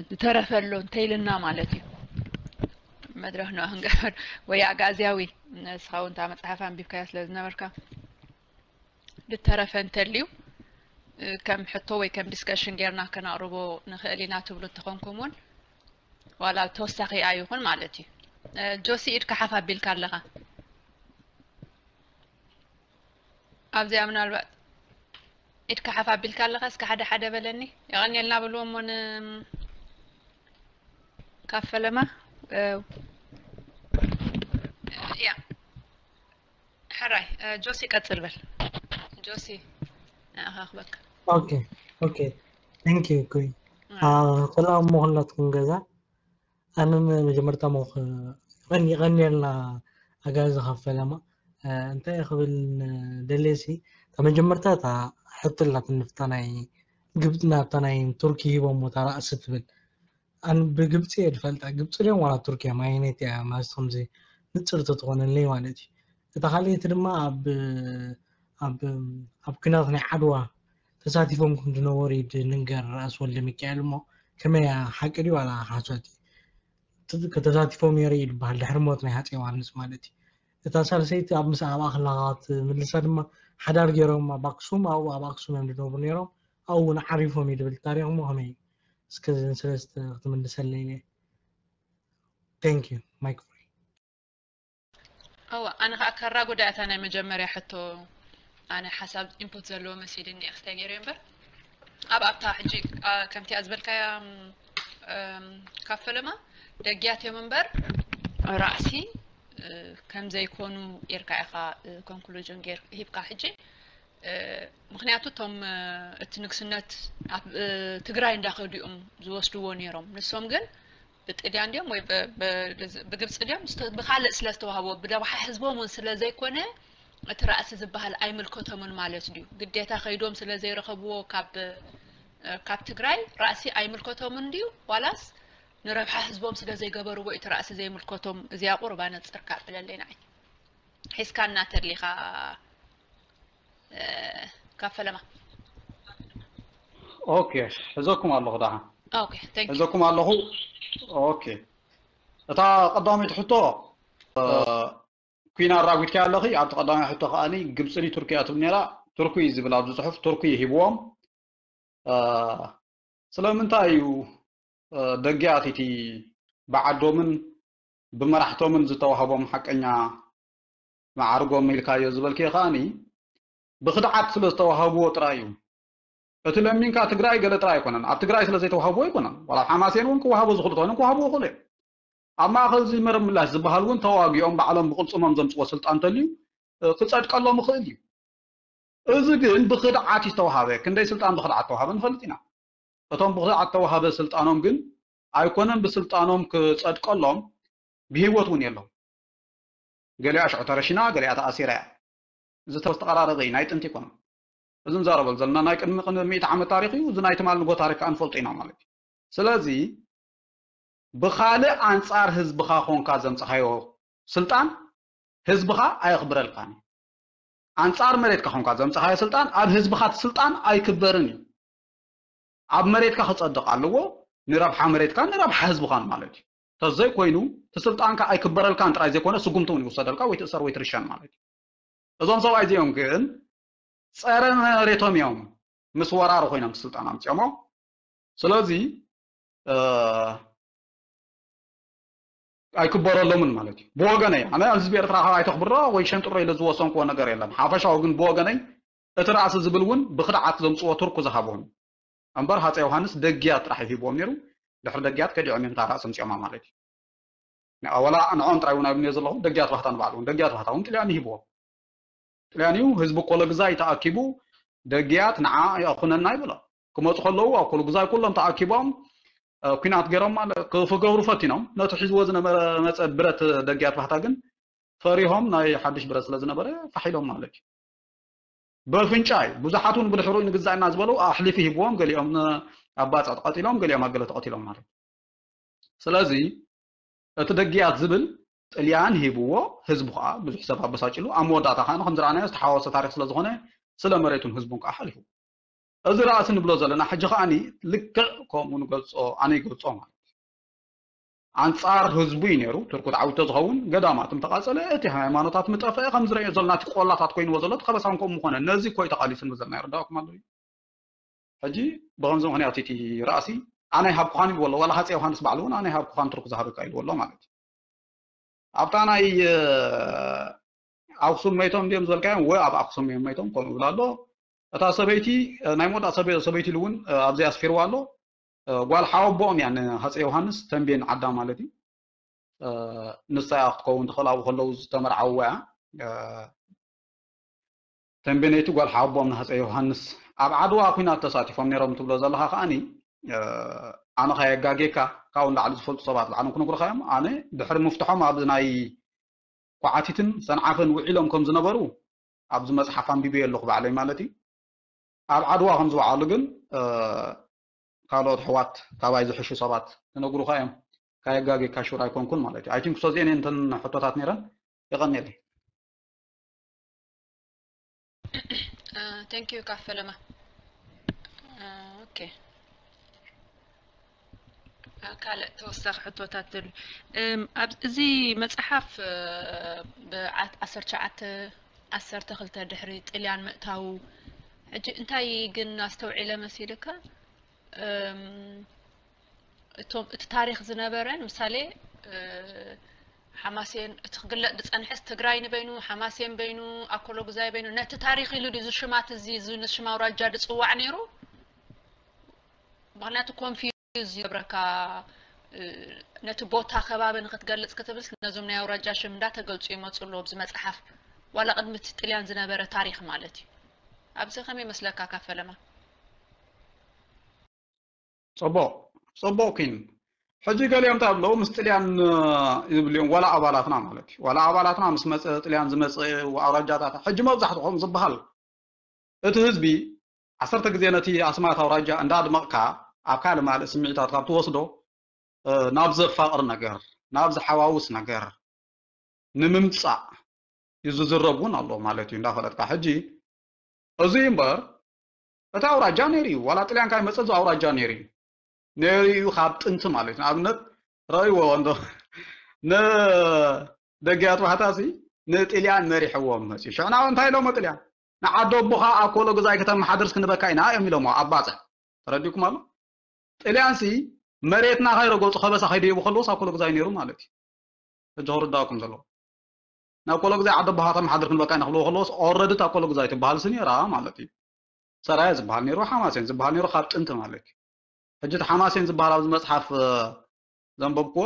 ዝተረፈ ኣሎ እንተይልና ማለት እዩ። መድረክ ነው ክንገበር ወይ ኣጋዝያዊ ንስኻ እውን እታ መፅሓፍ ኣንቢብካያ ስለ ዝነበርካ ዝተረፈ እንተልዩ ከም ሕቶ ወይ ከም ዲስከሽን ጌርና ከናቕርቦ ንኽእል ኢና ትብሉ እንተኾንኩም እውን ዋላ ተወሳኺ ኣይኹን ማለት እዩ። ጆሲ ኢድካ ሓፍ ኣቢልካ ኣለኻ። ኣብዚኣ ምናልባት ኢድካ ሓፍ ኣቢልካ ኣለኻ እስከ ሓደ ሓደ በለኒ። የቐንየልና በልዎ እሞ ን ካብ ፈለማ ያ ሕራይ ጆሲ ቀጽል በል ጆሲ ንኣኻ ክበካ okay okay thank you ኩይ ሰላም መኹላትኩም ገዛ ኣነ መጀመርታ ሞኽ ይቐንየልና ኣጋዚ ካብ ፈለማ እንታይ ክብል ደልየ ሲ ካብ መጀመርታ እታ ሕቶ ኣላትኒ ፍታ ናይ ግብፂ ናብታ ናይ ቱርኪ ሂቦሞ እታ ራእሲ ትብል ኣን ብግብፂ እየ ዝፈልጣ ግብፂ ድዮም ዋላ ቱርኪ እዮም ኣየነይቲ እያ ማለት ከምዚ ንፅርቲ ትኾነለይ ማለት እዩ እታ ካልኣይቲ ድማ ኣብ ኣብ ኣብ ኩናት ናይ ዓድዋ ተሳቲፎም ከም ዝነበሩ እዩ ዝንገር ራእሲ ወልደ ሚካኤል እሞ ከመይ እያ ሓቂ ድዩ ዋላ ሓሶት እዩ ተሳቲፎም ነይሩ እዩ ዝበሃል ድሕሪ ሞት ናይ ሃፀይ ዮሃንስ ማለት እዩ እታ ሳልሰይቲ ኣብ ምስ ኣብኣ ከለኻ ትምልሳ ድማ ሓዳር ገይሮም ኣብ ኣክሱም ኣብኡ ኣብ ኣክሱም እዮም ዝነብሩ ነይሮም ኣብኡ እውን ዓሪፎም እዩ ዝብል ታሪክ እሞ ከመይ እዩ እስከ ስለስተ ክትምልሰለይ thank you microphone እዋ ኣነ ከዓ ከራ ጉዳያታ ናይ መጀመርያ ሕቶ ኣነ ሓሳብ ኢንፑት ዘለዎ መሲልኒ እየ ክስታይ ገይረ እምበር ኣብ ኣብታ ሕጂ ከምቲኣ ዝበልካያ ካብ ፈለማ ደጊያት እዮም እምበር ራእሲ ከም ዘይኮኑ ጌርካ ኢኻ ኮንክሉዥን ሂብካ ሕጂ ምክንያቱ እቶም እቲ ንግስነት ኣብ ትግራይ እንዳኸዱ እዮም ዝወስድዎ ነይሮም ንሶም ግን ብጥልያን ድዮም ወይ ብግብፂ ድዮም ብካልእ ስለ ዝተዋህቦ ብደባሓ ህዝቦም እውን ስለ ዘይኮነ እቲ ራእሲ ዝበሃል ኣይምልከቶምን ማለት ድዩ ግዴታ ከይዶም ስለ ዘይረኸብዎ ካብ ካብ ትግራይ ራእሲ ኣይምልከቶምን ድዩ ዋላስ ንረብሓ ህዝቦም ስለ ዘይገበርዎ እቲ ራእሲ ዘይምልከቶም እዚኣ ቁርባ ነፅርካ ብለለይ ንዓይ ሒዝካና ተሊኻ ካብ ፈለማ okay ሕዘኩም ኣለኹ ደሓ okay thank you ሕዘኩም ኣለኹ okay እታ ቀዳመይቲ ሕቶ ኩና ኣራጒድካ ኣለኺ ኣብቲ ቀዳማይ ሕቶ ከዓኒ ግብፅን ቱርኪ እያ ትብል ነራ ቱርኪ እዩ ዝብል ኣብዚ ፅሑፍ ቱርኪ እዩ ሂብዎም ስለምንታይ እዩ ደጊኣት እቲ ብዓዶምን ብመራሕቶምን ዝተዋህቦም ሓቀኛ መዓርጎም ኢልካዮ ዝበልክዮ ከዓኒ ብኽድዓት ስለ ዝተዋሃብዎ ጥራይ እዩ። እቲ ለሚንካ ትግራይ ገለ ጥራይ ኣይኮነን። ኣብ ትግራይ ስለ ዘይተዋህብዎ ኣይኮነን። ዋላ ኣብ ሓማሴን እውን ክወሃቦ ዝኽእሉ ተኾይኖም ክወሃብዎ ይኽእሉ እዮም። ኣብ ማእኸል እዚ መረብ ምላሽ ዝበሃል እውን ተዋጊኦም ባዕሎም ብቕልፅሞም ዘምፅዎ ስልጣን እንተልዩ፣ እ፣ ክፀድቀሎም ይኽእል እዩ። እዚ ግን ብኽድዓት እዩ ዝተዋሃበ። ክንደይ ስልጣን ብኽድዓት ተዋሃበ ንፈልጥ ኢና። እቶም ብኽድዓት ተዋሃበ ስልጣኖም ግን ኣይኮነን ብስልጣኖም ክፀድቀሎም፣ ብህይወት እውን የለዉ። ገሊኣ ሽዑ ተረሺና፣ ገሊኣ ተኣሲራ እያ። እዚ ተስተቐራረበ እዩ፣ ናይ ጥንቲ ኣይኮነን። እዚ ንዛረበሉ ዘለና ናይ ቅድሚ ቅድሚ ሚእቲ ዓመት ታሪኽ እዩ። እዚ ናይ ትማል ንጎ ታሪኽ ከዓ ንፈልጦ ኢና ማለት እዩ። ስለዚ ብኻልእ ኣንጻር ህዝብኻ ኮንካ ዘምጽኻዮ ስልጣን ህዝብኻ ኣየኽብረልካን እዩ። ኣንጻር መሬትካ ኮንካ ዘምጽኻዮ ስልጣን ኣብ ህዝብኻ እቲ ስልጣን ኣይክበርን እዩ። ኣብ መሬትካ ክጸድቕ ኣለዎ፣ ንረብሓ መሬትካን ንረብሓ ህዝብኻን ማለት እዩ። ተዘይኮይኑ እቲ ስልጣንካ ኣይክበረልካን ጥራይ ዘይኮነ ስጉምቲ እውን ይውሰደልካ ወይ ትእሰር ወይ ትርሸን ማለት እዩ። እዞም ሰብኣይ እዚኦም ግን ጸረ መሬቶም እዮም፣ ምስ ወራሪ ኮይኖም ስልጣን ኣምፅኦሞ። ስለዚ እ፣ ኣይክበረሎምን ማለት እዩ። ብወገነይ ኣነ ህዝቢ ኤርትራ ካብ ኣይተኽብሮ ወይ ሸንጥሮ ኢለ ዝወሰንክዎ ነገር የለን። ሓፈሻዊ ግን ብወገነይ እቲ ራእሲ ዝብል እውን ብኽድዓት ዘምፅዎ ቱርኩ ዝሃቦም እምበር ሃፀይ ዮሃንስ ደግያት ጥራሕ እዩ ሂብዎም ነይሩ። ድሕሪ ደግያት ከዲዖም እዮም እታ ራእሲ ኣምፅኦማ ማለት እዩ። ንኣ-፣ ወላ ንዖም ጥራይ እውን ኣይብልንዮ ዘለኹ፣ ደግያት ባህታ ንባዕሉ እውን፣ ደግያት ባህታ እውን ጥልያን ይሂብዎ። ጥልያን እዩ፣ ህዝቢ ኮሎ ግዛይ ተኣኪቡ፣ ደግያት ንዓ ይኹነና ይብሎ። ክመፁ ከለዉ ኣብ ኮሎ ግዛይ ኩሎም ተኣኪቦም፣ እ፣ ኲናት ገይሮም ማለት ክፍገብሩ ፈቲኖም። ነቲ ሒዝዎ ዝነበረ መፀ ብረት ደግያት ባህታ ግን ፈሪሆም ናይ ሓድሽ ብረት ስለ ዝነበረ ፋሕ ኢሎም ማለት እዩ። በፍንጫ እዩ። ብዙሓት እውን ብድሕሪኡ ንግዛእና ዝበሉ ኣሕሊፉ ሂብዎም፣ ገሊኦም ን-፣ ኣብ ባጽዕ ተቐቲሎም፣ ገሊኦም ኣብ ገለ ተቐቲሎም ማለት እዩ። ስለዚ እቲ ደግያት ዝብል ጥልያን ሂብዎ፣ ህዝቡ ከዓ ብዙሕ ሰብ ኣበሳጭሉ፣ ኣብ መወዳእታ ከዓ ከም ዝረኣናዮ ዝተሓዋወሰ ታሪኽ ስለ ዝኾነ ስለ መሬቱን ህዝቡን ከዓ ሓሊፉ። እዚ ራእሲ ንብሎ ዘለና ሕጂ ከዓኒ ልክዕ ከምኡ ንገልጾ፣ ኣነ ይገልጾ ማለት እዩ። ኣንጻር ህዝቡ እዩ ነይሩ። ቱርኩ ተዓዊቶ ዝኸውን ገዳማት ምተቃጸለ፣ እቲ ሃይማኖታት ምጠፍአ፣ ከም ዝረእዮ ዘለና እቲ ቆላታት ኮይንዎ ዘሎ እቲ ከበሳን ከምኡ ምኾነ። ነዚ እኮ እዩ ተቃሊሱ ንብል ዘለና። ይርዳእኩም ኣሎ እዩ። ሕጂ ብኸምዚ ምኽንያት እቲ ራእሲ ኣነ ይሃብኩኻን ኢልዎ ኣሎ። ዋላ ሃፀይ ዮሃንስ ባዕሉ እውን ኣነ ይሃብኩኻን ቱርክ ዝሃበካ ኢልዎ ኣሎ ማለት እዩ። ኣብታ ናይ፣ እ፣ ኣክሱም መይቶም እንዲዮም ዝበልካዮም ወይ ኣብ ኣክሱም እዮም መይቶም ከምኡ ይብል ኣሎ። እታ ሰበይቲ፣ እ፣ ናይ መወዳእ ሰበ-፣ ሰበይቲ ኢሉ እውን፣ እ፣ ኣብዚ ኣስፊርዋ ኣሎ። እ፣ ጓል ሓወቦኦም እያ ንሃፀይ ዮሃንስ ተንቤን ዓዳ ማለት እዩ። እ፣ ንሳ እያ ክትከውን ትኽእል ኣብኡ ከለዉ ዝተመርዓውዋ እያ። እ፣ ተንቤነይቲ ጓል ሓወቦኦም ንሃፀይ ዮሃንስ ኣብ ዓድዋ ኲናት ተሳቲፎም ነይሮም ትብሎ ዘለኻ ከዓኒ፣ እ፣ ኣነ ከየጋጌካ ካብኡ ንላዕሊ ዝፈልጡ ሰባት ባዕሎም ክነግሩኻ እዮም። ኣነ ድሕሪ ምፍትሖም ኣብ ናይ ኳዓቲትን ሰንዓፈን ውዒሎም ከም ዝነበሩ ኣብዚ መፅሓፍ ኣንቢበዮ ኣለኹ ባዕለይ ማለት እዩ። ኣብ ዓድዋ ከም ዝወዓሉ ግን፣ እ፣ ካልኦት ኣሕዋት ካባይ ዝሕሹ ሰባት ክነግሩኻ እዮም። ከየጋጌካ ሹር ኣይኮንኩን ማለት እዩ። ኣይ ቲንክ ሶዚኤን እንተን ሕቶታት ነይረን። የቐንየለይ። ቴንክ ዩ ካፈለማ። ኦኬ፣ ካልእ ተወሳኺ ሕቶታት ተሉ። እም፣ ኣብ እዚ መጽሓፍ፣ እ፣ ብዓሰርተ ትሽዓተ ዓሰርተ ክልተ ድሕሪ ጥልያን ምእታዉ፣ ሕጂ እንታይ ግን ኣስተውዒለ መሲልካ፣ እም፣ እቶም እቲ ታሪኽ ዝነበረ፣ ንምሳሌ፣ እ፣ ሓማሴን እቲ ክግለጽ ዝጸንሐስ ትግራይ ንበይኑ፣ ሓማሴን በይኑ፣ ኣኮሎጉዛይ በይኑ፣ ነቲ ታሪኽ ኢሉ ድዩ እዚ ሽማት እዚ፣ እዚ ሽም ኣውራጃ ዝጽዋዕ ነይሩ? ምኽንያቱ ኮንፊውዝ ይገብረካ፣ እ፣ ነቲ ቦታ ከባቢ ንኽትገልጽ ክትብልስ ነዞም ናይ ኣውራጃ ሽም እንዳተገልጹ ይመጹ ኣለዉ ኣብዚ መጽሓፍ፣ ዋላ ቅድሚ እቲ ጥልያን ዝነበረ ታሪኽ ማለት እዩ። ኣብዚ ከመይ ይመስለካ ካፈለማ? ጽቡቕ፣ ጽቡቕ ኪን። ሕጂ ገሊኦም እንታይ ብለው፣ ምስ ጥልያን፣ እ፣ ይብሉ እዮም፣ ዋላ ኣባላትና ማለት እዩ። ዋላ ኣባላትና ምስ መጸ፣ ጥልያን ዝመጸ ኣውራጃታት፣ ሕጂ መብዛሕትኦም ዝበሃል፣ እቲ ህዝቢ ዓሰርተ ግዜ ነቲ ኣስማት ኣውራጃ እንዳድመቕካ፣ ኣብ ካልእ ማልእ ስምዒታት ካብ ትወስዶ፣ እ፣ ናብ ዘፋቕር ነገር፣ ናብ ዝሓዋውስ ነገር ንምምጻእ እዩ ዝዝረብ እውን ኣሎ ማለት እዩ፣ እንዳፈለጥካ። ሕጂ እዚ እምበር፣ እቲ ኣውራጃ ነይሩ እዩ። ዋላ ጥልያን ካብ ይመጸ እዚ ኣውራጃ ነይሩ እዩ። ነይሩ እዩ ካብ ጥንቲ ማለት እዩ። ንኣብነት፣ ረእይዎ እንዶ፣ ንደገያት ባሕታሲ ንጥልያን መሪሕዎም መጽዩ። ሽዕና እንታይ ኢሎሞ ጥልያን? ንዓዲ ኣቦኻ ኣኮሎ ግዛይ ከተመሓድርስ ክንበካ ኢና እዮም ኢሎሞ ኣብ ባጽዕ። ተረዲእኩም ኣሎ? ጥልያንሲ መሬትና ከይረገጹ ከበሳ ከይደይቡ ከለዎስ ኣኮሎ ግዛይ ነይሩ ማለት እዩ። ሕጂ ክርዳእኩም ዘለዎ። ናብ ኮሎግዛይ ዓዲ ኣቦኻ ተመሓድር ክንበካ ኢና ክብልዎ ከለዎስ ኦረዲ እታ ኮሎግዛይ ትበሃልሲ ነይራ ማለት እዩ። ሰራየ ዝበሃል ነይሩ፣ ሓማሴን ዝበሃል ነይሩ ካብ ጥንቲ ማለት እዩ። ሕጂ እቲ ሓማሴን ዝበሃል ኣብዚ መፅሓፍ ዘንበብክዎ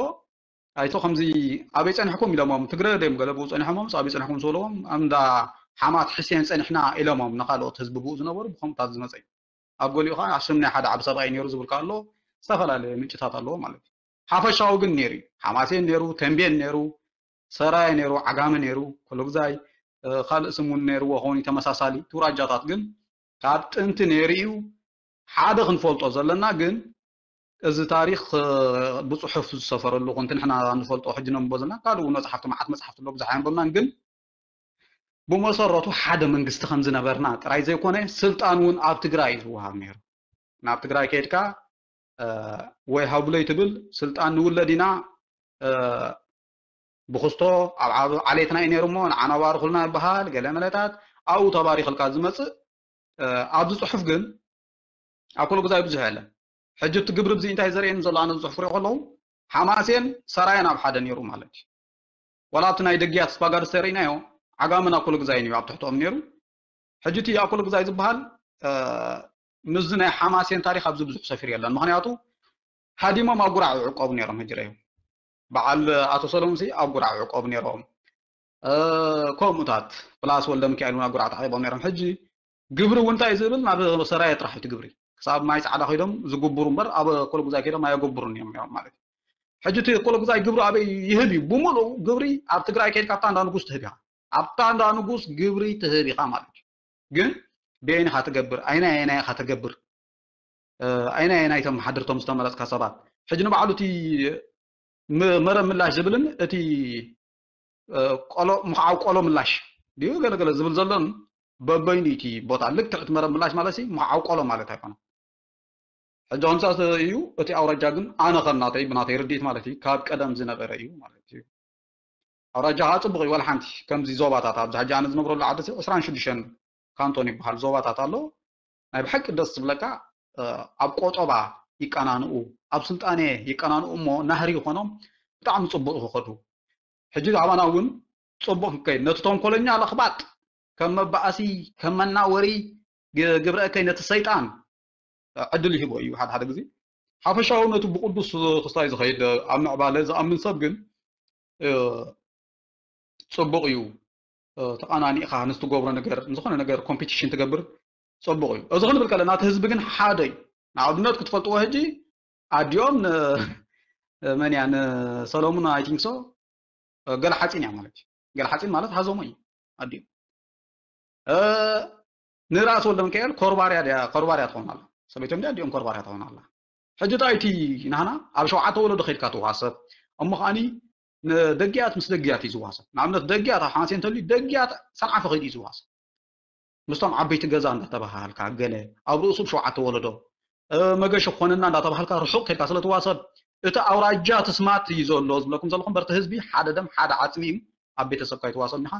ኣይቶ ከምዚ ኣበይ ፀኒሕኩም ኢሎሞም ትግረ ደም ገለ ብኡ ፀኒሖሞም ኣበይ ፀኒሕኩም ዝበለዎም ኣንዳ ሓማት ሕሴን ፀኒሕና ኢሎሞም ንካልኦት ህዝቢ ብኡ ዝነበሩ ብከምታት ዝመፀ እዩ። ኣብ ገሊኡ ከዓ ስም ናይ ሓደ ዓብ ሰብኣይ ነይሩ ዝብል ኣሎ። ዝተፈላለየ ምንጭታት ኣለዎ ማለት እዩ። ሓፈሻዊ ግን ነይሩ እዩ። ሓማሴን ነይሩ፣ ተንቤን ነይሩ፣ ሰራየ ነይሩ፣ ዓጋመ ነይሩ፣ ኮሎግዛይ ካልእ ስም እውን ነይርዎ ኸውን ተመሳሳሊ ትውራጃታት ግን ካብ ጥንቲ ነይሩ እዩ። ሓደ ክንፈልጦ ዘለና ግን እዚ ታሪኽ ብፅሑፍ ዝሰፈረሉ ኮንቲ ንሕና ንፈልጦ ሕጂ ነንቦ ዘለና ካልእ እውን መፅሓፍቲ መዓት መፅሓፍቲ ኣሎ ብዙሕ ኣየንበብናን ግን ብመሰረቱ ሓደ መንግስቲ ከም ዝነበርና ጥራይ ዘይኮነ ስልጣን እውን ኣብ ትግራይ እዩ ዝወሃብ ነይሩ። ናብ ትግራይ ከይድካ ወይ ሃብለይ ትብል ስልጣን ንውለድ ኢና ብክስቶ ኣብ ዓሌትና እዩ ነይሩ እሞ ንዓና ባርኩልና ይበሃል ገለ መለታት ኣብኡ ተባሪኽልካ ዝመፅእ ኣብዚ ፅሑፍ ግን ኣብ ኮሎግዛይ ብዙሕ የለን። ሕጂ እቲ ግብሪ ብዚ እንታይ ዘርእየኒ ዘሎ ኣነ ዝፅሑፍ ሪኦ ከለዉ ሓማሴን ሰራየን ኣብ ሓደ ነይሩ ማለት እዩ። ዋላ ኣብቲ ናይ ደግያት ስፓጋድስ ተርእናዮ ዓጋመን ኣብ ኮሎግዛይን እዩ ኣብ ትሕትኦም ነይሩ። ሕጂ እቲ ኣብ ኮሎግዛይ ዝበሃል ምስዚ ናይ ሓማሴን ታሪክ ኣብዚ ብዙሕ ሰፊር የለን። ምክንያቱ ሃዲሞም ኣብ ጉራዕ ይዕቆቡ ነይሮም። ሕጂ ረዩ በዓል ኣቶ ሰሎሙን ሲ ኣብ ጉራዕ ይዕቆቡ ነይሮም። ከምኡታት ፕላስ ወልደ ሚካኤል እውን ኣብ ጉራዕ ተዓቂቦም ነይሮም። ሕጂ ግብሪ እውን እንታይ ዝብል ናብ ሰራየ ጥራሕ እቲ ግብሪ ክሳብ ማይ ፃዕዳ ከይዶም ዝጉብሩ እምበር ኣብ ኮሎጉዛይ ከይዶም ኣየጎብሩን እዮም ነይሮም ማለት እዩ። ሕጂ እቲ ኮሎጉዛይ ግብሪ ኣበይ ይህብ እዩ? ብምሉእ ግብሪ ኣብ ትግራይ ከይድካ ኣብታ እንዳ ንጉስ ትህብ ኢኻ። ኣብታ እንዳ ንጉስ ግብሪ ትህብ ኢኻ ማለት እዩ። ግን በየን ኢኻ ትገብር? ኣይናይ ኣይናይ ኢኻ ተገብር? ኣይናይ ኣይናይ ተመሓድርቶም ዝተመረፅካ ሰባት? ሕጂ ንባዕሉ እቲ መረብ ምላሽ ዝብልን እቲ ቆሎ ምኽዓው ቆሎ ምላሽ ድዩ ገለገለ ዝብል ዘሎን በበይኑ እቲ ቦታ ልክዕ እቲ መረብ ምላሽ ማለት ምኽዓው ቆሎ ማለት ኣይኮነን። ሕጂ ከምሳ እዩ እቲ ኣውራጃ ግን ኣነ ከም ናተይ ብናተይ ርድኢት ማለት እዩ ካብ ቀደም ዝነበረ እዩ ማለት እዩ። ኣውራጃ ከዓ ፅቡቅ እዩ ዋላ ሓንቲ ከምዚ ዞባታት ኣብዚ ሕጂ ኣነ ዝነብረሉ ዓዲ ዕስራን ሽዱሽተን ካንቶን ይበሃል ዞባታት ኣሎ። ናይ ብሓቂ ደስ ዝብለካ ኣብ ቆጠባ ይቀናንኡ ኣብ ስልጣኔ ይቀናንኡ እሞ ናህሪ ይኾኖም ብጣዕሚ ፅቡቅ ክኸዱ ሕጂ ኣባና እውን ፅቡቅ ክንከይድ ነቲ ተንኮለኛ ለኽባጥ ከም መባእሲ ከም መናወሪ ግብረ እከይ ነቲ ሰይጣን ዕድል ይህቦ እዩ ሓደ ሓደ ግዜ ሓፈሻዊ ነቲ ብቅዱስ ክስታይ ዝኸይድ ኣብ ምዕባለ ዝኣምን ሰብ ግን ፅቡቅ እዩ ተቃናኒእካ ንዝትገብሮ ነገር ንዝኾነ ነገር ኮምፒቲሽን ትገብር ፅቡቅ እዩ እዚ ክንብል ከለና እቲ ህዝቢ ግን ሓደ እዩ ንኣብነት ክትፈልጥዎ ሕጂ ኣዲኦም መን እያ ንሰሎሙን ኣይቲንክሶ ገለ ሓፂን እያ ማለት እዩ ገለ ሓፂን ማለት ሃዞሞ እዩ ኣዲኦም ንራእሲ ወልደ ሚካኤል ኮርባርያ ድያ ኮርባርያ ትኸውን ኣላ ሰበይቶም ድያ ኣዲኦም ኮርባርያ ትኸውን ኣላ ሕጂ ዳይቲ ናህና ኣብ ሸውዓተ ወለዶ ከይድካ ትዋሰብ እሞ ከዓኒ ንደጊያት ምስ ደጊያት እዩ ዝዋሰብ ንኣብነት ደጊያት ኣብ ሓማሴ እንተልዩ ደጊያት ሰንዓፈ ከይዱ እዩ ዝዋሰብ ምስቶም ዓበይቲ ገዛ እንዳተባሃልካ ገለ ኣብ ርእሱ ብ ሸውዓተ ወለዶ መገሸ ኮነና እንዳተባሃልካ ርሑቕ ከድካ ስለ ትዋሰብ እቲ ኣውራጃ ትስማት እዩ ዘሎ ዝብለኩም ዘለኹም በርቲ ህዝቢ ሓደ ደም ሓደ ዓፅሚ እዩ ኣብ ቤተሰብካ ይትዋሰብ እንዲኻ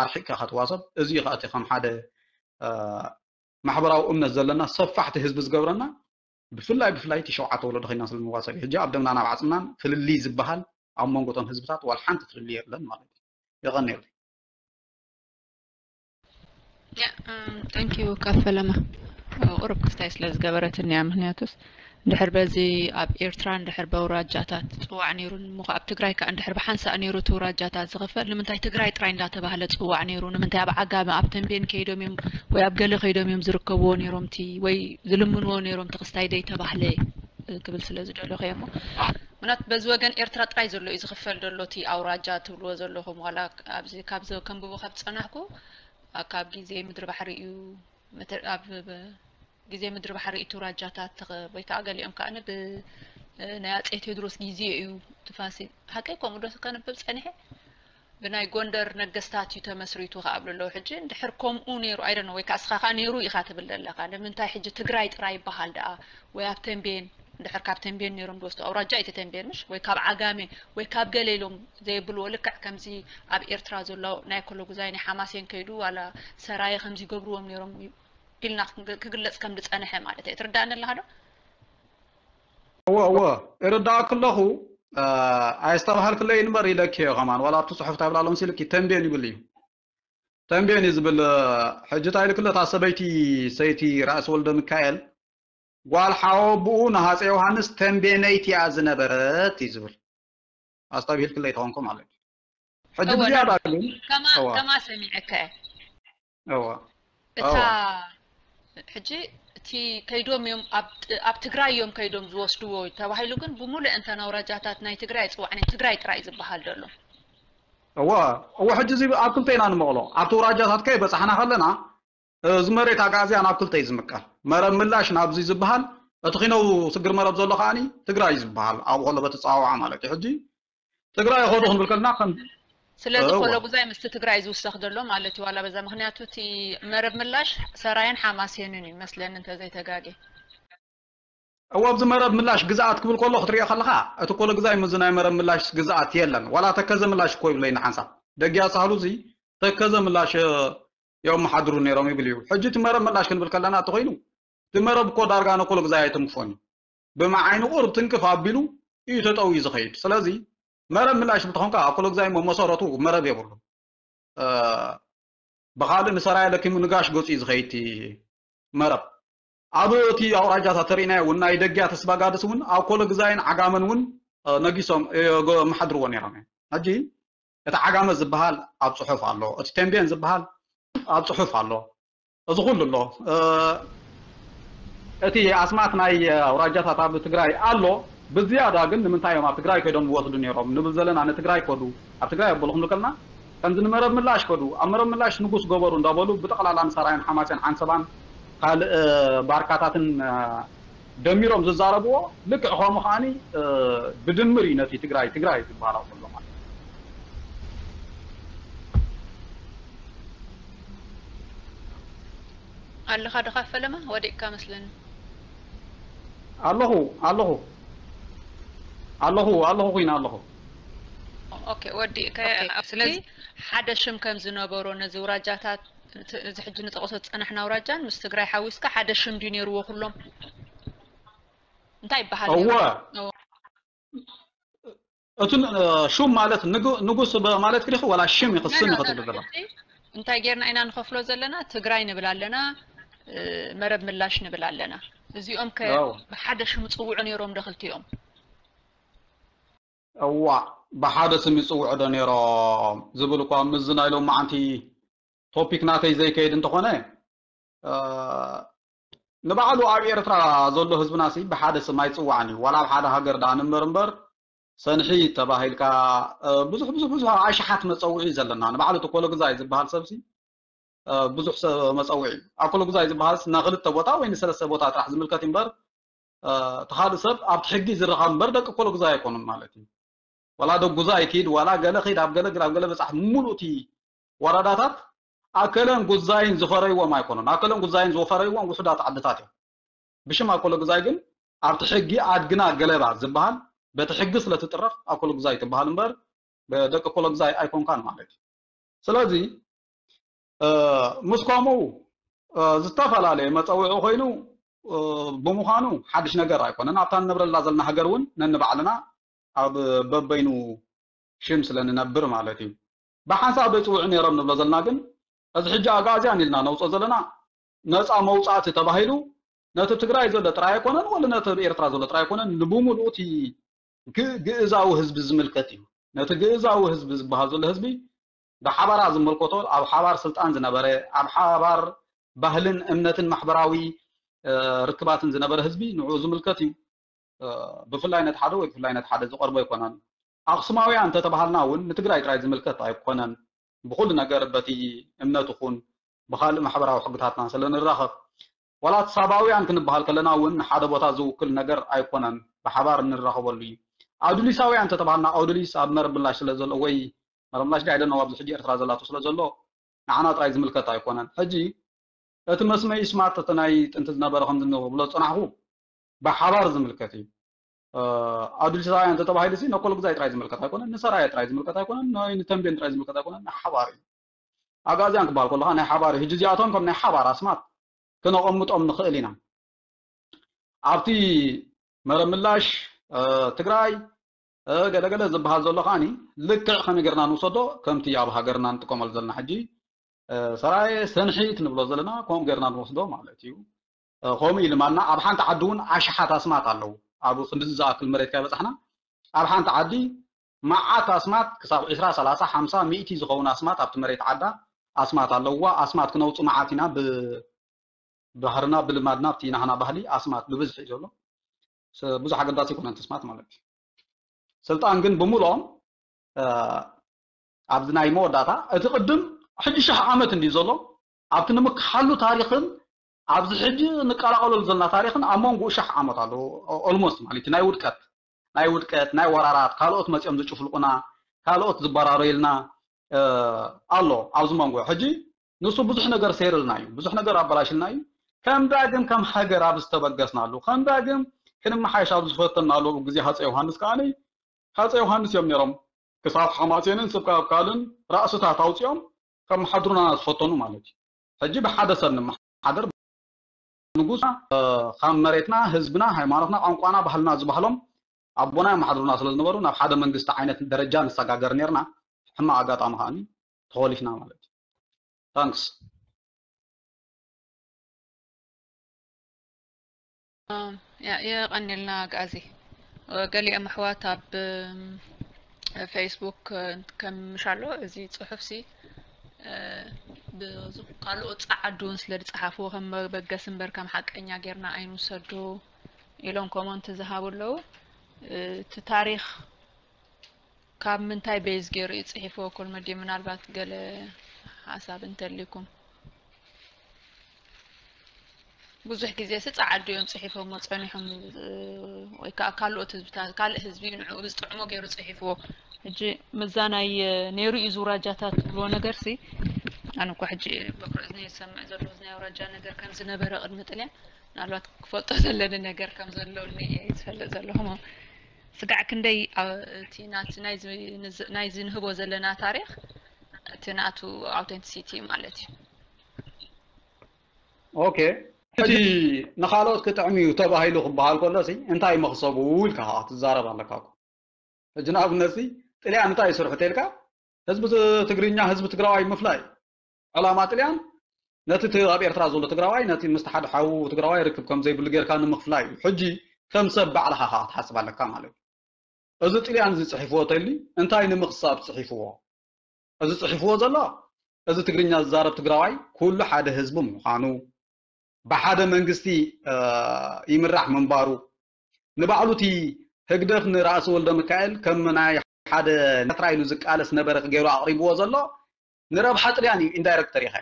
ኣርሒቅካ ከትዋሰብ እዚ እዩ ከኣቲ ከም ሓደ ማሕበራዊ እምነት ዘለና ሰፋሕቲ ህዝቢ ዝገብረና ብፍላይ ብፍላይ እቲ ሸውዓተ ወለዶ ኮይና ስለ ንዋሰብ ሕጂ ኣብ ደምና ናብ ዓፅምናን ፍልልይ ዝበሃል ኣብ መንጎ እቶም ህዝብታት ዋላ ሓንቲ ፍልልይ የለን ማለት እዩ የቐንየሉ thank you ካፈለማ ቁሩብ ክስታይ ስለ ዝገበረትኒ እያ ምክንያቱስ እንድሕር በዚ ኣብ ኤርትራ እንድሕር በውራጃታት ዝፅዋዕ ነይሩ እሞ ኣብ ትግራይ ከዓ እንድሕር ብሓንሳእ ነይሩ እቲ ውራጃታት ዝኽፈል ንምንታይ ትግራይ ጥራይ እንዳተባህለ ዝፅዋዕ ነይሩ ንምንታይ ኣብ ዓጋመ ኣብ ተንቤን ከይዶም እዮም ወይ ኣብ ገለ ከይዶም እዮም ዝርከብዎ ነይሮም እቲ ወይ ዝልምንዎ ነይሮም እቲ ክስታይ ዘይተባህለ ክብል ስለ ዝደለኹ እየ እሞ ምናት በዚ ወገን ኤርትራ ጥራይ ዘሎ እዩ ዝኽፈል ዘሎ እቲ ኣውራጃ ትብልዎ ዘለኹም ዋላ ኣብዚ ካብ ከንብቦ ካብ ዝፀናሕኩ ካብ ግዜ ምድሪ ባሕሪ እዩ ኣብ ግዜ ምድሪ ባሕሪ እቲ ውራጃታት ወይ ከዓ ገሊኦም ከዓ ብ ናይ ኣፀይ ቴድሮስ ግዜ እዩ ትፋሲ ሓቀይ ከምኡ ዶ ከንብብ ፀኒሐ ብናይ ጎንደር ነገስታት እዩ ተመስሪቱ ከኣብሉ ኣለዉ ሕጂ እንድሕር ከምኡ ነይሩ ኣይደነ ወይ ከዓ እስኻ ከዓ ነይሩ ኢኻ ትብል ዘለካ ንምንታይ ሕጂ ትግራይ ጥራይ ይበሃል ደኣ ወይ ኣብ ተንቤን እንድሕር ካብ ተንቤን ነይሮም ዝወስዱ ኣውራጃ እቲ ተንቤን ምሽ ወይ ካብ ዓጋሜ ወይ ካብ ገለ ኢሎም ዘየብልዎ ልክዕ ከምዚ ኣብ ኤርትራ ዘሎ ናይ ኮሎጉዛይ ናይ ሓማሴን ከይዱ ዋላ ሰራየ ከምዚ ይገብርዎም ነይሮም ኢልና ክግለፅ ከም ዝፀንሐ ማለት እየ ትርዳእኒ ኣለካ ዶ እወ እወ እርዳእክ ኣለኹ ኣየስተባሃልክለይ እምበር ኢለኪ እየ ከማን። ዋላ ኣብቲ ጽሑፍ ታብላ ሎምሲ ኢልኪ ተንቤን ይብል እዩ። ተንቤን እዩ ዝብል። ሕጂ እንታይ ኢልክለ እታ ሰበይቲ ሰይቲ ራእሲ ወልደ ሚካኤል፣ ጓል ሓወብኡ ንሃፀ ዮሃንስ ተንቤነይቲ እያ ዝነበረት እዩ ዝብል። ኣስተብሂልክለይ ተኾንኩ ማለት እዩ። ሕጂ እወ፣ ብዝያዳ ና- ግን ከማ እወ ከማ ሰሚዐካ እየ። እወ እታ እወ ሕጂ እቲ ከይዶም እዮም ኣብ ጥ- ኣብ ትግራይ እዮም ከይዶም ዝወስድዎ ተባሂሉ፣ ግን ብምሉእ እንተን ኣውራጃታት ናይ ትግራይ ጽዋዕ ናይ ትግራይ ጥራይ ዝበሃል ዘሎ። እወ እወ። ሕጂ እዚ ኣብ ክልተ ኢና ንመቕሎ። ኣብቲ ኣውራጃታት ከይበጻሕና ከለና፣ እዚ መሬት ኣግኣዝያን ኣብ ክልተ እዩ ዝምቀል። መረብ ምላሽ ናብዚ ዝበሃል፣ እቲ ኪነው ስግር መረብ ዘሎ ከዓኒ ትግራይ ዝበሃል ኣብኡ ከሎ በቲ ጸዋውዓ ማለት እዩ። ሕጂ ትግራይ ይኸዱ ክንብል ከለና ከም ስለዚ እወ ኮሎጉዛይ ምስቲ ትግራይ ዝውሰኽ ዘሎ ማለት እዩ። ዋላ በዛ ምክንያቱ እቲ መረብ ምላሽ ሰራየን ሓማሴንን እዩ መስለኒ እንተዘይተጋጌ። እወ ኣብዚ መረብ ምላሽ ግዝኣት ክብል ከሎ ክትሪኦ ከለኻ፣ እቲ ኮሎግዛይ ምስዚ ናይ መረብ ምላሽ ግዝኣት የለን። ዋላ ተከዘ ምላሽ እኮ ይብለይና ሓንሳብ። ደጊያ ሳህሉ እዚ ተከዘ ምላሽ የመሓድሩ ነይሮም ይብል እዩ። ሕጂ እቲ መረብ ምላሽ ክንብል ከለና እንተኾይኑ፣ እቲ መረብ እኮ ዳርጋ ንኮሎግዛይ ኣይትንክፎን እዩ። ብመዓይኑ ቁሩብ ትንክፍ ኣቢሉ እዩ ተጠውዩ ዝኸይድ። ስለዚ መረብ ምላሽ እንተኾንካ፣ ኮሎግዛይ መሰረቱ መረብ የብሉ። ብኻልእ ንሰራየ ለኪሙ ንጋሽ ገጹ እዩ ዝኸይድ እቲ መረብ። ኣብ እቲ ኣውራጃታት ተሪእናዮ እውን ናይ ደግያ ተስባጋድስ እውን ኣብ ኮሎግዛይን ዓጋመን እውን ነጊሶም የመሓድርዎ ነይሮም እዮም። ሕጂ እቲ ዓጋመ ዝበሃል ኣብ ጽሑፍ ኣሎ፣ እቲ ተንቤን ዝበሃል ኣብ ጽሑፍ ኣሎ። እዚ ኩሉ ኣሎ። እቲ ኣስማት ናይ ኣውራጃታት ኣብ ትግራይ ኣሎ። ብዝያዳ ግን ንምንታይ እዮም ኣብ ትግራይ ከይዶም ዝወስዱ ነይሮም ንብል ዘለና፣ ንትግራይ ከዱ፣ ኣብ ትግራይ ኣበሉ ክንብል ከለና ከምዚ ንመረብ ምላሽ ከዱ፣ ኣብ መረብ ምላሽ ንጉስ ገበሩ እንዳበሉ ብጠቕላላ ንሰራየን ሓማሴን ዓንሰባን ካልእ ባርካታትን ደሚሮም ዝዛረብዎ ልክዕ ከምኡ ከዓኒ ብድምር እዩ ነቲ ትግራይ ትግራይ ዝበሃል ኣብ ዘሎ ማለት እዩ። ኣለኻ ድኻ ፈለማ ወዲቅካ መስለኒ። ኣለኹ ኣለኹ ኣለኹ ኣለኹ ኩይና ኣለኹ። ኦኬ ወዲእካ። ስለዚ ሓደ ሽም ከም ዝነበሮ ነዚ ውራጃታት፣ እዚ ሕጂ ንጠቕሶ ዝጸናሕና ውራጃን ምስ ትግራይ ሓዊስካ ሓደ ሽም ድዩ ነይርዎ ኩሎም? እንታይ ይበሃል እወ ነይሩ? እወ። እቲ ን- ሹም ማለት ንጉ- ንጉስ ብ- ማለት ክዲኺ ዋላ ሽም ይኽስም ኖ፣ ኖ፣ ይኽትብል ኖ፣ ዘላ ሕጂ እንታይ ጌርና ኢና ንኸፍሎ ዘለና? ትግራይ ንብል ኣለና፣ እ፣ መረብ ምላሽ ንብል ኣለና። እዚኦም ከ ያው ብሓደ ሽም ጽውዑ ነይሮም ዶ ክልቲኦም? እዋ ብሓደ ስም ይጽውዑ ዶ ነይሮም ዝብል እኳ ምስዚ ናይ ሎማዓንቲ ቶፒክ ናተይ ዘይከይድ እንተኾነ፣ እ፣ ንባዕሉ ኣብ ኤርትራ ዘሎ ህዝብና ሲ ብሓደ ስም ኣይጽዋዕን እዩ። ዋላ ኣብ ሓደ ሃገር ደኣ ንንበር እምበር፣ ሰንሒ ተባሂልካ፣ እ፣ ብዙሕ ብዙሕ ብዙሕ ኣሽሓት መጸውዒ እዩ ዘለና። ንባዕሉ እቲ ኮሎግዛይ ዝበሃል ሰብሲ፣ እ፣ ብዙሕ ሰብ መጸውዒ እዩ። ኣብ ኮሎግዛይ ዝበሃልስ ንክልተ ቦታ ወይ ንሰለስተ ቦታ ጥራሕ ዝምልከት እዩ እምበር፣ እ፣ እቲ ካልእ ሰብ ኣብቲ ሕጊ ዝረኸብ እምበር ደቂ ኮሎግዛይ ኣይኮኑን ማለት እዩ። ዋላ ደጉዛይ ኪድ፣ ዋላ ገለ ኪድ፣ ኣብ ገለ ግል፣ ኣብ ገለ በጻሕ፣ ሙሉእ እቲ ወረዳታት ኣከለን ጉዛይን ዝፈረይዎም ኣይኮኑን። ኣከለን ጉዛይን ዝፈረይዎም ውሑዳት ዓድታት እዮም። ብሽም ኣኮለ ጉዛይ ግን ኣብቲ ሕጊ ኣድግና ገለባ ዝበሃል በቲ ሕጊ ስለ ትጥረፍ ኣኮለ ጉዛይ ትበሃል እምበር ደቂ ኮለ ጉዛይ ኣይኮንካን ማለት እዩ። ስለዚ፣ እ፣ ምስ ከምኡ፣ እ፣ ዝተፈላለየ መጸውዒ ኮይኑ፣ እ፣ ብምዃኑ ሓድሽ ነገር ኣይኮነን። ኣብታ ንነብረላ ዘለና ሃገር እውን ነንባዕልና ኣብ በበይኑ ሽም ስለ ንነብር ማለት እዩ። ብሓንሳብ ዶ ይጽውዑ ነይሮም ንብሎ ዘለና ግን፣ እዚ ሕጂ ኣግኣዝያን ኢልና ነውጽኦ ዘለና ነጻ መውጻእቲ ተባሂሉ ነቲ ትግራይ ዘሎ ጥራይ ኣይኮነን፣ ወላ ነቲ ኣብ ኤርትራ ዘሎ ጥራይ ኣይኮነን፣ ንብምሉኡ እቲ ግ- ግእዛዊ ህዝቢ ዝምልከት እዩ። ነቲ ግእዛዊ ህዝቢ ዝበሃል ዘሎ ህዝቢ ብሓባራ ዝመልከቶ፣ ኣብ ሓባር ስልጣን ዝነበረ፣ ኣብ ሓባር ባህልን እምነትን ማሕበራዊ፣ እ፣ ርክባትን ዝነበረ ህዝቢ ንዕኡ ዝምልከት እዩ። እ፣ ብፍላይ ነቲ ሓደ ወይ ብፍላይ ነቲ ሓደ ዝቐርቦ ኣይኮነን። ኣኽሱማውያን እንተተባሃልና እውን ንትግራይ ጥራይ ዝምልከት ኣይኮነን። ብኹሉ ነገር በቲ እምነት ይኹን ብኻልእ ማሕበራዊ ሕግታትና ስለ ንራኸብ፣ ዋላ እቲ ሳባውያን ክንበሃል ከለና እውን ንሓደ ቦታ ዝውክል ነገር ኣይኮነን፣ ብሓባር እንራኸበሉ እዩ። ኣውድሊሳውያን እንተተባሃልና ኣውድሊስ ኣብ መረብ ምላሽ ስለ ዘሎ ወይ መረብ ምላሽ ዳይ ደነው ኣብዚ ሕጂ ኤርትራ ዘላቶ ስለ ዘሎ ንዓና ጥራይ ዝምልከት ኣይኮነን። ሕጂ እቲ መስመይ ስማርት እቲ ናይ ጥንቲ ዝነበረ ከምዚ ንብሎ ዝጸናሕኩ ብሓባር ዝምልከት እዩ። እ፣ ኣውድሊሳውያን እንተተባሂሉ ሲ ነኮለ ጉዛይ ጥራይ ዝምልከት ኣይኮነን፣ ንሰራየ ጥራይ ዝምልከት ኣይኮነን፣ ን- ንተንቤን ጥራይ ዝምልከት ኣይኮነን፣ ንሓባር እዩ። ኣግኣዝያን ክበሃል ከለኻ ናይ ሓባር እዩ። ሕጂ እዚኣቶም ከም ናይ ሓባር ኣስማት ክነቐምጦም ንኽእል ኢና። ኣብቲ መረብ ምላሽ፣ እ፣ ትግራይ ገለገለ ዝበሃል ዘሎ ከዓኒ ልክዕ ከመይ ጌርና ንውሰዶ? ከምቲ ኣብ ሃገርና ንጥቀመሉ ዘለና ሕጂ ሰራየ ሰንሒት ንብሎ ዘለና ከምኡ ጌርና ንወስዶ ማለት እዩ። ከምኡ ኢልማና ኣብ ሓንቲ ዓዲ እውን ኣሽሓት ኣስማት ኣለዉ። ኣብ ክንድዚ ዝኣክል መሬት ከይበፃሕና ኣብ ሓንቲ ዓዲ መዓት ኣስማት ክሳብ ዕስራ፣ ሰላሳ፣ ሓምሳ፣ ሚእቲ ዝኸውን ኣስማት ኣብቲ መሬት ዓዳ ኣስማት ኣለውዋ። ኣስማት ክነውፁ መዓት ኢና። ብባህርና ብልማድና ኣብቲ ናህና ባህሊ ኣስማት ብብዝሒ እዩ ዘሎ። ብዙሕ ኣገዳሲ ይኮነን ኣስማት ማለት እዩ። ስልጣን ግን ብምልኦም ኣብዚ ናይ መወዳእታ እቲ ቅድም ሕጂ ሸሕ ዓመት እንዲ ዘሎ ኣብቲ ንምክሓሉ ታሪኽን ኣብዚ ሕጂ ንቀላቀለሉ ዘለና ታሪኽን ኣብ መንጎ ሸሕ ዓመት ኣሎ። ኦልሞስት ማለት ናይ ውድቀት ናይ ውድቀት ናይ ወራራት ካልኦት መፅኦም ዝጭፍልቁና ካልኦት ዝበራረዩልና ኣሎ ኣብዚ መንጎ። ሕጂ ንሱ ብዙሕ ነገር ሰይርልና እዩ፣ ብዙሕ ነገር ኣበላሽልና እዩ። ከም ዳግም ከም ሃገር ኣብ ዝተበገስናሉ ከም ዳግም ክንመሓየሽ ኣብ ዝፈተናሉ ግዜ ሃፀ ዮሃንስ ከዓኒ ሃፀ ዮሃንስ እዮም ነይሮም ክሳብ ሓማሴንን ስብካ ኣብካልን ራእስታት ኣውፂኦም ከመሓድሩና ዝፈተኑ ማለት እዩ። ሕጂ ብሓደ ሰብ ንመሓደር ንጉስ ካብ መሬትና ህዝብና ሃይማኖትና ቋንቋና ባህልና ዝበሃሎም ኣቦና የመሓድሩና ስለ ዝነበሩ ናብ ሓደ መንግስቲ ዓይነት ደረጃ ንሰጋገር ነርና። ሕማቕ ኣጋጣሚ ከዓኒ ተኾሊፍና ማለት እዩ። ታንክስ። የቐንልና ኣግኣዚ። ገሊኦም ኣሕዋት ኣብ ፌስቡክ ከምሻሎ እዚ ፅሑፍ ሲ ካልኦት ፀዓዱ እውን ስለ ዝፀሓፍዎ ከም መበገሲ እምበር ከም ሓቀኛ ጌርና ኣይንውሰዶ ኢሎም ኮመንት ዝሃቡ ኣለዉ። እቲ ታሪኽ ካብ ምንታይ ቤዝ ገይሩ እዩ ፅሒፍዎ? ኮልመዲ ምናልባት ገለ ሓሳብ እንተልይኩም። ብዙሕ ግዜ ሲ ጸዓዱ እዮም ጽሒፎሞ ጸኒሖም ወይ ከዓ ካልኦት ህዝብታት ካልእ ህዝቢ ንዕኡ ዝጥዕሞ ገይሩ ጽሒፍዎ። ሕጂ ምዛ ናይ ነይሩ እዩ ዝውራጃታት ዝብልዎ ነገር ሲ ኣነ እኳ ሕጂ በኩር እዝኒ ዝሰምዕ ዘለኹ ናይ ውራጃ ነገር ከም ዝነበረ ቅድሚ ጥልያን ምናልባት ክፈልጦ ዘለኒ ነገር ከም ዘለኒ እየ ዝፈልጥ ዘለኹ። ስጋዕ ክንደይ እቲ ናት ናይዚ ንህቦ ዘለና ታሪኽ እቲ ናቱ ኣውተንቲሲቲ ማለት እዩ። ኦኬ፣ እቲ ንኻልኦት ክጥዕም እዩ ተባሂሉ ክበሃል ከሎ ሲ እንታይ መኽሰቡ ኢልካ ከዓ ክትዛረብ ኣለካ እኮ። ሕጂ ንኣብነት ሲ ጥልያን እንታይ ይስርሑ ተልካ ህዝቢ ትግርኛ ህዝቢ ትግራዋይ ምፍላይ ዕላማ ጥልያን ነቲ ኣብ ኤርትራ ዘሎ ትግራዋይ ነቲ ምስቲ ሓደ ሓዉ ትግራዋይ ርክብ ከም ዘይብሉ ጌርካ ንምኽፍላይ እዩ። ሕጂ ከም ሰብ ባዕልኻ ከዓ ክትሓስብ ኣለካ ማለት እዩ። እዚ ጥልያን እዚ ጽሒፍዎ ተሊ እንታይ ንምኽሳብ ጽሒፍዎ? እዚ ጽሒፍዎ ዘሎ እዚ ትግርኛ ዝዛረብ ትግራዋይ ኩሉ ሓደ ህዝቢ ምዃኑ ብሓደ መንግስቲ ይምራሕ ምንባሩ ንባዕሉ እቲ ህግደፍ ንራእሲ ወልደ ሚካኤል ከም ናይ ሓደ ነትራ ኢሉ ዝቃለስ ነበረ ገይሩ ኣቕሪብዎ ዘሎ ንረብሓ ጥልያን እዩ። ኢንዳይረክት ተሪኸ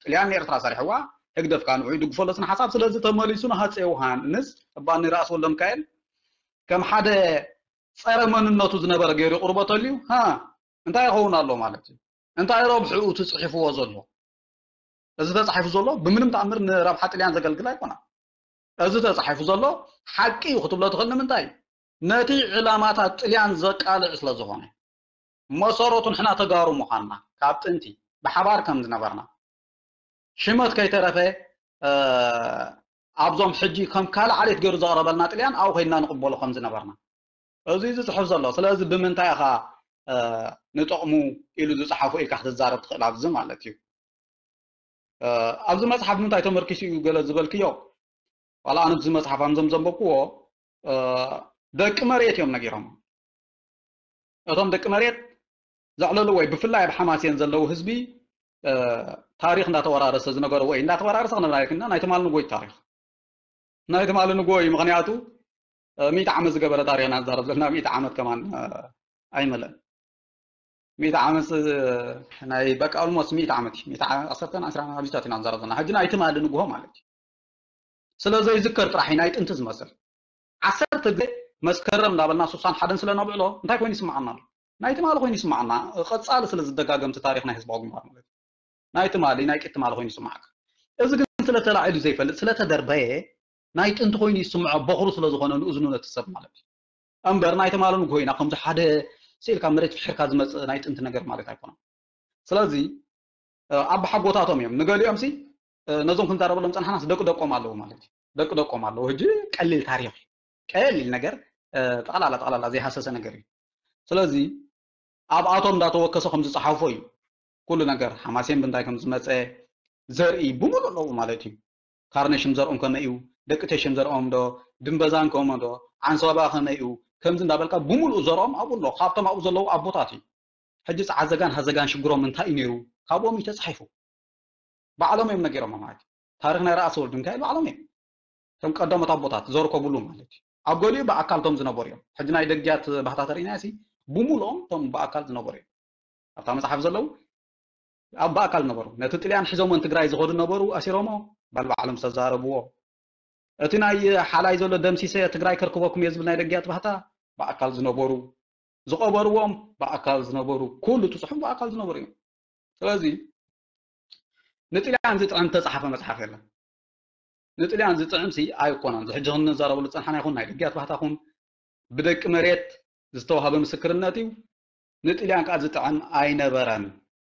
ጥልያን ንኤርትራ ሰሪሕዋ ህግደፍ ከዓ ንዑ ይድግፎ ኣሎ ስነ ሓሳብ። ስለዚ ተመሊሱ ንሃፀ ዮሃንስ እባ ንራእሲ ወልደ ሚካኤል ከም ሓደ ጸረ መንነቱ ዝነበረ ገይሩ ይቕርቦ ተልዩ ሃ እንታይ ይኸውን ኣሎ ማለት እዩ? እንታይ ረብሕኡ ትጽሒፍዎ ዘሎ? እዚ ተጻሒፉ ዘሎ ብምንም ተኣምር ንረብሓ ጥልያን ዘገልግል ኣይኮነን። እዚ ተጻሒፉ ዘሎ ሓቂ እዩ ክትብሎ ትኽእል። ንምንታይ? ነቲ ዕላማታት ጥልያን ዘቃልዕ ስለ ዝኾነ። መሰረቱ ንሕና ተጋሩ ምዃንና ካብ ጥንቲ ብሓባር ከም ዝነበርና ሽመት ከይተረፈ ኣብዞም ሕጂ ከም ካልእ ዓሌት ገይሩ ዘቕረበልና ጥልያን ኣብኡ ከይድና ንቕበሎ ከም ዝነበርና እዚ ዝፅሕፍ ዘሎ። ስለዚ ብምንታይ ኢኻ ንጥቕሙ ኢሉ ዝፅሓፎ ኢልካ ክትዛረብ ትኽእል ኣብዚ ማለት እዩ። ኣብዚ መፅሓፍ ምንታይ ተመርኪሱ እዩ ገለ ዝበልክዮ? ዋላ ኣነ ኣብዚ መፅሓፍ ኣምዘም ዘንበብክዎ ደቂ መሬት እዮም ነጊሮም። እቶም ደቂ መሬት ዘዕለሉ ወይ ብፍላይ ኣብ ሓማሴን ዘለዉ ህዝቢ ታሪኽ እንዳተወራረሰ ዝነገሩ ወይ እንዳተወራረሰ ክነብራ ይክና ናይ ትማል ንጎይ ታሪኽ ናይ ትማል ንጎይ ምክንያቱ ሚእቲ ዓመት ዝገበረ ታሪኽና ንዛረብ ዘለና ሚእቲ ዓመት ከማን ኣይመለእን። ሚእቲ ዓመት ናይ በቃ ኦልሞስት ሚእቲ ዓመት ሚእቲ ዓሰርተን ዕስራን ኣብዚታት ኢና ንዛረብ ዘለና ሕጂ ናይ ትማል ንግሆ ማለት እዩ። ስለ ዘይዝከር ጥራሕ እዩ ናይ ጥንቲ ዝመስል። ዓሰርተ ግዜ መስከረም እንዳበልና ስሳን ሓደን ስለ ነብዕሎ እንታይ ኮይኑ ይስምዓና ኣሎ? ናይ ትማሊ ኮይኑ ይስምዓና። ቀጻሊ ስለ ዝደጋገም እቲ ታሪኽ ናይ ህዝባዊ ግንባር ማለት እዩ። ናይ ትማሊ ናይ ቅድቲ ትማሊ ኮይኑ ይስምዓካ። እዚ ግን ስለ ተላዒሉ ዘይፈልጥ ስለ ተደርበየ ናይ ጥንቲ ኮይኑ ይስምዖ በኹሩ ስለ ዝኾነ ንእዝኑ ነቲ ሰብ ማለት እዩ። እምበር ናይ ትማሊ ንግሆ ኢና ከምዚ ሓደ ስኢልካ መሬት ፍሕርካ ዝመጽእ ናይ ጥንቲ ነገር ማለት ኣይኮነን። ስለዚ ኣባሓጎታቶም እዮም። ንገሊኦም ሲ ነዞም ክንዛረበሎም ጸንሓናስ ደቂ ደቆም ኣለዉ ማለት እዩ። ደቂ ደቆም ኣለዉ። ሕጂ ቀሊል ታሪኽ እዩ። ቀሊል ነገር ጠቕላላ ጠቕላላ ዘይሃሰሰ ነገር እዩ። ስለዚ ኣብኣቶም እንዳተወከሰ ከም ዝፀሓፎ እዩ። ኩሉ ነገር ሓማሴን ብንታይ ከም ዝመፀ ዘርኢ ብምሉእ ኣለዉ ማለት እዩ። ካርነ ሽም ዘርኦም ከመይ እዩ፣ ደቂ ቴሽም ዘርኦም ዶ፣ ድንበዛን ከምኡ ዶ፣ ዓንሰባ ከመይ እዩ፣ ከምዚ እንዳበልካ ብምሉእ ዘርኦም ኣብኡ ኣሎ። ካብቶም ኣብኡ ዘለዉ ኣቦታት እዩ። ሕጂ ፃዓዘጋን ሃዘጋን ሽግሮም እንታይ እዩ ነይሩ፣ ካብኦም እዩ ተፃሒፉ። ባዕሎም እዮም ነጊሮም ማለት እዩ። ታሪኽ ናይ ራእሲ ወልድ ሚካኤል ባዕሎም እዮም። እቶም ቀዳሞት ኣቦታት ዘርከቡሉ ማለት እዩ። ኣብ ገሊኡ ብኣካል እቶም ዝነበሩ እዮም። ሕጂ ናይ ደግያት ባህታ ተርእና ሲ ብምሉኦም እቶም ብኣካል ዝነበሩ እዮም። ኣብታ መጽሓፍ ዘለዉ ኣብ ብኣካል ነበሩ። ነቲ ጥልያን ሒዞሞ ንትግራይ ዝኸዱ ነበሩ፣ ኣሲሮሞ ባል ባዕሎም ዝተዛረብዎ። እቲ ናይ ሓላይ ዘሎ ደምሲሰ ትግራይ ከርክበኩም እየ ዝብል ናይ ደግያት ባህታ ብኣካል ዝነበሩ፣ ዝቐበርዎም ብኣካል ዝነበሩ፣ ኩሉ እቲ ጽሑፍ ብኣካል ዝነበሩ እዮም። ስለዚ ንጥልያን ዝጥዕም ተጻሓፈ መጽሓፍ የለን። ንጥልያን ዝጥዕም ሲ ኣይኮነን። እዚ ሕጂ ክንዛረበሉ ዝጸንሓና ይኹን ናይ ደግያት ባህታ ኹን ብደቂ መሬት ዝተዋህበ ምስክርነት እዩ። ንጥልያን ከዓ ዝጥዕም ኣይነበረን።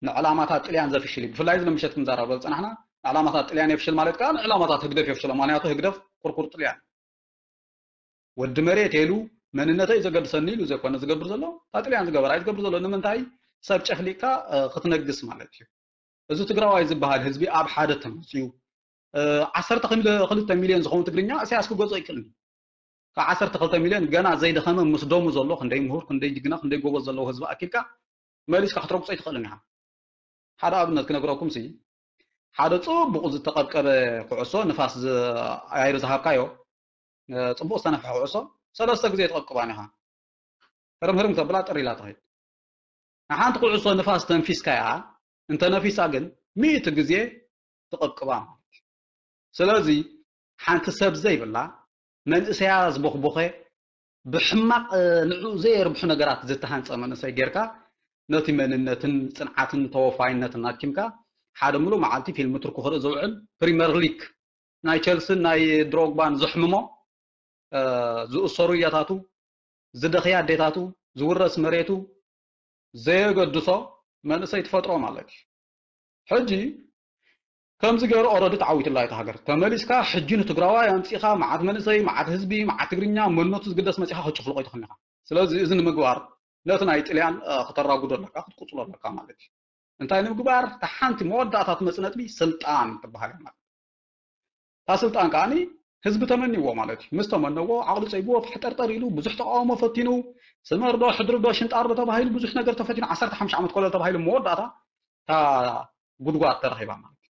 ንዕላማታት ጥልያን ዘፍሽል እዩ። ብፍላይ እዚ ምሸት ክንዛረበሉ ዝጸናሕና ንዕላማታት ጥልያን የፍሽል ማለት ከዓ ንዕላማታት ህግደፍ የፍሽሎ። ምኽንያቱ ህግደፍ ኩርኩር ጥልያን ወዲ መሬት ኢሉ መንነተይ ዘገድሰኒ ኢሉ ዘይኮነ ዝገብር ዘሎ፣ እታ ጥልያን ዝገበራ እዩ ዝገብር ዘሎ። ንምንታይ? ሰብ ጨፍሊቅካ እ፣ ክትነግስ ማለት እዩ። እዚ ትግራዋይ ዝበሃል ህዝቢ ኣብ ሓደ ተመፅዩ እ፣ ዓሰርተ ክልተ ሚልዮን ዝኸውን ትግርኛ እሳያስ ክገዝኦ ይክእልኒ። ካብ ዓሰርተ ክልተ ሚልዮን ገና ዘይደኸመ ምስ ደሙ ዘሎ ክንደይ ምሁር፣ ክንደይ ጅግና፣ ክንደይ ጎበዝ ዘለዎ ህዝቢ ኣኪብካ መሊስካ ክትረግጾ ኣይትኽእልን ኢኻ። ሓደ ኣብነት ክነግረኩም ሲ ሓደ ጽቡቕ ዝተቐብቀበ ኩዕሶ ንፋስ ዝ- ኣየር ዝሃብካዮ እ፣ ጽቡቕ ዝተነፍሐ ኩዕሶ ሰለስተ ግዜ ትቐብቅባን ኢኻ። ህርም ህርም ተብላ ጥር ኢላ ትኸይድ። ንሓንቲ ኩዕሶ ንፋስ ተንፊስካያ እንተነፊሳ ግን ሚእቲ ግዜ ትቐብቅባ ማለት እዩ። ስለዚ ሓንቲ ሰብ ዘይብላ መንእሰያ ዝቦኽቦኸ ብሕማቕ እ፣ ንዕኡ ዘየርብሑ ነገራት ዝተሃንፀ መንእሰይ ጌርካ ነቲ መንነትን ፅንዓትን ተወፋይነትን ኣኪምካ ሓደ ምሉእ መዓልቲ ፊልም ቱርኪ ክርኢ ዝውዕል ፕሪመር ሊግ ናይ ቸልስን ናይ ድሮግባን ዘሕምሞ እ፣ ዝእሰሩ እያታቱ ዝደኽያ ኣዴታቱ ዝውረስ መሬቱ ዘየገድሶ መንእሰይ ትፈጥሮ ማለት እዩ። ሕጂ ከምዚ ገይሩ ኦረዲ ተዓዊትላ እታ ሃገር ተመሊስካ ሕጂ ንትግራዋይ ኣምፂኻ መዓት መንእሰይ መዓት ህዝቢ መዓት ትግርኛ መንነቱ ዝግደስ መፂኻ ክጭፍልቆ ይትኽእል ኢኻ። ስለዚ እዚ ንምግባር ነቲ ናይ ጥልያን እ፣ ክተራጉዶ ኣለካ ክትቁፅሎ ኣለካ ማለት እዩ። እንታይ ንምግባር እታ ሓንቲ መወዳእታ ትመፅእ ነጥቢ ስልጣን ትበሃል እያ ማለት እታ ስልጣን ከዓኒ ህዝቢ ተመንዎ ማለት እዩ። ምስ ተመነዎ ዓቕሉ ፀይብዎ ፋሕጠርጠር ኢሉ ብዙሕ ተቃውሞ ፈቲኑ ስመርዶ ሕድርዶ ሽንጣርዶ ተባሂሉ ብዙሕ ነገር ተፈቲኑ ዓሰርተ ሓሙሽተ ዓመት ኮለል ተባሂሉ መወዳእታ እታ ጉድጓድ ተረኺባ ማለት እዩ።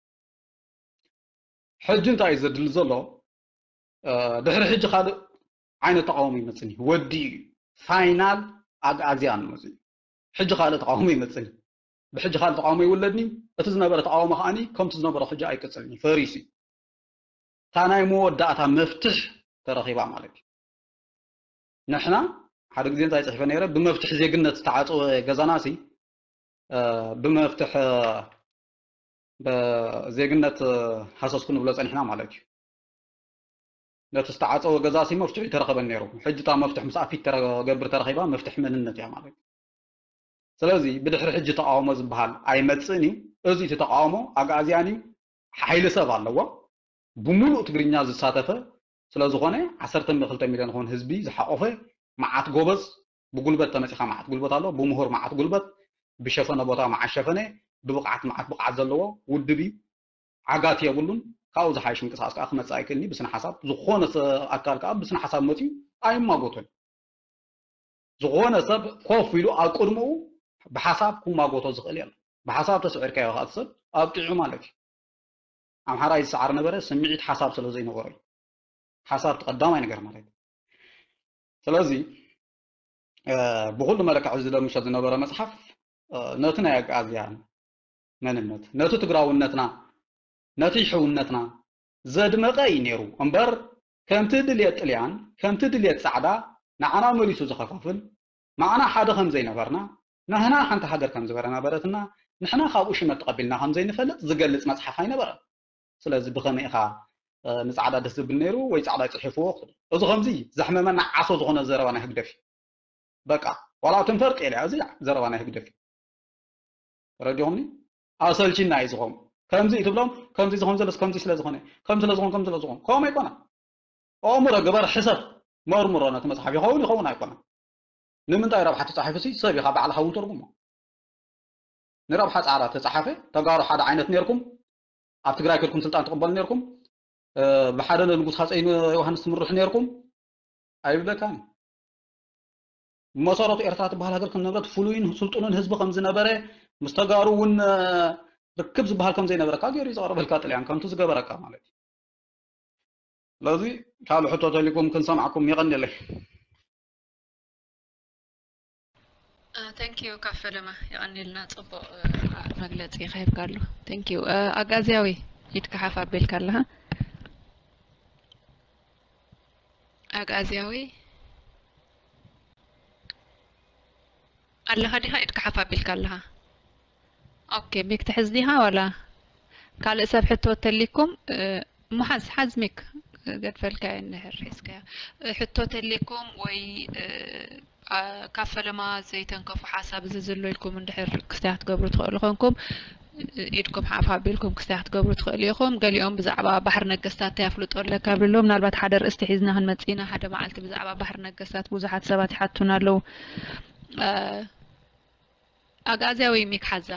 ሕጂ እንታይ እዩ ዘድሊ ዘሎ? ድሕሪ ሕጂ ካልእ ዓይነት ተቃውሞ ይመፅኒ ወዲ እዩ ፋይናል ኣግኣዝያን መፅዩ ሕጂ ካልእ ተቃውሞ ይመፅኒ ብሕጂ ካልእ ተቃውሞ ይውለድኒ እቲ ዝነበረ ተቃውሞ ከዓኒ ከምቲ ዝነበረ ሕጂ ኣይቅፅልኒ ፈሪሱ እዩ እታ ናይ መወዳእታ መፍትሕ ተረኺባ ማለት እዩ ንሕና ሓደ ግዜ እንታይ ፅሒፈ ነይረ ብመፍትሕ ዜግነት ዝተዓፀወ ገዛና ሲ ብመፍትሕ ዜግነት ሃሰስኩ ንብሎ ፀኒሕና ማለት እዩ ነቲ ዝተዓፀወ ገዛ ሲ መፍትሑ ይተረኸበን ነይሩ ሕጂ እታ መፍትሕ ምስ ኣፊት ተገብር ተረኺባ መፍትሕ መንነት እያ ማለት እዩ ስለዚ ብድሕሪ ሕጂ ተቃውሞ ዝበሃል ኣይመፅእን እዩ እዚ እቲ ተቃውሞ ኣግኣዝያን እዩ ሓይሊ ሰብ ኣለዎ ብምሉእ ትግርኛ ዝሳተፈ ስለዝኾነ ዓሰርተ ክልተ ሚልዮን ኾን ህዝቢ ዝሓቆፈ መዓት ጎበዝ ብጉልበት ተመፂኻ መዓት ጉልበት ኣሎ ብምሁር መዓት ጉልበት ብሸፈነ ቦታ መዓት ሸፈነ ብብቕዓት መዓት ብቕዓት ዘለዎ ውድብ እዩ ዓጋት የብሉን ካብኡ ዝሓይሽ ምንቅስቃስ ከዓ ክመፅእ ኣይክእልኒ ብስነ ሓሳብ ዝኾነ ኣካል ከዓ ብስነ ሓሳብ መፅዩ ኣይማጎቶን ዝኾነ ሰብ ኮፍ ኢሉ ኣብ ቅድምኡ ብሓሳብ ክማጎቶ ዝኽእል የለን። ብሓሳብ ተስዒርካዮ ከዓ እቲ ሰብ ኣብቂዑ ማለት እዩ። ኣምሓራይ ዝሰዓር ነበረ ስምዒት ሓሳብ ስለ ዘይነበሮ እዩ። ሓሳብ እቲ ቀዳማይ ነገር ማለት እዩ። ስለዚ ብኩሉ መለክዕ እዚ ለምሸት ዝነበረ መፅሓፍ ነቲ ናይ ኣግኣዝያን መንነት ነቲ ትግራውነትና ነቲ ሕውነትና ዘድመቐ እዩ ነይሩ እምበር ከምቲ ድልየት ጥልያን ከምቲ ድልየት ፃዕዳ ንዓና መሊሱ ዝኸፋፍል ንዓና ሓደ ከም ዘይነበርና ንሕና ሓንቲ ሃገር ከም ዝበረና በረትና ንሕና ካብኡ ሽመት ተቐቢልና ከም ዘይንፈልጥ ዝገልፅ መፅሓፍ ኣይነበረን ስለዚ ብኸመይ ኢኻ ንፃዕዳ ደስ ዝብል ነይሩ ወይ ፃዕዳ ፅሒፍዎ እዚ ከምዚ ዘሕመመና ዓሶ ዝኾነ ዘረባ ናይ ህግደፍ እዩ በቃ ዋላ ትንፈር ጤልያ እዚ ዘረባ ናይ ህግደፍ እዩ ተረዲኹምኒ ኣሰልቺና እዩ ዝኾም ከምዚ ትብሎም ከምዚ ዝኾም ዘለስ ከምዚ ስለ ዝኾነ ከም ስለ ዝኾም ከም ስለ ዝኾም ከምኡ ኣይኮነ ኣእምሮ ግበር ሕሰብ መርምሮ ነቲ መፅሓፍ ይኸውን ይኸውን ኣይኮነ ንምንታይ ረብሓ ተጻሒፉ ሲ ሰብ ኢኻ ባዕልኻ እውን ተርጉሞ። ንረብሓ ጻዕራ ተጻሓፈ። ተጋሩ ሓደ ዓይነት ነርኩም፣ ኣብ ትግራይ ከድኩም ስልጣን ትቕበሉ ነርኩም። ብሓደ ንጉስ ሃፀይ ዮሃንስ ትምርሑ ነርኩም። ኣይብለካን። መሰረቱ ኤርትራ ትበሃል ሃገር ከም ነበረት ፍሉይን ስልጡንን ህዝቢ ከም ዝነበረ ምስ ተጋሩ እውን ርክብ ዝበሃል ከም ዘይነበረካ ገይሩ እዩ ዘቕርበልካ ጥልያን ከምቲ ዝገበረካ ማለት እዩ። ስለዚ ካልእ ሕቶ ተልኩም ክንሰምዓኩም። የቐንየለይ። Thank you ካፈለማ፣ የቐንየልና። ጽቡቕ መግለጺ ከሂብካ ኣሎ። Thank you። ኣጋዝያዊ፣ ኢድካ ሓፍ ኣቢልካ ኣለኻ። ኣጋዝያዊ ኣለኻ ዲኻ? ኢድካ ሓፍ ኣቢልካ ኣለኻ። Okay፣ ሚክ ትሕዝ ዲኻ ዋላ ካልእ ሰብ ሕቶ ተሊኩም? እሞ ሓዝ፣ ሓዝ ሚክ፣ ገድፈልካዮ እንድሕር ሒዝካዮ። ሕቶ ተሊኩም ወይ ካብ ፈለማ ዘይተንከፉ ሓሳብ እዚ ዝሎ ኢልኩም እንድሕር ክስታይ ክትገብሩ ትኽእሉ ኮንኩም፣ ኢድኩም ሓፍ ኣቢልኩም ክስታይ ክትገብሩ ትኽእሉ ኢኹም። ገሊኦም ብዛዕባ ባሕሪ ነገስታት እንታይ ኣፍልጦ ኣለካ ይብሉ ኣለዉ። ምናልባት ሓደ ርእስቲ ሒዝና ክንመጽእ ኢና። ሓደ መዓልቲ ብዛዕባ ባሕሪ ነገስታት ብዙሓት ሰባት ይሓቱና ኣለዉ። ኣግኣዝያዊ ሚክ ሓዛ።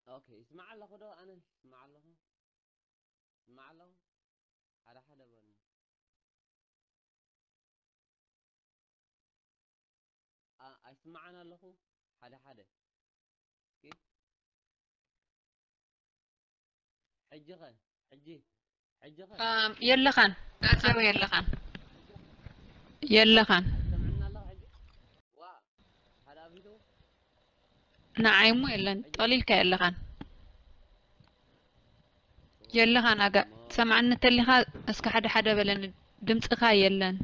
ኦኬ፣ ይስማዕ ኣለኹ ዶ? ኣነ ይስማዕ ኣለኹ? ይስማዕ ኣለኹ? ሓደ ሓደ በሉ። ኣ-፣ ኣይስማዕን ኣለኹ? ሓደ ሓደ። እስኪ። ሕጂ ኸ? ሕጂ? ሕጂ ኸ? ኣም፣ የለኻን። ጋዜቦ የለኻን። የለኻን። ትሰምዕና ኣለኻ ሕጂ? ዋ፣ ሓደ ኣቢቱ? ንዓይ እሞ የለን። ጠሊልካ የለኻን። የለኻን ኣጋ-፣ ትሰምዓኒ እንተሊኻ እስከ ሓደ ሓደ በለኒ። ድምፅኻ የለን።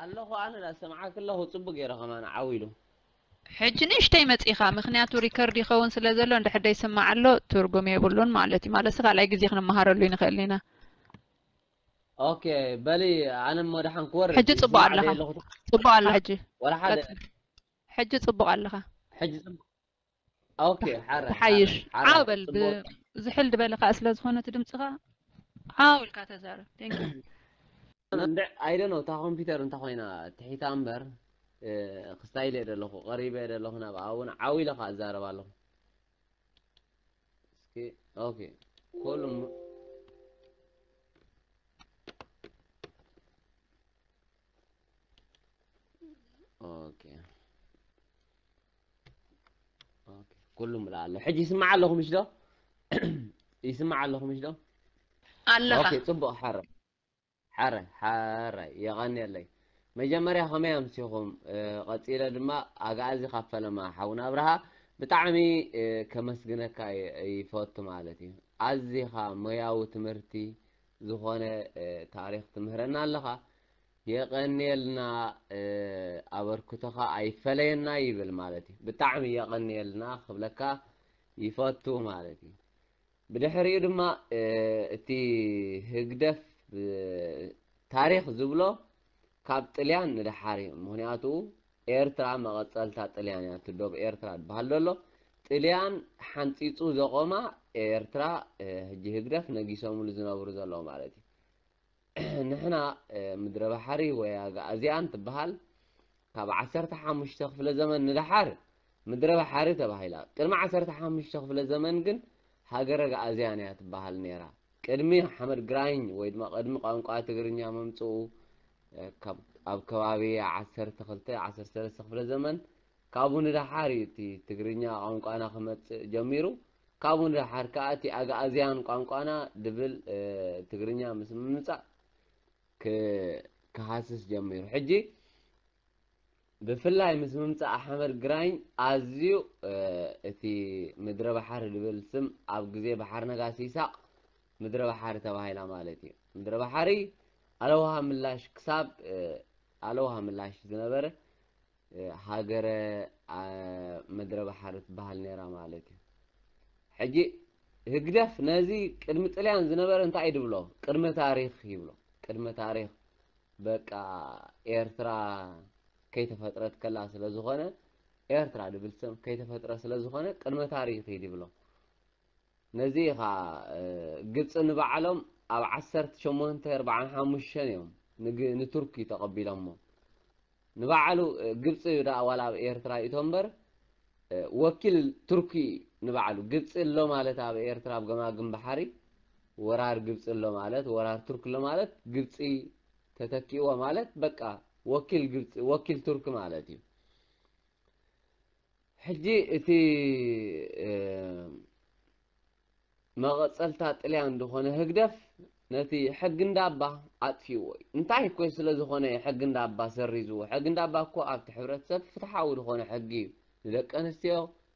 ኣለኹ ኣነ ዳ ሰምዓክ ኣለኹ፣ ጽቡቅ ገይረ ከማን ዓው ኢሉ። ሕጂ ንእሽተይ መጺኻ፣ ምኽንያቱ ሪከርድ ይኸውን ስለ ዘሎ፣ እንድሕር ደይስማዕ ኣሎ፣ ትርጉም የብሉን ማለት እዩ። ማለትሲ ካልኣይ ግዜ ክንመሃረሉ ይንኽእል ኢና። ኦኬ፣ በሊ ኣነ እሞ ደሓን ክወርድ ሕጂ ጽቡቕ ኣለኻ። ጽቡቕ ኣላ ሕጂ። ወላ ሓደ። ቀጽል። ሕጂ ጽቡቕ ኣለኻ። ሕጂ ጽቡቕ። ኦኬ፣ ሓረ፣ ተሓይሽ። ሓረ፣ ሓረ። ዓው በል። ብ-፣ ጽቡቕ። ዝሕል ዝበለ ኸኣ ስለ ዝኾነ እቲ ድምጽኻ ዓው ኢልካ ተዛረብ። Thank you። እንደ-፣ I don't know፣ እታ ኮምፒውተር እንተ ኮይና ትሒታ እምበር፣ እ፣ ክስታይ ኢለ ዘለኹ፣ ቀሪበ ዘለኹ ናብኣ እውን ዓው ኢለ ኸኣ እዛረብ ኣለኹ። እስኪ፣ ኦኬ። ኩሉ ም-፣ ኦኬ። ኦኬ። ኩሉ ምላእ ኣሎ። ሕጂ ይስማዕ ኣለኹ ምሽ ዶ? ይስማዕ ኣለኹ ምሽ ዶ? ኣለኻ። ኦኬ፣ ጽቡቕ፣ ሓረ። ሓረ፣ ሓረ፣ የቐንየለይ። መጀመርያ ከመይ ኣምሲኹም? እ፣ ቀጺለ ድማ ኣግኣዚ ካብ ፈለማ ሓውና ኣብርሃ ብጣዕሚ፣ እ፣ ከመስግነካ ይ-፣ ይፈቱ ማለት እዩ። ኣዚኻ ሞያዊ ትምህርቲ ዝኾነ፣ እ፣ ታሪኽ ትምህረና ኣለኻ። የቐንየልና፣ እ፣ ኣበርክቶኻ ኣይፈለየና ይብል ማለት እዩ። ብጣዕሚ የቐንየልና ክብለካ ይፈቱ ማለት እዩ። ብድሕሪኡ ድማ፣ እ፣ እቲ ህግደፍ፣ እ፣ ታሪኽ ዝብሎ ካብ ጥልያን ንደሓር እዩ። ምኽንያቱ ኤርትራ መቐጸልታ ጥልያን እያ። እቲ ዶብ ኤርትራ ዝበሃል ዘሎ ጥልያን ሓንጺጹ ዘቖማ ኤርትራ፣ እ፣ ሕጂ ህግደፍ ነጊሶምሉ ዝነብሩ ዘለዉ ማለት እዩ። ንሕና፣ እ፣ ምድረ ባሕሪ ወይ ኣግኣዝያን ትበሃል ካብ ዓሰርተ ሓሙሽተ ክፍለ ዘመን ንደሓር ምድረ ባሕሪ ተባሂላ። ቅድሚ ዓሰርተ ሓሙሽተ ክፍለ ዘመን ግን ሃገረ ኣግኣዝያን እያ ትበሃል ነይራ። ቅድሚ ሓመድ ግራኝ ወይ ድማ ቅድሚ ቋንቋ ትግርኛ ምምጽኡ፣ እ፣ ካብ፣ ኣብ ከባቢ ዓሰርተ ክልተ፣ ዓሰርተ ሰለስተ ክፍለ ዘመን ካብኡ ንደሓር እዩ እቲ ትግርኛ ቋንቋና ክመጽእ ጀሚሩ። ካብኡ ንደሓር ከኣ እቲ ኣግኣዝያን ቋንቋና ድብል፣ እ፣ ትግርኛ ምስ ምምጻእ ክ-፣ ክሃስስ ጀሚሩ። ሕጂ ብፍላይ ምስ ምምጻእ ሓመድ ግራኝ ኣዝዩ፣ እ፣ እቲ ምድረ ባሕሪ ድብል ስም ኣብ ግዜ ባሕሪ ነጋሲ ይሳቕ ምድረ ባሕሪ ተባሂላ ማለት እዩ። ምድረ ባሕሪ ኣለውሃ ምላሽ ክሳብ፣ እ፣ ኣለውሃ ምላሽ ዝነበረ፣ እ፣ ሃገረ፣ ኣ፣ ምድረ ባሕሪ ትበሃል ነይራ ማለት እዩ። ሕጂ ህግደፍ ነዚ ቅድሚ ጥልያን ዝነበረ እንታይ እዩ ድብሎ? ቅድመ ታሪኽ ይብሎ። ቅድመ ታሪኽ በቃ ኤርትራ ከይተፈጥረት ከላ ስለ ዝኾነ፣ ኤርትራ ድብል ስም ከይተፈጥረ ስለ ዝኾነ ቅድመ ታሪኽ ይኸይድ ይብሎ። ነዚ ኸዓ ግብፂ ንባዕሎም ኣብ ዓሰርተ ሸሞንተ ኣርባዓን ሓሙሽተን እዮም ንግ- ንቱርኪ ተቐቢሎሞ። ንባዕሉ ግብፂ ደኣ ዋላ ኣብ ኤርትራ ይእቶ እምበር ወኪል ቱርኪ ንባዕሉ ግብፂ ኣሎ ማለት ኣብ ኤርትራ ኣብ ገማግም ባሕሪ ወራር ግብፂ ኣሎ ማለት ወራር ቱርኪ ኣሎ ማለት ግብፂ ተተኪእዎ ማለት በቃ ወኪል ግብፂ ወኪል ቱርኪ ማለት እዩ። ሕጂ እቲ መቐጸልታ ጥልያን ዝኾነ ህግደፍ ነቲ ሕጊ እንዳባ ኣጥፊእዎ እዩ። እንታይ እኮ ስለ ዝኾነ እዩ ሕጊ እንዳባ ሰሪዝዎ? ሕጊ እንዳባ እኮ ኣብቲ ሕብረተሰብ ፍትሓዊ ዝኾነ ሕጊ እዩ። ንደቂ ኣንስትዮ፣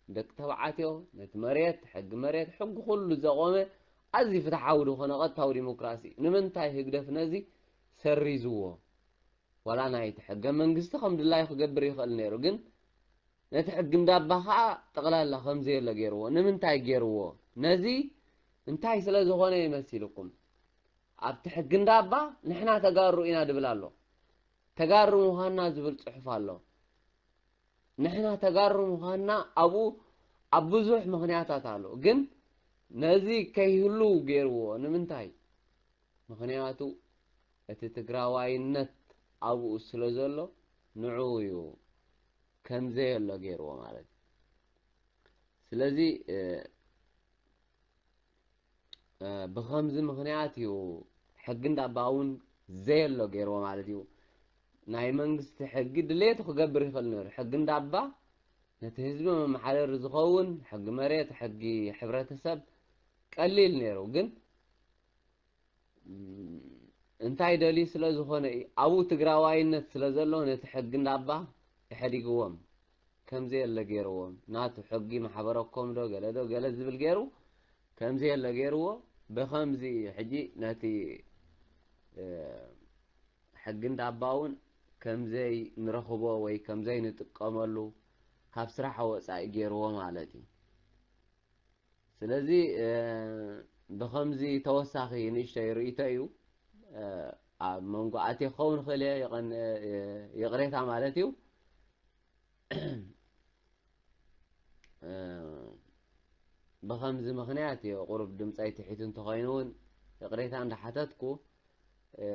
ንደቂ ተባዕትዮ፣ ነቲ መሬት፣ ሕጊ መሬት፣ ሕጊ ኩሉ ዘቖመ ኣዝዩ ፍትሓዊ ዝኾነ ቀጥታዊ ዲሞክራሲ እዩ። ንምንታይ ህግደፍ ነዚ ሰሪዝዎ? ዋላ ናይቲ ሕገ መንግስቲ ከም ድላዩ ክገብር ይኽእል ነይሩ፣ ግን ነቲ ሕጊ እንዳባ ከዓ ጠቕላላ ከም ዘየለ ገይርዎ። ንምንታይ ገይርዎ? ነዚ እንታይ ስለ ዝኾነ ይመሲልኩም? ኣብቲ ሕጊ እንዳባ ንሕና ተጋሩ ኢና ድብል ኣሎ። ተጋሩ ምዃንና ዝብል ፅሑፍ ኣሎ። ንሕና ተጋሩ ምዃንና ኣብኡ ኣብ ብዙሕ ምኽንያታት ኣሎ። ግን ነዚ ከይህሉ ገይርዎ። ንምንታይ? ምኽንያቱ እቲ ትግራዋይነት ኣብኡ ስለ ዘሎ ንዕኡ እዩ ከም ዘየሎ ገይርዎ ማለት እዩ። ስለዚ እ፣ እ፣ ብኸምዚ ምኽንያት እዩ ሕጊ እንዳባ እውን ዘየሎ ገይርዎ ማለት እዩ። ናይ መንግስቲ ሕጊ ድሌቱ ክገብር ይኽእል ነይሩ። ሕጊ እንዳባ ነቲ ህዝቢ መመሓደሪ ዝኸውን ሕጊ መሬት፣ ሕጊ ሕብረተሰብ ቀሊል ነይሩ። ግን እንታይ ደልዩ ስለ ዝኾነ እዩ? ኣብኡ ትግራዋይነት ስለ ዘሎ ነቲ ሕጊ እንዳባ ኢሕዲግዎም ከምዚ የለ ገይርዎም። ናቱ ሕጊ ማሕበረኮም ዶ ገለ ዶ ገለ ዝብል ገይሩ ከምዚ የለ ገይርዎ። ብኸምዚ እዩ ሕጂ ነቲ እ፣ ሕጊ እንዳባ እውን ከምዘይ ንረኽቦ ወይ ከምዘይ ንጥቀመሉ ካብ ስራሕ ወፃኢ ገይርዎ ማለት እዩ። ስለዚ እ፣ ብኸምዚ ተወሳኺ ንእሽተይ ርእይቶ እዩ። እ፣ ኣብ መንጎ ኣትየ ክኸውን ይኽእል እየ፣ የቐን-፣ እ፣ ይቕሬታ ማለት እዩ። እ፣ ብኸምዚ ምኽንያት እዩ ቁሩብ ድምፀይ ትሒቱ እንተኾይኑ እውን ይቕሬታ እንዳሓተትኩ፣ እ፣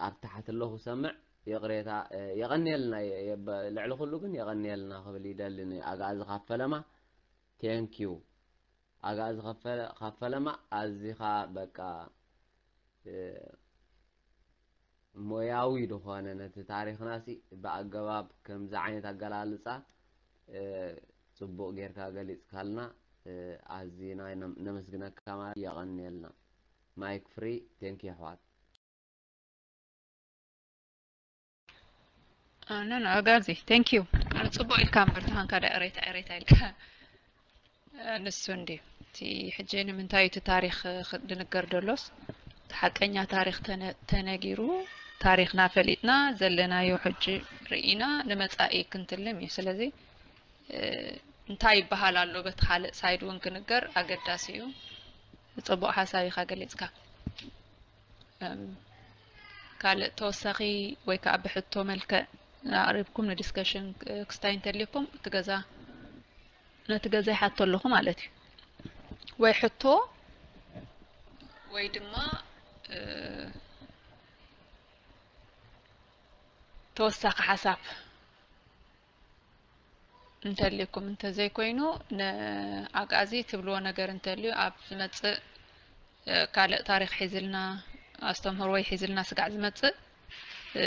ኣብ ታሕቲ ኣለኹ ሰምዕ። ይቕሬታ፣ እ፣ የቐንየልና፣ የ-፣ የ-፣ በ-፣ ልዕሊ ኩሉ ግን የቐንየልና ክብል ይደሊ ንኣግኣዚ ካብ ፈለማ። ቴንኪዩ። ኣግኣዚ ካብ ፈለ-፣ ካብ ፈለማ ኣዚኻ በቃ፣ እ፣ ሞያዊ ዝኾነ ነቲ ታሪኽና ሲ ብኣገባብ ከምዚ ዓይነት ኣገላልጻ፣ እ፣ ጽቡቕ ጌርካ ገሊጽካልና፣ እ፣ ኣዚና ነ-፣ ነመስግነካ ማለት የቐንየልና። ማይክ ፍሪ፣ ቴንክ ዩ ኣሕዋት። ኖ ኖ፣ ኣጋዚ፣ ቴንክ ዩ። ጽቡቕ ኢልካ እምበር፣ ተኻንካ ዳ ኤሬታ፣ ኤሬታ ኢልካ። ንሱ እንድዩ። እቲ ሕጂ ንምንታይ እቲ ታሪኽ ክ-፣ ድንገር ደሎስ፣ እቲ ሓቀኛ ታሪኽ ተነ-፣ ተነጊሩ፣ ታሪኽና ፈሊጥና፣ ዘለናዮ ሕጂ ርኢና፣ ንመጻኢ ክንትልም እዩ። ስለዚ፣ እ፣ እንታይ ይበሃል ኣሎ፣ በቲ ካልእ ሳይድ እውን ክንገር ኣገዳሲ እዩ። ጽቡቕ ሓሳብ ኢኻ ገሊጽካ። እም፣ ካልእ ተወሳኺ ወይ ከኣ ብሕቶ መልክዕ ኣቕሪብኩም ንዲስከሽን ክ-፣ ክስታይ እንተልዩኩም፣ እቲ ገዛ፣ ነቲ ገዛ ይሓቶ ኣለኹ ማለት እዩ። ወይ ሕቶ ወይ ድማ፣ እ፣ ተወሳኺ ሓሳብ እንተልዩኩም፣ እንተዘይኮይኑ ንኣግኣዚ ትብልዎ ነገር እንተልዩ ኣብ ዝመጽእ፣ እ፣ ካልእ ታሪኽ ሒዝልና፣ ኣስተምህሮ ወይ ሒዝልና ስጋዕ ዝመጽእ፣ እ፣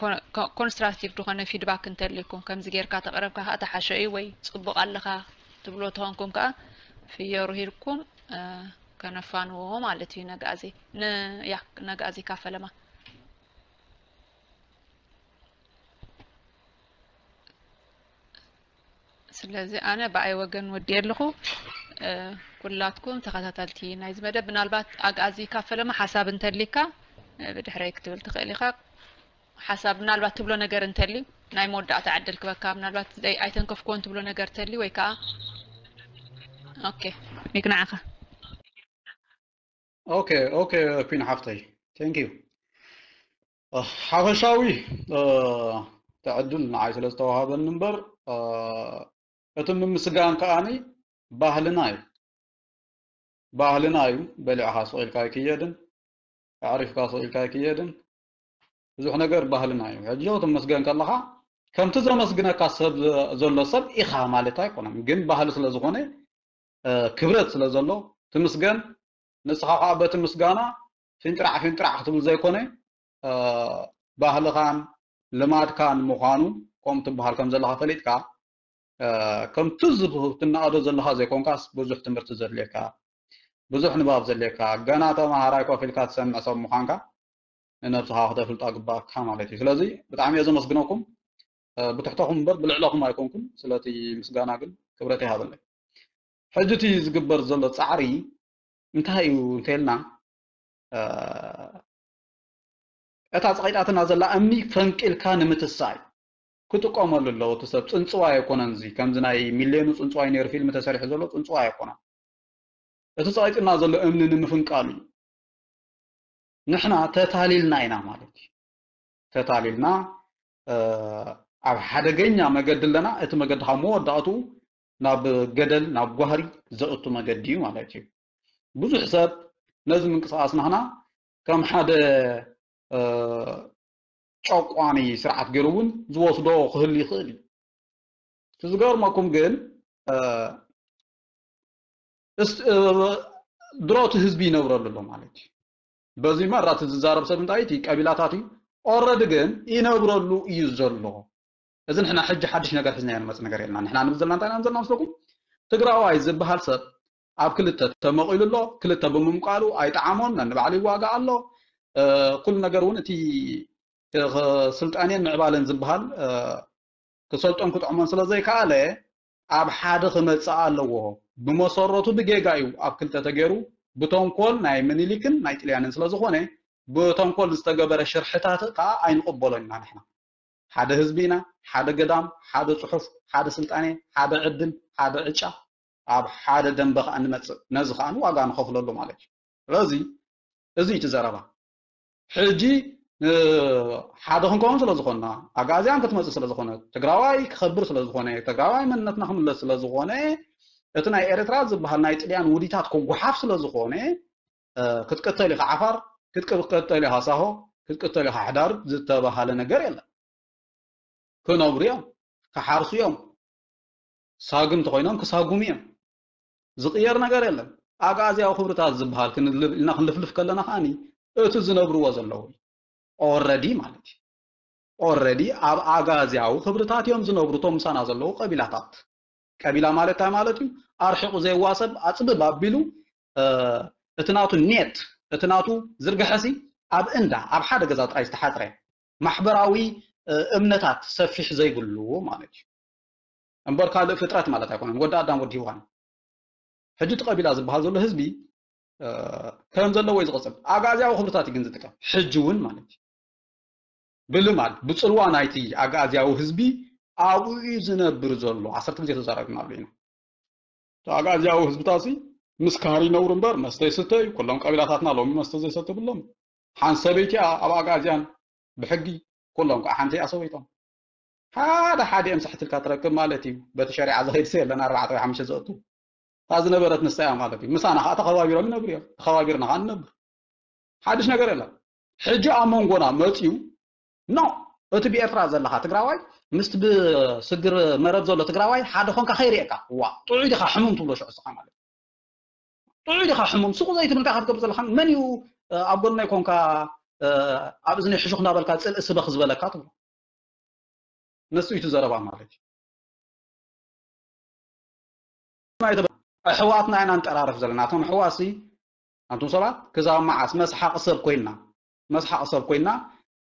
ኮ-፣ ኮ-፣ ኮንስትራክቲቭ ዝኾነ ፊድባክ እንተልዩኩም፣ ከምዚ ጌርካ ተቕረብካ ከኣ ተሓሸ እዩ ወይ ጽቡቕ ኣለኻ ትብልዎ ተኾንኩም ከኣ ፍዮሩ ሂድኩም፣ እ፣ ከነፋንዎ ማለት እዩ ነግኣዚ። ን-፣ ያ፣ ነግኣዚ ካፈለማ። ስለዚ ኣነ ብኣይ ወገን ወዲየ ኣለኹ። እ፣ ኩላትኩም ተኸታተልቲ ናይዚ መደብ፣ ምናልባት ኣግኣዚ ካፈለማ ሓሳብ እንተሊካ፣ እ፣ ብድሕረይ ክትብል ትኽእል ኢኻ። ሓሳብ ምናልባት ትብሎ ነገር እንተልዩ፣ ናይ መወዳእታ ዕድል ክበካ፣ ምናልባት ዘይ-፣ ኣይተንከፍክዎን ትብሎ ነገር እንተልዩ ወይ ከኣ፣ ኦኬ፣ ሚክ ንዓኻ። ኦኬ፣ ኦኬ፣ ኩን ሓፍተይ። ቴንክ ዩ። እ፣ ሓፈሻዊ፣ እ፣ ዕድል ንዓይ ስለ ዝተዋሃበኒ እምበር፣ እ፣ እቲ ምምስጋን ከኣኒ ባህልና እዩ። ባህልና እዩ። በሊዕኻ ስቕ ኢልካ ኣይክየድን፣ ኣዕሪፍካ ስቕ ኢልካ ኣይክየድን። ብዙሕ ነገር ባህልና እዩ። ሕጂ ክትመስገን ከለኻ ከምቲ ዘመስግነካ ሰብ ዘ-፣ ዘሎ ሰብ ኢኻ ማለት ኣይኮነን። ግን ባህሊ ስለ ዝኾነ፣ እ፣ ክብረት ስለ ዘሎ ትምስገን። ንስኻ ከኣ በቲ ምስጋና ፊንጥራዕ ፊንጥራዕ ክትብል ዘይኮነ፣ እ፣ ባህልኻን ልማድካን ምዃኑ ከምኡ ትበሃል ከም ዘለኻ ፈሊጥካ፣ እ፣ ከምቲ ዝብ-፣ ትናኣዶ ዘለኻ ዘይኮንካስ ብዙሕ ትምህርቲ ዘድልየካ፣ ብዙሕ ንባብ ዘድልየካ፣ ገና ተመሃራይ ኮፍ ኢልካ ትሰምዕ ሰብ ምዃንካ ንነብስኻ ክተፍልጣ ግባእካ ማለት እዩ። ስለዚ ብጣዕሚ እየ ዘመስግነኩም። እ፣ ብትሕተኹም እምበር ብልዕለኹም ኣይኮንኩን። ስለቲ ምስጋና ግን ክብረት ይሃበለይ። ሕጂ እቲ ዝግበር ዘሎ ጻዕሪ እንታይ እዩ እንተኢልና፣ እ፣ እታ ጸቒጣትና ዘላ እምኒ ፈንቂልካ ንምትሳይ ክጥቀመሉ ኣለዎ። እቲ ሰብ ጽንጽዋይ ኣይኮነን። እዚ ከምዚ ናይ ሚልዮኑ ጽንጽዋይ ነይሩ ፊልም ተሰሪሑ ዘሎ ጽንጽዋይ ኣይኮነን። እቲ ጸቒጥና ዘሎ እምኒ ንምፍንቃሉ እዩ። ንሕና ተታሊልና ኢና ማለት እዩ። ተታሊልና፣ እ፣ ኣብ ሓደገኛ መገዲ ኣለና። እቲ መገዲ ካብ መወዳእትኡ ናብ ገደል፣ ናብ ጓህሪ ዘእቱ መገዲ እዩ ማለት እዩ። ብዙሕ ሰብ ነዚ ምንቅስቓስ ናህና ከም ሓደ፣ እ፣ ጨቋኒ ስርዓት ገይሩ እውን ዝወስዶ ክህሉ ይኽእል እዩ። እቲ ዝገርመኩም ግን፣ እ፣ እስ-፣ እ፣ ድሮ እቲ ህዝቢ ይነብረሉ ኣሎ ማለት እዩ። በዚ መራ እቲ ዝዛረብ ሰብ እንታይ እቲ ቀቢላታት እዩ። ኦረዲ ግን ይነብረሉ እዩ ዘሎ። እዚ ንሕና ሕጂ ሓድሽ ነገር ሒዝና ንመጽእ ነገር የለና። ንሕና ንብል ዘለና እንታይ ኢና ንዘልና መስለኩም? ትግራዋይ ዝበሃል ሰብ ኣብ ክልተ ተመቒሉ ኣሎ። ክልተ ብምምቃሉ ኣይጠዓሞን፣ ነንባዕሉ ይዋጋእ ኣሎ። እ፣ ኩሉ ነገር እውን እቲ ክ-፣ ስልጣኔን ምዕባለን ዝበሃል፣ እ፣ ክሰልጦን ክጥዕሞን ስለ ዘይከኣለ ኣብ ሓደ ክመጽእ ኣለዎ። ብመሰረቱ ብጌጋ እዩ ኣብ ክልተ ተገይሩ፣ ብተንኮል ናይ ምኒልክን ናይ ጥልያንን ስለ ዝኾነ፣ ብተንኮል ዝተገበረ ሽርሕታት ከኣ ኣይንቕበሎን ኢና ንሕና። ሓደ ህዝቢ ኢና፣ ሓደ ገዳም፣ ሓደ ጽሑፍ፣ ሓደ ስልጣኔ፣ ሓደ ዕድል፣ ሓደ ዕጫ፣ ኣብ ሓደ ደንበ ከኣ ንመጽእ። ነዚ ከኣ ዋጋ ንኸፍለሉ ማለት እዩ። ስለዚ እዚ እዩ እቲ ዘረባ። ሕጂ፣ እ፣ ሓደ ክንከውን ስለ ዝኾንና፣ ኣግኣዝያን ክትመጽእ ስለ ዝኾነ፣ ትግራዋይ ክኸብር ስለ ዝኾነ፣ ትግራዋይ መንነትና ክምለስ ስለ ዝኾነ፣ እቲ ናይ ኤርትራ ዝበሃል ናይ ጥልያን ውዲታት ክጓሓፍ ስለ ዝኾነ፣ እ፣ ክትቅተል ኢኻ ዓፋር፣ ክትቅተል ኢኻ ሳሆ፣ ክትቅተል ኢኻ ሕዳር ዝተባሃለ ነገር የለን። ክነብሩ እዮም፣ ክሓርሱ እዮም፣ ሳግም እንተኾይኖም ክሳጉሙ እዮም። ዝቕየር ነገር የለን። ኣግኣዝያዊ ክብርታት ዝበሃል ክንል-፣ ኢልና ክንልፍልፍ ከለና ከኣኒ እቲ ዝነብርዎ ዘለዉ እዩ። ኦረዲ ማለት እዩ። ኦረዲ ኣብ ኣግኣዝያዊ ክብርታት እዮም ዝነብሩ እቶም ምሳና ዘለዉ ቀቢላታት። ቀቢላ ማለት እንታይ ማለት እዩ? ኣርሒቑ ዘይዋሰብ ኣጽብብ ኣቢሉ፣ እ፣ እቲ ናቱ ኔት፣ እቲ ናቱ ዝርግሐሲ ኣብ እንዳ፣ ኣብ ሓደ ገዛ ጥራይ ዝተሓጽረ ማሕበራዊ፣ እ፣ እምነታት ሰፊሕ ዘይብሉ ማለት እዩ። እምበር ካልእ ፍጥረት ማለት ኣይኮነን። ወዲ ኣዳም ወዲ ሄዋን። ሕጂ እቲ ቀቢላ ዝበሃል ዘሎ ህዝቢ፣ እ፣ ከም ዘለዎ እዩ ዝቕጽል። ኣግኣዝያዊ ክብርታት እዩ ግን ዝጥቀም። ሕጂ እውን ማለት እዩ። ብልማድ፣ ብጽልዋ ናይቲ ኣግኣዝያዊ ህዝቢ ኣብኡ እዩ ዝነብር ዘሎ። ዓሰርተ ግዜ ተዛራቢናሉ ኢና። እቲ ኣግኣዝያዊ ህዝብታሲ ምስ ካህሪ ይነብሩ እምበር መስተ ይስተ እዩ። ኩሎም ቀቢላታትና ሎሚ መስተ ዘይሰቲ የብሎም። ሓንቲ ሰበይቲ እያ ኣብ ኣግኣዝያን ብሕጊ፣ ኩሎም ከዓ ሓንቲ እያ ሰበይቶም። ሓደ ሓደ እዮም ሳሕት ኢልካ ትረክብ ማለት እዩ። በቲ ሸሪዓ ዝኸይድ ሰብ የለን፣ ኣርባዕተ ወይ ሓሙሽተ ዘእቱ። እታ ዝነበረት ንሳ እያ ማለት እዩ። ምሳና ከዓ ተኸባቢሮም ይነብሩ እዮም። ተኸባቢርና ከዓ ንነብር። ሓድሽ ነገር የለን። ሕጂ ኣብ መንጎና መፅዩ፣ ኖ፣ እቲ ብኤርትራ ዘለኻ ትግራዋይ ምስቲ ብስግር መረብ ዘሎ ትግራዋይ ሓደ ኾንካ ከይርእየካ። ዋ፣ ጥዑይ ዲኻ ሕሙም ትብሎ ሽዑ ንስኻ ማለት እዩ። ጥዑይ ዲኻ ሕሙም? ሱቕ ዘይትብል እንታይ ኢኻ ትገብር ዘለኻ? መን እዩ፣ እ፣ ኣብ ጎነይ ኮንካ፣ እ፣ ኣብ እዝነይ ሕሹኽ እንዳበልካ ጽልኢ ስበኽ ዝበለካ ትብሎ? ንሱ እዩ እቲ ዘረባ ማለት እዩ። ኣሕዋትና ኢና ንጠራረፍ ዘለና። እቶም ኣሕዋትሲ፣ ኣንቱም ሰባት፣ ክሳብ መዓስ መስሓቂ ሰብ ኮይንና፣ መስሓቂ ሰብ ኮይንና፣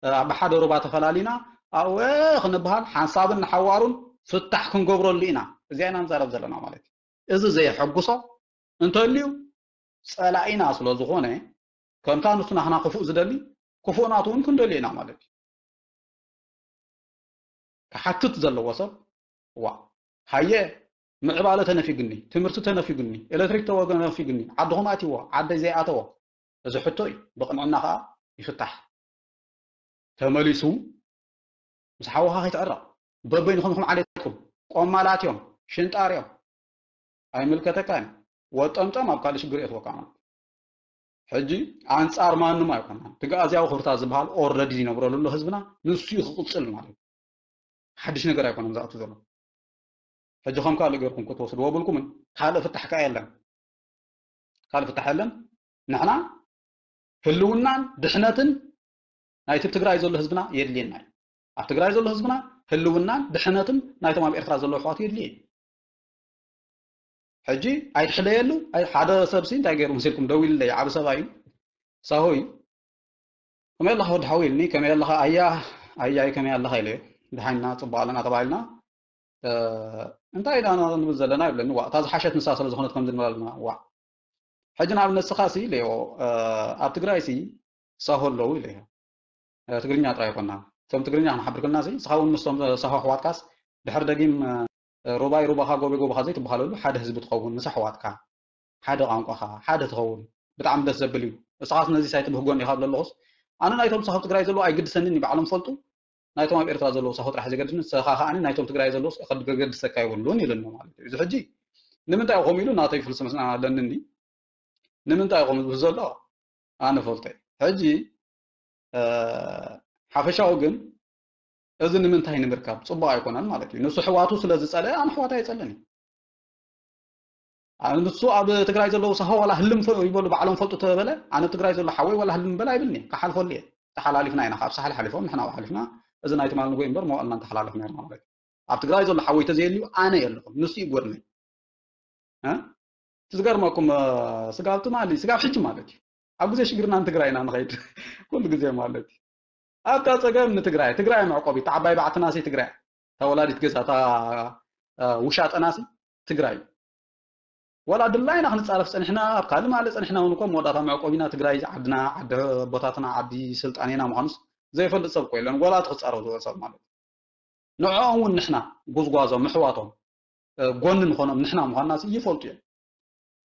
እ፣ ኣብ ሓደ ሩባ ተፈላሊና፣ ኣብኡ፣ እ፣ ክንበሃል፣ ሓንሳብን ንሓዋሩን ፍታሕ ክንገብረሉ ኢና። እዚኣ ኢና ንዛረብ ዘለና ማለት እዩ። እዚ ዘየሐጉሶ እንተልዩ፣ ጸላኢና ስለ ዝኾነ፣ ከምታ ንሱ ናህና ክፉእ ዝደሊ፣ ክፉእ ናቱ እውን ክንደልዮ ኢና ማለት እዩ። ክሓትት ዘለዎ ሰብ፣ ዋ፣ ሃየ፣ ምዕባለ ተነፊጉኒ፣ ትምህርቲ ተነፊጉኒ፣ ኤሌክትሪክ ተወ-፣ ተነፊጉኒ፣ ዓድኹም ኣትይዎ፣ ዓደይ ዘይኣተዎ፣ እዚ ሕቶ እዩ። ብቕንዕና ኸኣ ይፍታሕ። ተመሊሱ ምስ ሓውኻ ከይትዕረቕ፣ በበይንኹም ኢኹም ዓሌትኩም። ቆማላት እዮም፣ ሽንጣር እዮም። ኣይምልከተካን። ወጠምጠም ኣብ ካልእ ሽግር የእትወካ ማለት። ሕጂ ኣንጻር ማንም ኣይኮናን። እቲ ግኣዝያዊ ክብርታት ዝበሃል ኦረዲ ዝነብረሉ ኣሎ ህዝብና፣ ንሱ እዩ ክቕጽል ማለት እዩ። ሓድሽ ነገር ኣይኮነን ዝኣቱ ዘሎ። ሕጂ ከም ካልእ ገርኩም ክትወስድዎ ብልኩምን ካልእ ፍታሕ ከኣ የለን። ካልእ ፍታሕ የለን። ንሕና ህልውናን ድሕነትን ናይቲ ኣብ ትግራይ ዘሎ ህዝብና የድልየና እዩ። ኣብ ትግራይ ዘሎ ህዝብና ህልውናን ድሕነትን ናይቶም ኣብ ኤርትራ ዘለዉ ኣሕዋቱ የድልየ እዩ። ሕጂ ኣይትሕለየሉ። ኣይ፣ ሓደ ሰብሲ እንታይ ገይሩ መሲልኩም ደው ኢሉለይ፣ ዓቢ ሰብኣይ እዩ። ሳሆይ፣ "ከመይ ኣለኻ ወዲ ሓወይ?" ኢልኒ። "ከመይ ኣለኻ ኣያ፣ ኣያይ ከመይ ኣለኻ?" ኢለዮ። "ደሓንና ጽቡቕ ኣለና" ተባሂልና። እ፣ እንታይ ኢና ንብል ዘለና ይብለኒ። "ዋእ፣ እታ ዝሓሸት ንሳ ስለ ዝኾነት ከምዚ ንብል ኣለና። ዋእ፣ ሕጂ ንኣብነት ንስኻ ሲ" ኢለዮ፣ እ፣ "ኣብ ትግራይ ሲ ሳሆ ኣለዉ" ኢለዮ። እ፣ ትግርኛ ጥራይ ኣይኮና። እቶም ትግርኛ ክንሓብር ከለና ሲ፣ ንስኻ እውን ምስቶም ሳሆ ኣሕዋትካስ ድሕር ደጊም፣ እ፣ ሩባይ ሩባኻ፣ ጎበይ ጎባኻ ዘይትበሃለሉ ሓደ ህዝቢ ትኸውን ምስ ኣሕዋትካ። ሓደ ቋንቋኻ፣ ሓደ ትኸውን። ብጣዕሚ ደስ ዘብል እዩ። ንስኻስ ነዚ ሳይት ብህጎን ኢኻ ብለለኹስ፣ ኣነ ናይቶም ሳሆ ትግራይ ዘለዉ ኣይግድሰንን እዩ፣ ባዕሎም ፈልጡ። ናይቶም ኣብ ኤርትራ ዘለዉ ሳሆ ጥራሕ ዘገድስን፣ ንስኻ ከኣ ናይቶም ትግራይ ዘለዉ ከገድሰካ የብሉን ኢሉኒ ማለት እዩ። እዚ ሕጂ ንምንታይ እዩ ከምኡ ኢሉ ናተይ ፍልስፍና ኣለኒ እንዲ። ንምንታይ እዩ ከምኡ ዝብል ዘሎ ኣነ ፈልጦ እዩ። ሕጂ፣ እ፣ ሓፈሻዊ ግን እዚ ንምንታይ ንምርካብ ጽቡቕ ኣይኮነን ማለት እዩ። ንሱ ኣሕዋቱ ስለ ዝጸልአ ኣነ ኣሕዋት ኣይጸልን እዩ። ኣነ ንሱ ኣብ ትግራይ ዘለዉ ሳሆ ዋላ ህልም ፈ-፣ ይበሉ ባዕሎም ፈልጡ ተበለ፣ ኣነ ኣብ ትግራይ ዘሎ ሓወይ ዋላ ህልም በል ኣይብልኒ፣ ክሓልፈሉ እየ። ተሓላሊፍና ኢና፣ ካብ ሳሕል ሓሊፎም ንሕና ሓሊፍና፣ እዚ ናይ ትማል ንጎይ እምበር መዋእልና እንተሓላለፍና ነርና ማለት እዩ። ኣብ ትግራይ ዘሎ ሓወይ ተዘየልዩ ኣነ የለኹን፣ ንሱ እዩ ጎድነይ። እ? እቲ ዝገርመኩም፣ እ፣ ስጋብ ትማሊ፣ ስጋብ ሕጂ ማለት እዩ። ኣብ ግዜ ሽግርና ንትግራይ ኢና ንኸይድ። ኩሉ ግዜ ማለት እዩ። ኣብታ ጸገም ንትግራይ፣ ትግራይ መዕቆቢት፣ ዓባይ ባዕትናሲ ትግራይ፣ እታ ወላዲት ገዛ፣ እታ፣ እ፣ ውሻጠናሲ ትግራይ። ዋላ ድላይና ክንጻረፍ ጸኒሕና፣ ኣብ ካልእ ማለ ጸኒሕና እውን እኮ መወዳእታ መዕቆቢና ትግራይ፣ ዓድና፣ ዓዲ ኣቦታትና፣ ዓዲ ስልጣኔና ምዃኑስ ዘይፈልጥ ሰብ እኮ የለን። ዋላ እቲ ክጻረፍ ዝውዕል ሰብ ማለት እዩ። ንዕኦም እውን ንሕና ጉዝጓዞም፣ ምሕዋቶም፣ እ፣ ጎኒ ንኾኖም ንሕና ምዃንና ሲ ይፈልጡ እዮም።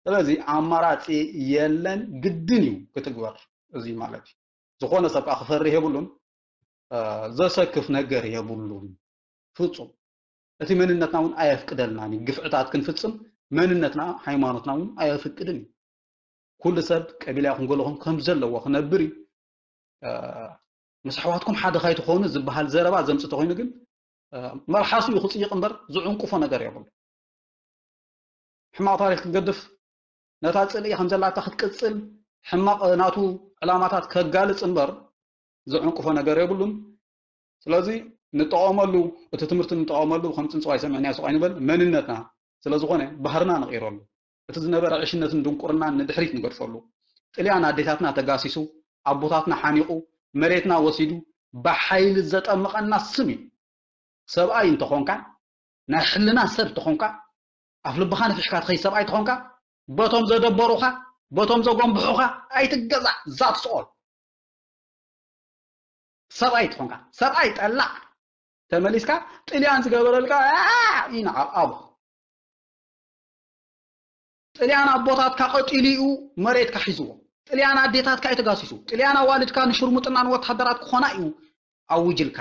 ስለዚ ኣማራጺ የለን፣ ግድን እዩ ክትግበር እዚ ማለት እዩ። ዝኾነ ሰብ ከኣ ክፈርህ የብሉን፣ እ፣ ዘሰክፍ ነገር የብሉን ፍጹም። እቲ መንነትና እውን ኣየፍቅደልናን እዩ። ግፍዕታት ክንፍጽም መንነትና፣ ሃይማኖትና እውን ኣየፍቅድን እዩ። ኩሉ ሰብ ቀቢላ ይኹን ገለኹም ከም ዘለዎ ክነብር እዩ። እ፣ ምስ ኣሕዋትኩም ሓደ ካይትኾኑ ዝበሃል ዘረባ ዘምጽእ ተኾይኑ ግን፣ እ፣ መልሓሱ እዩ ክጽይቕ እምበር ዝዕንቅፎ ነገር የብሉ። ሕማቕ ታሪኽ ክትገድፍ፣ ነታ ጽልኢ ከም ዘላታ ክትቅጽል፣ ሕማቕ ናቱ ዕላማታት ከጋልጽ እምበር ዝዕንቅፎ ነገር የብሉን። ስለዚ ንጠቐመሉ፣ እቲ ትምህርቲ ንጠቐመሉ፣ ከም ጽንጽዋይ ሰሚዕናዮ ስቕ ኣይንበል፣ መንነትና ስለ ዝኾነ ባህርና ንቕይረሉ። እቲ ዝነበረ ዕሽነትን ድንቁርናን ንድሕሪት ንገድፈሉ። ጥልያን ኣዴታትና ተጋሲሱ፣ ኣቦታትና ሓኒቑ፣ መሬትና ወሲዱ፣ ብሓይሊ ዘጠመቐና ስም እዩ። ሰብኣይ እንተኾንካ፣ ናይ ሕልና ሰብ እንተኾንካ፣ ኣፍ ልብኻ ነፊሕካ ትኸይድ ሰብኣይ እንተኾንካ፣ በቶም ዘደበሩኻ፣ በቶም ዘጎንብሑኻ ኣይትገዛእ፣ that's all። ሰብኣይ ትኾንካ፣ ሰብኣይ ጠላዕ፣ ተመሊስካ ጥልያን ዝገበረልካ፣ ኣ፣ ይንዓቕ ኣቦ። ጥልያን ኣቦታትካ ቀጢሉ እዩ መሬትካ ሒዝዎ። ጥልያን ኣዴታትካ እዩ ተጋሲሱ። ጥልያን ኣዋልድካ ንሽርሙጥና ንወታደራት ክኾና እዩ ኣውጅልካ።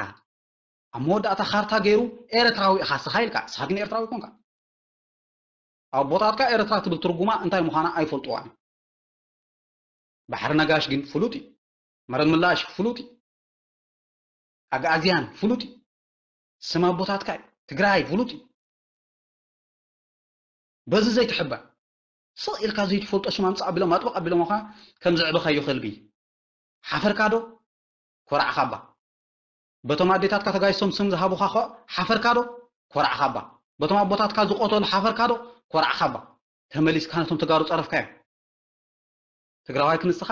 ኣብ መወዳእታ ካርታ ገይሩ ኤርትራዊ ኢኻ ስኻ ኢልካ፣ ስኻ ግን ኤርትራዊ ኮንካ። ኣቦታትካ ኤርትራ ትብል ትርጉማ እንታይ ምዃና ኣይፈልጥዋን እዮም። ባሕሪ ነጋሽ ግን ፍሉጥ እዩ። መረብ ምላሽ ፍሉጥ እዩ። ኣግኣዝያን ፍሉጥ እዩ። ስም ኣቦታትካ እዩ። ትግራይ ፍሉጥ እዩ። በዚ ዘይትሕበን፣ ስቕ ኢልካ ዘይትፈልጦ ሽም ኣምጽእ ኣቢሎም ኣጥብቕ ኣቢሎምኻ ከም ዘዕበኻዮ ከልቢ። ሓፈርካ ዶ? ኮራዕኻ እባ። በቶም ኣዴታትካ ተጋይሶም ስም ዝሃቡኻ ኸ ሓፈርካ ዶ? ኮራዕኻ እባ። በቶም ኣቦታትካ ዝቆተሉ ሓፈርካ ዶ? ኮራዕኻ እባ። ተመሊስካ ነቶም ተጋሩ ጸረፍካዮም። ትግራዋይ ክንስኻ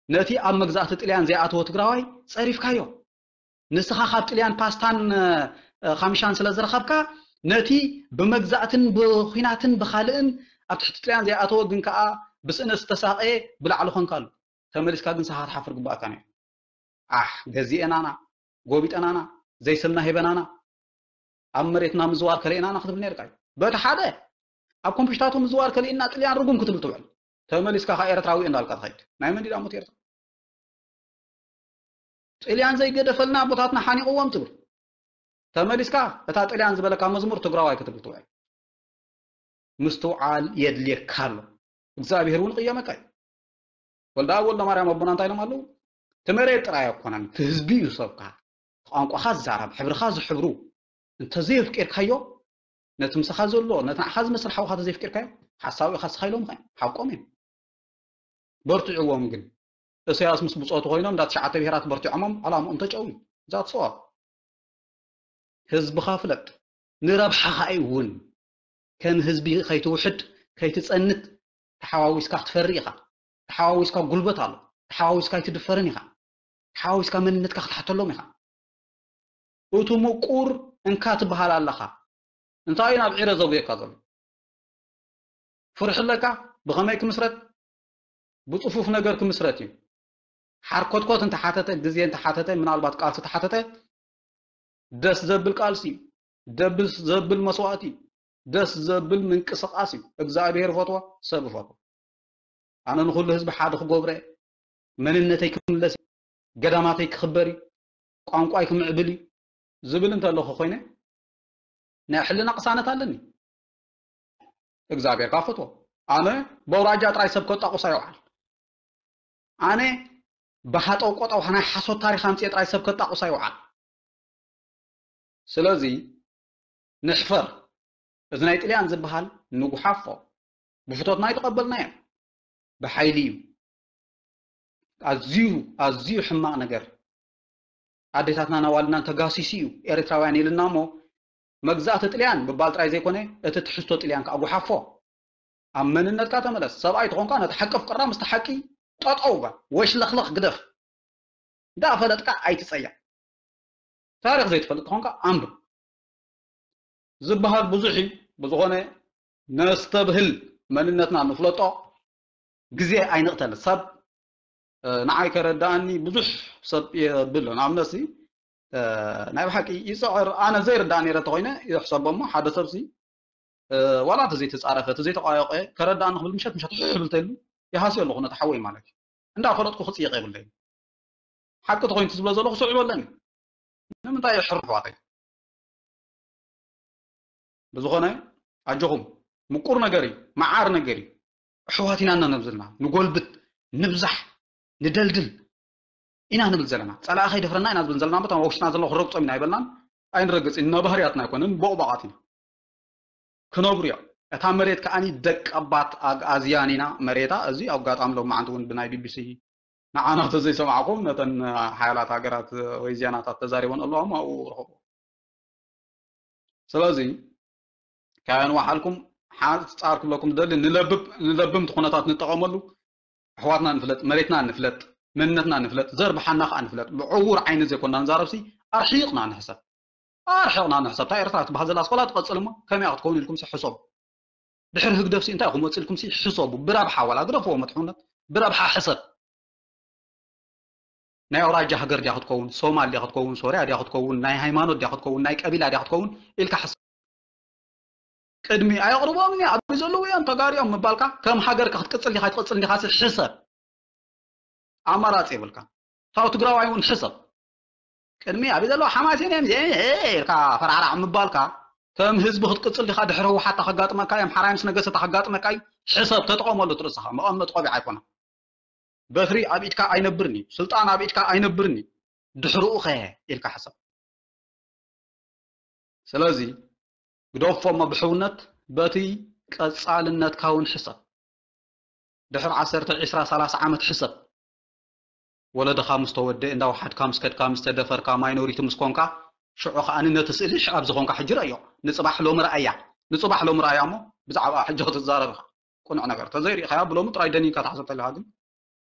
ነቲ ኣብ መግዛእቲ ጥልያን ዘይኣተወ ትግራዋይ ጸሪፍካዮ። ንስኻ ካብ ጥልያን ፓስታን፣ እ፣ ካሚሻን ስለ ዝረኸብካ፣ ነቲ ብመግዛእትን ብኹናትን ብኻልእን ኣብ ትሕቲ ጥልያን ዘይኣተወ ግን ከኣ ብስእነት ዝተሳቐየ ብላዕሊ ኾንካሉ። ተመሊስካ ግን ንስኻ ክትሓፍር ግባእካ ነይሩ። ኣሕ፣ ገዚኤናና፣ ጎቢጠናና፣ ዘይስምና ሂበናና፣ ኣብ መሬትና ምዝዋር ከሊእናና ክትብል ነይርካ እዩ። በቲ ሓደ፣ ኣብ ኮምፒሽታቱ ምዝዋር ከሊእና ጥልያን ርጉም ክትብል ትውዕል። ተመሊስካ ከኣ ኤርትራዊ እንዳልካ ትኸይድ። ናይ መን ድዩ ደኣ ሞት ኤርትራ? ጥልያን ዘይገደፈልና ኣቦታትና ሓኒቕዎም ትብል። ተመሊስካ እታ ጥልያን ዝበለካ መዝሙር ትግራዋይ ክትብል ትውዕል። ምስትውዓል የድልየካ ኣሎ። እግዚኣብሔር እውን ይቕየመካ እዩ። ወልደ ኣብ ወልደ ማርያም ኣቦና እንታይ ኢሎም ኣለዉ? እቲ መሬት ጥራይ ኣይኮነን፣ እቲ ህዝቢ እዩ ሰብካ። ቋንቋኻ ዝዛረብ፣ ሕብርኻ ዝሕብሩ እንተዘየፍቂርካዮ፣ ነቲ ምሳኻ ዘሎ፣ ነቲ ንዓኻ ዝመስል ሓውኻ ተዘየፍቂርካዮ፣ ሓሳዊ ኢኻ ስኻ ኢሎም ኸ ሓቆም እዮም። በርትዕዎም ግን። እሰያስ ምስ ብጾቱ ኮይኖም እንዳ ትሽዓተ ብሄራት በርቲዖሞም ዕላምኦም ተጨውዩ። ዛት ሰዋ ህዝብኻ ፍለጥ። ንረብሓኻ እዩ እውን። ከም ህዝቢ ከይትውሕድ፣ ከይትጸንት፣ ተሓዋዊስካ ክትፈሪ ኢኻ። ተሓዋዊስካ ጉልበት ኣሎ። ተሓዋዊስካ ኣይትድፈርን ኢኻ። ተሓዋዊስካ መንነትካ ክትሓተሎም ኢኻ። እቱ ምቁር እንካ ትበሃል ኣለኻ። እንታይ እዩ ናብ ዒረ ዘጉየካ ዘሎ? ፍርሒ ኣለካ? ብኸመይ ክምስረት? ብጽፉፍ ነገር ክምስረት እዩ። ሓርኮትኮት እንተሓተተ፣ ግዜ እንተሓተተ፣ ምናልባት ቃልሲ ተሓተተ፣ ደስ ዘብል ቃልሲ እዩ። ደስ ዘብል መስዋእቲ እዩ። ደስ ዘብል ምንቅስቃስ እዩ። እግዚኣብሔር ይፈትዎ፣ ሰብ ይፈትዎ። ኣነ ንኹሉ ህዝቢ ሓደ ክገብሮ እየ። መንነተይ ክምለስ እዩ። ገዳማተይ ክኽበር እዩ። ቋንቋይ ክምዕብል እዩ ዝብል እንተለኹ ኮይነ ናይ ሕልና ቅሳነት ኣለኒ። እግዚኣብሔር ካፈቶ ኣነ በውራጃ ጥራይ ሰብ ከጣቁስ ኣይውዓል። ኣነ ብሃጠው ቆጠው ናይ ሓሶት ታሪኽ ኣምፅኤ ጥራይ ሰብ ከጣቁስ ኣይውዓል። ስለዚ ንሕፈር። እዚ ናይ ጥልያን ዝበሃል ንጉሓፎ። ብፍቶትና ኣይተቐበልናዮ። ብሓይሊ እዩ። ኣዝዩ ኣዝዩ ሕማቕ ነገር። ኣዴታትናን ኣዋልድናን ተጋሲሱ እዩ ኤርትራውያን ኢልና እሞ መግዛእቲ ጥልያን ምባል ጥራይ ዘይኮነ እቲ ትሕዝቶ ጥልያን ከዓ ጉሓፎ። ኣብ መንነትካ ተመለስ። ሰብኣይ ተኾንካ ነቲ ሓቂ ፍቅራ ምስቲ ሓቂ ጠጠው በል። ወሽለኽለኽ ግደፍ። እንዳፈለጥካ ኣይትጸያ። ታሪኽ ዘይትፈልጥ ተኾንካ ኣንብብ። ዝበሃል ብዙሕ እዩ። ብዝኾነ ነስተብህል መንነትና ንፍለጦ ግዜ ኣይንቕተል። ሰብ ንዓይ ከረዳኣኒ ብዙሕ ሰብ የብል። ንኣብነት ናይ ብሓቂ ይፅዕር ኣነ ዘይርዳእ ነይረ ተኮይነ ይሕሰቦ እሞ ሓደ ሰብሲ ዋላ እቲ ዘይተፃረፈ እቲ ዘይተቋየቀ ከረዳኣኒ ክብል ምሸት ምሸት ሕብል ተሉ ይሃስዮ ኣለኹ ነቲ ሓወይ ማለት እዩ። እንዳፈለጥኩ ክፅየቅ የብለይ። ሓቂ ተኮይኑ ዝብሎ ዘለኹ ስዕቡ ኣለኒ። ንምንታይ የሕርፍ ዋተይ? ብዝኾነ ኣጆኹም ምቁር ነገር እዩ፣ መዓር ነገር እዩ። ኣሕዋት ኢና እና ነብዝልና ንጎልብት፣ ንብዛሕ፣ ንደልድል ኢና ንብል ዘለና። ጸላኢ ከይደፍረና ኢና ዝብል ዘለና። በታ ውሽጥና ዘሎ ክረግጾም ኢና ኣይበልናን ኣይንረግጽን። እና ባህርያትና ኣይኮነን፣ ቦቕባቓት ኢና። ክነብሩ እዮም። እታ መሬት ከኣኒ ደቀባት ኣግኣዝያን ኢና መሬታ። እዚ ኣጋጣሚ ሎማዓንቲ እውን ብናይ ቢቢሲ ንዓና ተዘይሰማዕኩም ነተን ሓያላት ሃገራት ወይ ዜናታት ተዛሪበን ኣለዋ እሞ ኣብኡ ርኸቡ። ስለዚ ካበን ዋሓልኩም ሓፃር ክብለኩም ዝደሊ ንለብብ ንለብምቲ ኩነታት ንጠቐመሉ። ኣሕዋትና ንፍለጥ፣ መሬትና ንፍለጥ፣ መንነትና ንፍለጥ፣ ዘርብሓና ከዓ ንፍለጥ። ብዕዉር ዓይኒ ዘይኮና ንዛረብሲ ኣርሒቕና ንሕሰብ። ኣርሒቕና ንሕሰብ። እታ ኤርትራ ትበሃል ዘላ ስኮላ ትቐጽል እሞ ከመይ ክትከውን ኢልኩም ሕሰቡ። ድሕሪ ህግደፍሲ እንታይ ኢኹም ወፂልኩምሲ ሕሰቡ። ብረብሓ ዋላ ግደፍዎ መጥሕውነት፣ ብረብሓ ሕሰብ። ናይ ኣውራጃ ሃገር ድያ ክትከውን፣ ሶማል ድያ ክትከውን፣ ሶርያ ድያ ክትከውን፣ ናይ ሃይማኖት ድያ ክትከውን፣ ናይ ቀቢላ ድያ ክትከውን ኢልካ ሕሰብ። ቅድሚ ኣየቕርቦም እኒ ኣብዚ ዘለዉ እዮም ተጋሪኦም ምባልካ ከም ሃገርካ ክትቅፅል ዲኻ ትቕፅል ዲኻ ሕሰብ። ኣማራፂ የብልካ። ታው ትግራዋይ እውን ሕሰብ። ቅድሚ ኣብ ዘለዉ ሓማሴን እዮም ኢልካ ፈራዕራዕ ምባልካ ከም ህዝቢ ክትቅፅል ዲኻ ድሕሪ ህወሓት ከጋጥመካ እዮም ሓራይ ምስ ነገሰ ከጋጥመካ እዩ። ሕሰብ ተጠቐመሉ ትርእስኻ መቐመጥ ቆቢዕ ኣይኮነ። በትሪ ኣብ ኢድካ ኣይነብርን እዩ። ስልጣን ኣብ ኢድካ ኣይነብርን እዩ። ድሕርኡ ኸ ኢልካ ሕሰብ። ስለዚ ግደፎ እሞ ብሕውነት በቲ ቀጻልነትካ እውን ሕሰብ። ድሕሪ ዓሰርተ፣ ዕስራ፣ ሰላሳ ዓመት ሕሰብ። ወለድኻ ምስ ተወደ፣ እንዳወሓድካ ምስ ከድካ፣ ምስ ተደፈርካ፣ ማይኖሪቲ ምስ ኮንካ፣ ሽዑ ከኣ ነቲ ስእሊ ሽዕብ ዝኾንካ ሕጂ ረእዮ። ንጽባሕ ሎሚ ረኣያ። ንጽባሕ ሎሚ ረኣያ እሞ ብዛዕባ ሕጂ ክትዛረብ ኢኻ። ቅኑዕ ነገር ተዘይሪእኻያ ብሎሚ ጥራይ ደኒንካ ተሓሰብ ተለኻ ግን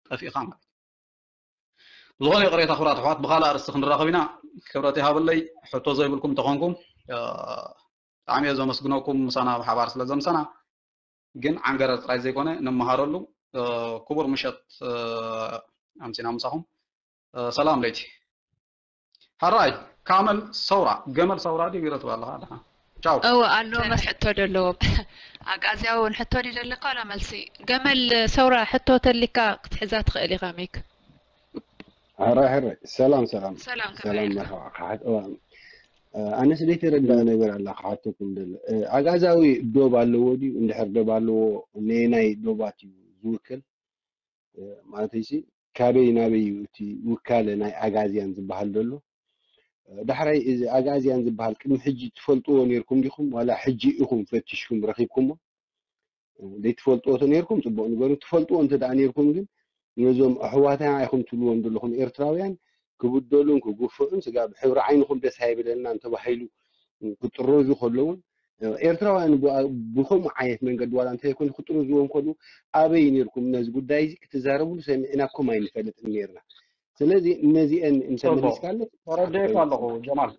ጠፊእኻ ማለት እዩ። ዝኾነ ይቕሬታ ክብራት ኣሕዋት ብኻልእ ኣርእስቲ ክንራኸብ ኢና። ክብረት ይሃበለይ። ሕቶ ዘይብልኩም እንተኾንኩም ብጣዕሚ እየ ዘመስግነኩም ምሳና ብሓባር ስለ ዘምሰና። ግን ዓንገረር ጥራይ ዘይኮነ ንመሃረሉ። ክቡር ምሸት ኣምሲና ምሳኹም። ሰላም ለይቲ። ሕራይ ካመል ሰውራ ገመል ሰውራ ድዩ ቢሮ ትብል ኣለኻ ደሓን። ቻው። እወ ኣሎ። መስ ሕቶ ደለዎ ኣግኣዝያዊ እውን ሕቶ ድዩ ደለካ ዋላ መልሲ? ገመል ሰውራ ሕቶ ተሊካ ክትሕዛ ትኽእል ኢኻ ሚክ። ሕራይ ሕራይ ሰላም ሰላም ሰላም ሰላም ከመይ መርሓባ ካሕት እዋ ኣነስ ዘይተረዳእ ነገር ኣላ ክሓተኩም ደለ። ኣግኣዛዊ ዶብ ኣለዎ ድዩ? እንድሕር ዶብ ኣለዎ፣ ነየናይ ዶባት እዩ ዝውክል? ማለተይሲ ካበይ ናበይ እዩ እቲ ውካለ ናይ ኣጋዝያን ዝበሃል ዘሎ? ዳሕራይ እዚ ኣጋዝያን ዝበሃል ቅድሚ ሕጂ ትፈልጥዎ ነይርኩም ዲኹም፣ ዋላ ሕጂ ኢኹም ፈቲሽኩም ረኺብኩሞ? ዘይትፈልጥዎ ተነይርኩም ጽቡቕ ንገሩ። ትፈልጥዎ እንተ ደኣ ነይርኩም ግን ነዞም ኣሕዋትና ኢኹም ትብልዎም ዘለኹም ኤርትራውያን ክብደሉን ክጉፍዑን ስጋብ ሕብሪ ዓይንኹም ደስ ኣይብለናን ተባሂሉ ክጥረዙ ከለውን ኤርትራውያን ብከምኡ ዓይነት መንገዲ ዋላ እንተይኮነ ክጥረዝዎም ከሉ ኣበይ ነይርኩም ነዚ ጉዳይ እዚ ክትዛረብሉ ሰሚዕናኩም ኣይንፈልጥን ነይርና። ስለዚ ነዚአን እንተመሊስካለት ተረዲኤካ ኣለኹ ጀማል።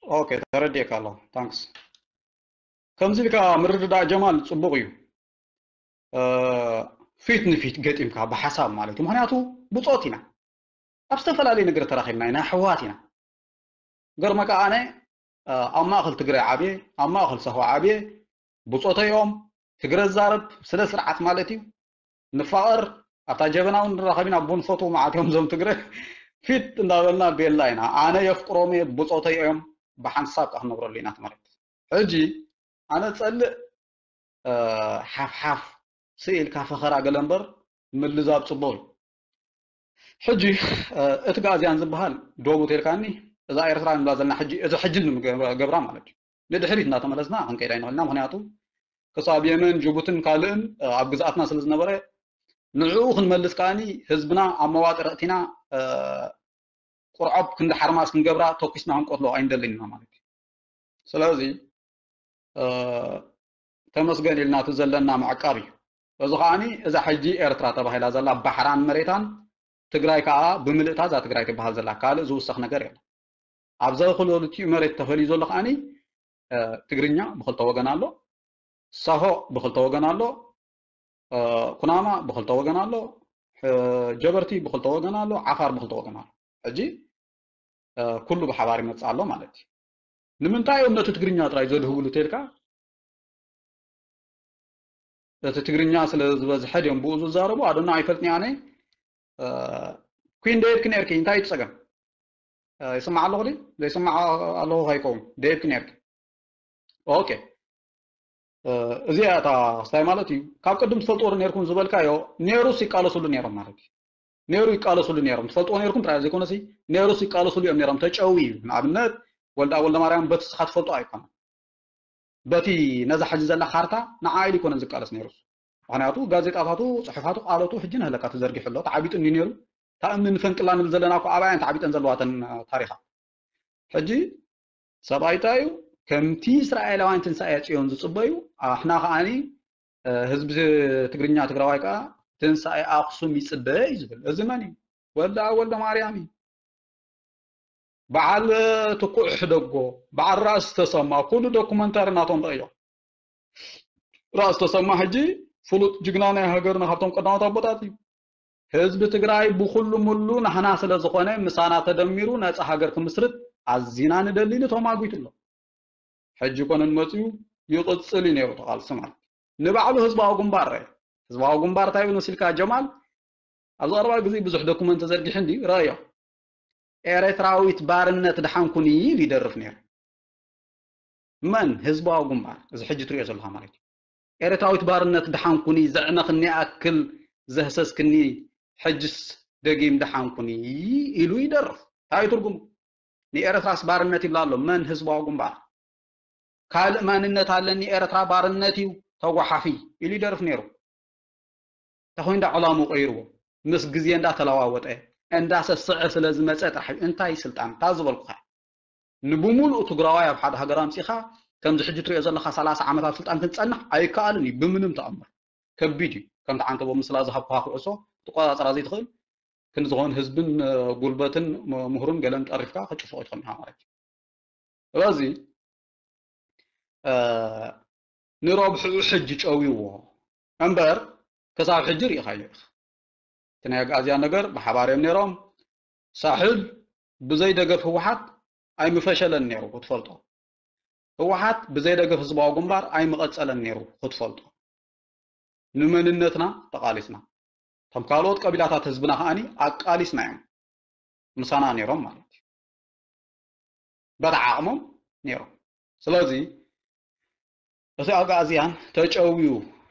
ኦኬ ተረዲኤካ ኣለኹ። ታንክስ። ከምዚ ኢልካ ምርድዳእ ጀማል ጽቡቕ እዩ። ፊት ንፊት ገጢምካ ብሓሳብ ማለት እዩ። ምክንያቱ ብጾት ኢና፣ ኣብ ዝተፈላለየ ነገር ተራኺብና ኢና፣ ኣሕዋት ኢና። ገርመካ ኣነ ኣብ ማእኸል ትግራይ ዓብየ፣ ኣብ ማእኸል ሳሆ ዓብየ፣ ብጾተይ እዮም ትግረ ዝዛረብ ስነ ስርዓት ማለት እዩ። ንፋቐር ኣብታ ጀበና እውን ንራኸብ ኢና፣ ቡን ፈትዉ መዓት እዮም እዞም ትግረ ፊት እንዳበልና ቤላ ኢና። ኣነ የፍቅሮም እየ ብጾተይ እዮም፣ ብሓንሳብ ከዓ ክነብረሉ ኢና ማለት። ሕጂ ኣነ ጸልእ ሓፍሓፍ ስኢልካ ፈኸራ ገለ እምበር ምልዛብ ጽቡቕ እዩ። ሕጂ እቲ ጋዝያን ዝበሃል ዶቡ ተልካኒ እዛ ኤርትራ ንብላ ዘለና ሕጂ እዚ ሕጂ ንገብራ ማለት እዩ። ንድሕሪት እናተመለስና ክንከይዳ ይንኽእልና። ምክንያቱ ክሳብ የመን ጅቡትን ካልእን ኣብ ግዝኣትና ስለ ዝነበረ ንዕኡ ክንመልስ ከዓኒ ህዝብና ኣብ መዋጥር ኣእቲና ቁርዖብ ክንዲ ሓርማስ ክንገብራ ተኩስና ክንቆትሎ ኣይንደልን ኢና ማለት እዩ። ስለዚ ተመስገን ኢልና እቲ ዘለና ምዕቃብ እዩ። እዚ ከዓኒ እዛ ሕጂ ኤርትራ ተባሂላ ዘላ ባሕራን መሬታን ትግራይ ከዓ ብምልእታ እዛ ትግራይ ትበሃል ዘላ ካልእ ዝውሰኽ ነገር የለን። ኣብዛ ክልቲኡ መሬት ተፈልዩ ዘሎ ከዓኒ ትግርኛ ብክልተ ወገን ኣሎ፣ ሳሆ ብክልተ ወገን ኣሎ፣ ኩናማ ብክልተ ወገን ኣሎ፣ ጀበርቲ ብክልተ ወገን ኣሎ፣ ዓፋር ብክልተ ወገን ኣሎ። ሕጂ ኩሉ ብሓባር ይመፅእ ኣሎ ማለት እዩ። ንምንታይ እዮም ነቲ ትግርኛ ጥራይ ዘድህብሉ ተልካ? እቲ ትግርኛ ስለ ዝበዝሐ ድዮም ብኡ ዝዛረቡ? ኣዶና ኣይፈልጥን ኣነ። ኩን ደየድክ ነርኪ እንታይ እዩ ጸገም? ይስማዕ ኣለኹ ድዩ? ዘይስማዕ ኣለኹ ከይከውን ደየድክ ነርኪ። ኦኬ እዚኣ እታ ስታይ ማለት እዩ። ካብ ቅድም ትፈልጥዎ ዶ ነርኩም ዝበልካዮ ነሩስ ይቃለሱሉ ነሮም ማለት እዩ። ነሩ ይቃለሱሉ ነሮም ትፈልጥዎ ነርኩም ጥራይ ዘይኮነሲ ነሩስ ይቃለሱሉ እዮም ነሮም። ተጨዊ እዩ ንኣብነት ወልዳ ወልደ ማርያም በቲ ስኻ ትፈልጦ ኣይኮነን። በቲ ነዛ ሕጂ ዘላ ካርታ ንዓ ኢሉ ይኮነን ዝቃለስ ነይሩ። ምክንያቱ ጋዜጣታቱ፣ ፅሑፋቱ፣ ቃለቱ ሕጂ ንህለካ ተዘርጊሑ ኣሎ። ተዓቢጡ እንዲ ነይሩ። እታ እምኒ ንፈንቅላ ንብል ዘለና እኮ ኣብኣየን ተዓቢጠን ዘለዋተን ታሪኻት። ሕጂ ሰብኣይ እንታይ እዩ ከምቲ እስራኤላውያን ትንሳኤ ፅዮን ዝፅበዩ ኣሕና ከዓኒ ህዝቢ ትግርኛ ትግራዋይ ከዓ ትንሳኤ ኣክሱም ይፅበ እዩ ዝብል። እዚ መን እዩ? ወልደ ኣብ ወልደ ማርያም እዩ። በዓል ትኩዕ ሕደጎ፣ በዓል ራእሲ ተሰማ ኩሉ ዶኩመንታሪ ናቶም ረእዮ። ራእሲ ተሰማ ሕጂ ፍሉጥ ጅግና ናይ ሃገርና ካብቶም ቀዳሞት ኣቦታት እዩ። ህዝቢ ትግራይ ብኩሉ ሙሉ ናህና ስለ ዝኾነ ምሳና ተደሚሩ ነፃ ሃገር ክምስርት ኣዚና ንደሊ ንቶም ኣጉይቱ ኣሎ። ሕጂ ኮነ መፅዩ ይቕፅል እዩ ነይሩ ተቓልሲ ማለት ንባዕሉ ህዝባዊ ግንባር ረ ህዝባዊ ግንባር እንታይ ይብል መሲልካ ጀማል ኣብዚ ቀረባ ግዜ ብዙሕ ዶኩመንት ተዘርጊሑ እንዲ ረእዮ ኤረትራዊት ባርነት ድሓንኩኒ ኢሉ ይደርፍ ነይሩ መን ህዝባዊ ግንባር እዚ ሕጂ ትሪኦ ዘለካ ማለት እዩ ኤረትራዊት ባርነት ድሓንኩኒ ዘዕነክኒ ኣክል ዘህሰስክኒ ሕጅስ ደጊም ድሓንኩኒ ኢሉ ይደርፍ እንታይ ትርጉሙ ንኤረትራስ ባርነት ይብላ ኣሎ መን ህዝባዊ ግንባር ካልእ ማንነት ኣለኒ ኤረትራ ባርነት እዩ ተጓሓፊ ኢሉ ይደርፍ ነይሩ እንተኾይኑ እንዳ ዕላሙ ቀይርዎ ምስ ግዜ እንዳተለዋወጠ እንዳሰስዐ ስለ ዝመፀ ጥራሕ እዩ እንታይ ስልጣን እታ ዝበልኩኻ ንብሙሉኡ ትግራዋይ ኣብ ሓደ ሃገር ኣምፂኻ ከምዚ ሕጂ ትሪኦ ዘለኻ ሰላሳ ዓመት ኣብ ስልጣን ክንፀንሕ ኣይከኣልን እዩ ብምንም ተኣምር ከቢድ እዩ ከምቲ ዓንተቦ ምስላ ዝሃብኩኻ ኩዕሶ ትቆፃፀራ ዘይትኽእል ክንዝኾን ህዝብን ጉልበትን ምሁርን ገለን ጠሪፍካ ከጭፍቆ ይትኽእል ኢኻ ማለት እዩ ስለዚ ንረብሕኡ ሕጂ ጨውይዎ እምበር ክሳብ ሕጂ ርኢኻዮ ኢኻ እቲ ናይ ኣግኣዝያ ነገር ብሓባር እዮም ነይሮም ሳሕል ብዘይ ደገፍ ህወሓት ኣይምፈሸለን ነይሩ ክትፈልጦ ህወሓት ብዘይ ደገፍ ህዝባዊ ግንባር ኣይምቐፀለን ነይሩ ክትፈልጦ ንመንነትና ተቓሊስና እቶም ካልኦት ቀቢላታት ህዝብና ከዓኒ ኣቃሊስና እዮም ምሳና ነይሮም ማለት እዩ በታ ዓቕሞም ነይሮም። ስለዚ እቲ ኣግኣዝያን ተጨውዩ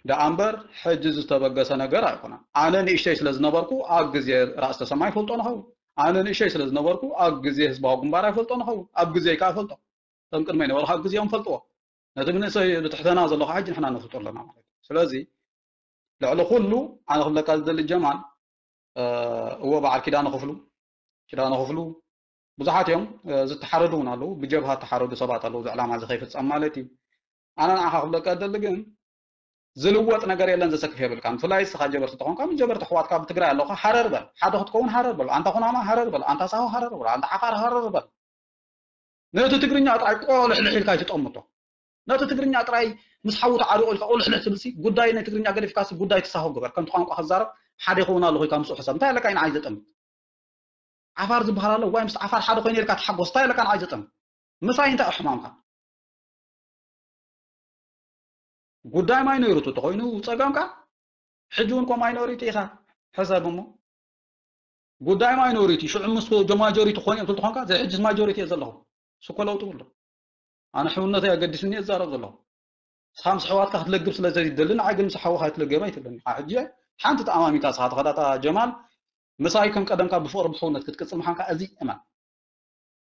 ደኣ እምበር ሕጂ ዝተበገሰ ነገር ኣይኮነን። ኣነ ንእሽተይ ስለ ዝነበርኩ ኣብ ግዜ ራእሲ ተሰማ ይፈልጦ ንኸውን። ኣነ ንእሽተይ ስለ ዝነበርኩ ኣብ ግዜ ህዝባዊ ግንባር ኣይፈልጦ ንኸውን። ኣብ ግዜ ከኣ ይፈልጦ። እቶም ቅድመይ ነበሩ ካብ ግዜኦም ፈልጥዎ። ነቲ ብንእሰይ ብትሕተና ዘሎ ከዓ ሕጂ ንሕና ነፍልጦ ኣለና ማለት እዩ። ስለዚ ልዕሊ ኩሉ ኣነ ክብለካ ዝደሊ ጀማል፣ እወ በዓል ኪዳነ ክፍሉ፣ ኪዳነ ክፍሉ ብዙሓት እዮም፣ ዝተሓረዱ እውን ኣለዉ፣ ብጀብሃ ዝተሓረዱ ሰባት ኣለዉ፣ እዚ ዕላማ እዚ ከይፍጸም ማለት እዩ። ኣነ ንዓኻ ክብለካ ዝደሊ ግን ዝልወጥ ነገር የለን ዘሰክፍ የብልካን። ብፍላይ ንስኻ ጀበርቲ ተኾንካ ምስ ጀበርቲ ኣሕዋትካ ብትግራይ ኣለኻ ሃረር በል። ሓደ ክትከውን ሃረር በል። ኣንታ ኩናማ ሃረር በል። ኣንታ ሳሆ ሃረር በል። ኣንታ ዓፋር ሃረር በል። ነቲ ትግርኛ ጥራይ ቆልሕልሕ ኢልካ ኣይትጠምቶ። ነቲ ትግርኛ ጥራይ ምስ ሓዉ ተዓሪቑ ኢልካ ቁልሕልሕ ትብልሲ ጉዳይ ናይ ትግርኛ ገዲፍካሲ ጉዳይ ትሳሆ ግበር። ከምቲ ቋንቋ ክዛረብ ሓደ ይኸውን ኣለኹ ኢልካ ምስኡ ሕሰብ። እንታይ ኣለካ ንዓይ ዘጠምት? ዓፋር ዝበሃል ኣሎ ዋይ ምስ ዓፋር ሓደ ኮይኑ ኢልካ ተሓጎስ። እንታይ ኣለካ ንዓይ ዘጠምት? ምሳይ እንታይ ሕማምካ? ጉዳይ ማይኖሪቲ ተኾይኑ ጸገምካ ሕጂ እውን ኮ ማይኖሪቲ ኢኻ ሕሰብ እሞ ጉዳይ ማይኖሪቲ ሽዑ ምስ ማጆሪቲ ክኾን እዮም ትኾንካ ዘይ ሕጅስ ማጆሪቲ እየ ዘለኹ ስኮ ለውጢ ብሎ ኣነ ሕውነተይ ኣገዲስኒ እዛረብ ዘለኹ ስኻ ምስ ኣሕዋትካ ክትለግብ ስለ ዘይደሊ ንዓይ ግን ምስ ሓውኻ ኣይትለገብ ኣይትብለኒ ኢኻ ሕጂ ሓንቲ ተኣማሚካ ስኻ ተኸዳታ ጀማል ምሳይ ከም ቀደምካ ብፍቕሪ ብሕውነት ክትቅጽል ምዃንካ እዚ እመን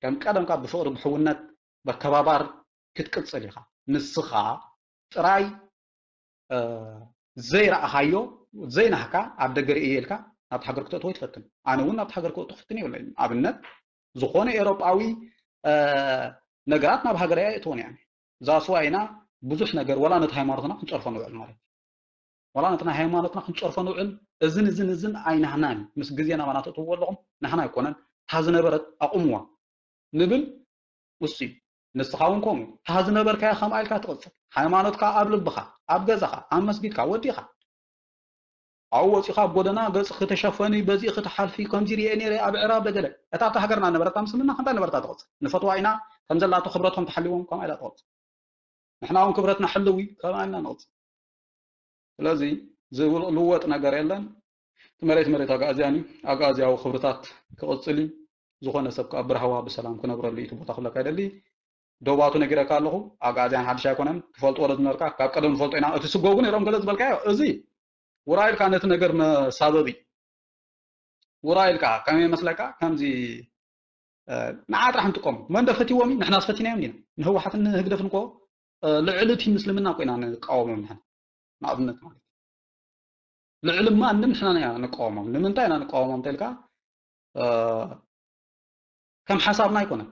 ከም ቀደምካ ብፍቕሪ ብሕውነት በከባባር ክትቅጽል ኢኻ ንስኻ ጥራይ ዘይረኣኻዮ ዘይናህካ ኣብ ደገ ርእየ ኢልካ ናብቲ ሃገር ክተእትዎ ይትፈትን ኣነ እውን ናብቲ ሃገር ክእቱ ክፍትን የብለይን ኣብነት ዝኾነ ኤሮጳዊ ነገራት ናብ ሃገር እያ የእትወን እያ ዛስዋ ኢና ብዙሕ ነገር ወላ ነቲ ሃይማኖትና ክንፀርፎ ንውዕል ማለት እዩ ወላ ነቲ ናይ ሃይማኖትና ክንፀርፎ ንውዕል እዝን እዝን እዝን ኣይናህናን ምስ ግዜ ናባና ተእትውዎ ኣለኹም ናህና ኣይኮነን እታ ዝነበረት ኣቑምዋ ንብል እሱ እዩ። ንስኻ እውን ከምኡ። እታ ዝነበርካያ ከምኣ ኢልካ ትቕጽል። ሃይማኖትካ ኣብ ልብኻ፣ ኣብ ገዛኻ፣ ኣብ መስጊድካ፣ ወዲኻ። ኣብኡ ወጺኻ ኣብ ጎደና ገጽኺ ተሸፈኒ፣ በዚእኺ ትሓልፊ፣ ከምዚ ርእየ ነይረ ኣብ ዕራብ ደገለ። እታ ኣብታ ሃገርና ነበረታ ምስልምና ከምታ ነበረታ ትቕጽል። ንፈትዋ ኢና ከም ዘላቶ ክብረቶም ተሓልዎም ከምኣ ኢላ ትቕጽል። ንሕና እውን ክብረትና ሕልዊ ከምኣ ኢልና ንቕጽል። ስለዚ ዝልወጥ ነገር የለን። እቲ መሬት መሬት ኣግኣዝያን እዩ። ኣግኣዝያዊ ክብርታት ክቕጽል እዩ። ዝኾነ ሰብ ከዓ ብራህዋ ብሰላም ክነብረሉ እዩ እቲ ቦታ ክብለካ ይደሊ። ዶባቱ ነጊረካ ኣለኹ። ኣግኣዝያን ሓድሽ ኣይኮነን። ትፈልጥዎ ዶ ዝነበርካ? ካብ ቀደም ንፈልጦ ኢና። እቲ ስጎጉ ነይሮም ገለ ዝበልካዮ እዚ ውራይ ኢልካ ነቲ ነገር መሳበቢ ውራይ ኢልካ ከመይ ይመስለካ ከምዚ ንዓ ጥራሕ ንጥቀሙ መን ዶ ፈትዎም እዩ ንሕናስ ፈቲናዮም ዲና ንህወሓትን ንህግደፍን እኮ ልዕሊ እቲ ምስልምና እኮ ኢና ንቃወሞም ንሕና ንኣብነት ማለት ልዕሊ ማንም ንሕና ኢና ንቃወሞም ንምንታይ ኢና ንቃወሞም እንተልካ ከም ሓሳብና ኣይኮነን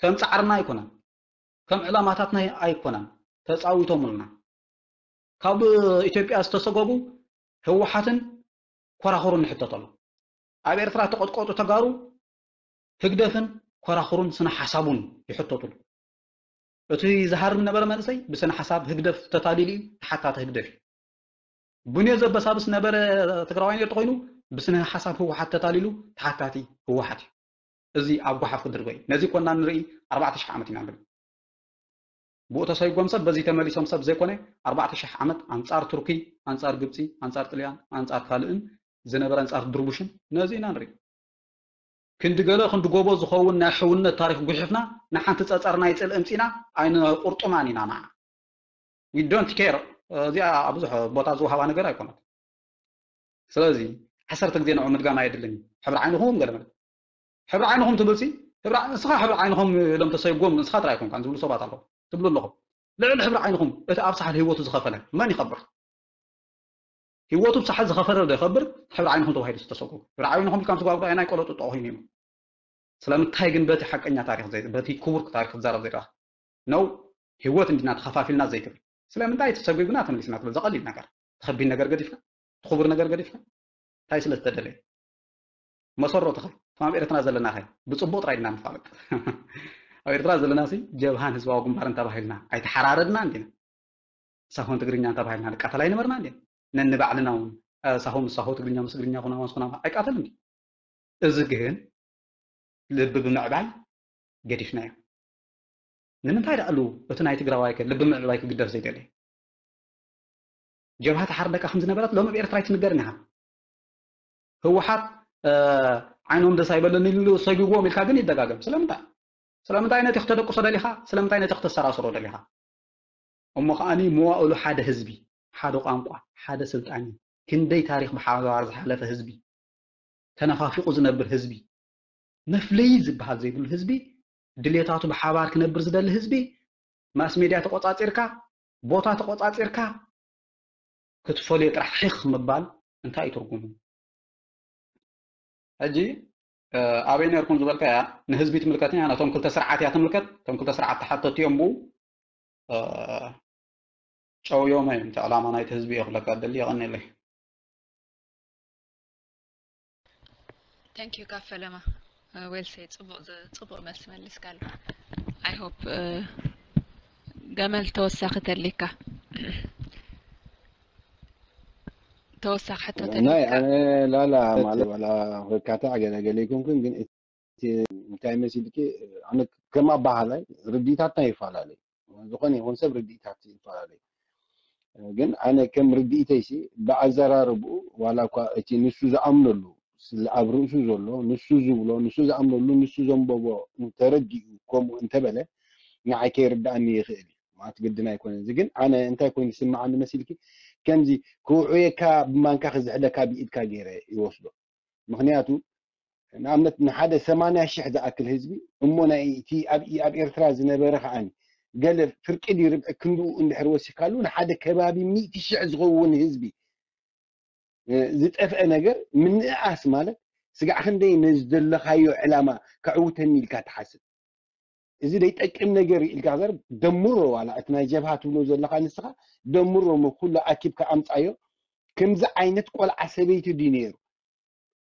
ከም ፃዕርና ኣይኮነን ከም ዕላማታትና ኣይኮነን ተፃዊቶምልና ካብ ኢትዮጵያ ዝተሰጎጉ ህወሓትን ኮራኹሩን ንሕተት ኣሎ ኣብ ኤርትራ ተቐጥቀጡ ተጋሩ ህግደፍን ኮራኹሩን ስነ ሓሳቡን ይሕተቱሉ እቲ ዝሃርም ነበረ መንእሰይ ብስነ ሓሳብ ህግደፍ ተታሊሉ እዩ ተሓታቲ ህግደፍ እዩ ቡኔ ዘበሳብስ ነበረ ትግራዋይ ነርተ ኮይኑ ብስነ ሓሳብ ህወሓት ተታሊሉ ተሓታቲ ህወሓት እዩ እዚ ኣብ ጓሓፍ ክድርበ እዩ ነዚ ኮና ንርኢ ኣርባዕተ ሽሕ ዓመት ኢና ንርኢ ብኡ ተሰይጎም ሰብ በዚ ተመሊሶም ሰብ ዘይኮነ ኣርባዕተ ሽሕ ዓመት ኣንጻር ቱርኪ ኣንጻር ግብጺ ኣንጻር ጥልያን ኣንጻር ካልእን ዝነበረ ኣንጻር ድርቡሽን ነዚ ኢና ንርኢ ክንዲ ገለ ክንዲ ጎቦ ዝኸውን ናይ ሕውነት ታሪክ ጉሒፍና ንሓንቲ ጸጸር ናይ ጽልኢ ምጺና ኣይንቁርጥማን ኢና ንዓ we don't care እዚኣ ብዙሕ ቦታ ዝወሃባ ነገር ኣይኮነት ስለዚ ዓሰርተ ግዜ ንዑ ምድጋም ኣየድልን እዩ ሕብሪ ዓይንኹም ገለ ማለት ሕብሪ ዓይንኹም ትብልሲ ንስኻ ሕብሪ ዓይንኹም ኢሎም ተሰይጎም ንስኻ ጥራይ ኣይኮንካን ዝብሉ ሰባት ኣለዉ ትብሉ ኣለኹም ልዕሊ ሕብሪ ዓይንኹም እቲ ኣብ ሳሕል ህይወቱ ዝኸፈለ መን ይኸብር ህይወቱ ብሳሕል ዝኸፈለ ዶ ይኸብር ሕብሪ ዓይንኹም ተባሂሉ ዝተሰጎ ሕብሪ ዓይንኹም ኢልካ ምስ ጓጉዳ ናይ ቆሎ ጥጦ ኮይኑ እዩ ስለምንታይ ግን በቲ ሓቀኛ ታሪክ በቲ ክቡር ታሪክ ክትዛረብ ዘይረኣ ነው ህይወት እንዲና ተኸፋፊልና ዘይትብል ስለምንታይ ተሰጉግና ተመሊስና ትብል ዘቐሊል ነገር ተኸቢድ ነገር ገዲፍካ ትኽቡር ነገር ገዲፍካ እንታይ ስለ ዝተደለየ መሰረቱ ኸ ከም ኣብ ኤርትራ ዘለና ኸ ብፅቡቅ ጥራይ ድና ንፋለጥ ኣብ ኤርትራ ዘለና ሲ ጀብሃን ህዝባዊ ግንባርን ተባሂልና ኣይተሓራረድና እንዲና ሳሆን ትግርኛ ተባሂልና ንቃተል ኣይነበርና እንዲና ነንባዕልና እውን ሳሆ ምስ ሳሆ ትግርኛ ምስ ትግርኛ ኩናማ ምስ ኩናማ ኣይቃተል እንዲ እዚ ግን ልቢ ብምዕባይ ገዲፍናዮ ንምንታይ ደኣ ኣሉ እቲ ናይ ትግራዋይ ከ ልቢ ምዕባይ ክግደፍ ዘይደሊ ጀብሃ ተሓርደካ ከም ዝነበረት ሎሚ ኣብ ኤርትራ ኣይትንገርን ኢኻ ህወሓት ዓይኖም ደስ ኣይበለኒ ኢሉ ሰጊዎም ኢልካ ግን ይደጋገም ስለምንታይ ስለምንታይ ነቲ ክተደቅሶ ደሊኻ? ስለምንታይ ነቲ ክተሰራስሮ ደሊኻ? እሞ ከዓኒ መዋእሉ ሓደ ህዝቢ፣ ሓደ ቋንቋ፣ ሓደ ስልጣን እዩ። ክንደይ ታሪኽ ብሓባር ዝሓለፈ ህዝቢ፣ ተነፋፊቑ ዝነብር ህዝቢ፣ መፍለዪ ዝበሃል ዘይብሉ ህዝቢ፣ ድሌታቱ ብሓባር ክነብር ዝደሊ ህዝቢ፣ ማስ ሜድያ ተቖጻጺርካ፣ ቦታ ተቖጻጺርካ ክትፈልዮ ጥራሕ ሒኽ ምባል እንታይ እዩ ትርጉሙ? ሕጂ ኣበይ ነርኩም ዝበልካያ ንህዝቢ ትምልከትን እያ ነቶም ክልተ ስርዓት እያ ትምልከት። እቶም ክልተ ስርዓት ተሓተቲ እዮም ብኡ ጨውዮም እዮም። እቲ ዕላማ ናይቲ ህዝቢ እየ ክብለካ ደሊ። የቐንየለይ። Thank you ካፈለማ። Well said። ፅቡቅ መልሲ መሊስካሉ። I hope ገመል ተወሳኺ ተሊካ ተወሳኺ ሕቶ ናይ ኣነ ላላ ማለት ዋላ ወካታ ገለ ገለ ይኮንኩን ግን እቲ እንታይ መሲልኪ ኣነ ከም ኣባሃላይ ርዲታትና ይፈላለዩ። ዝኾነ ይኹን ሰብ ርዲታት ይፈላለዩ። ግን ኣነ ከም ርዲኢተይሲ ብኣዘራርብኡ ዋላ እኳ እቲ ንሱ ዝኣምነሉ ስለ ኣብ ርእሱ ዘሎ ንሱ ዝብሎ ንሱ ዝኣምነሉ ንሱ ዘንበቦ እንተረዲኡ ከምኡ እንተበለ ንዓይ ከይርድኣኒ ይኽእል እዩ ማለት ግድን ኣይኮነን። እዚ ግን ኣነ እንታይ ኮይኑ ዝስምዓኒ መሲልኪ ከምዚ ክውዕየካ ብማንካ ክዝሕለካ ብኢድካ ገይረ ይወስዶ። ምኽንያቱ ንኣብነት ንሓደ ሰማንያ ሽሕ ዝኣክል ህዝቢ እሞ ናይ እቲ ኣብ ኣብ ኤርትራ ዝነበረ ከዓኒ ገለ ፍርቂ ድዩ ርብዒ ክንድኡ እንድሕር ወሲካሉ ንሓደ ከባቢ ሚእቲ ሽሕ ዝኸውን ህዝቢ ዝጠፍአ ነገር ምንእኣስ ማለት ስጋዕ ክንደይ ነዚ ዘለኻዮ ዕላማ ከዕውተኒ ኢልካ ትሓስብ። እዚ ዘይጠቅም ነገር እዩ ኢልካ ዘር ደምሮ ዋላ እቲ ናይ ጀብሃ ትብሎ ዘለኻ ንስኻ ደምሮ ሞ ኩሉ ኣኪብካ ኣምፃዮ። ከምዚ ዓይነት ቆልዓ ሰበይቲ ድዩ ነይሩ?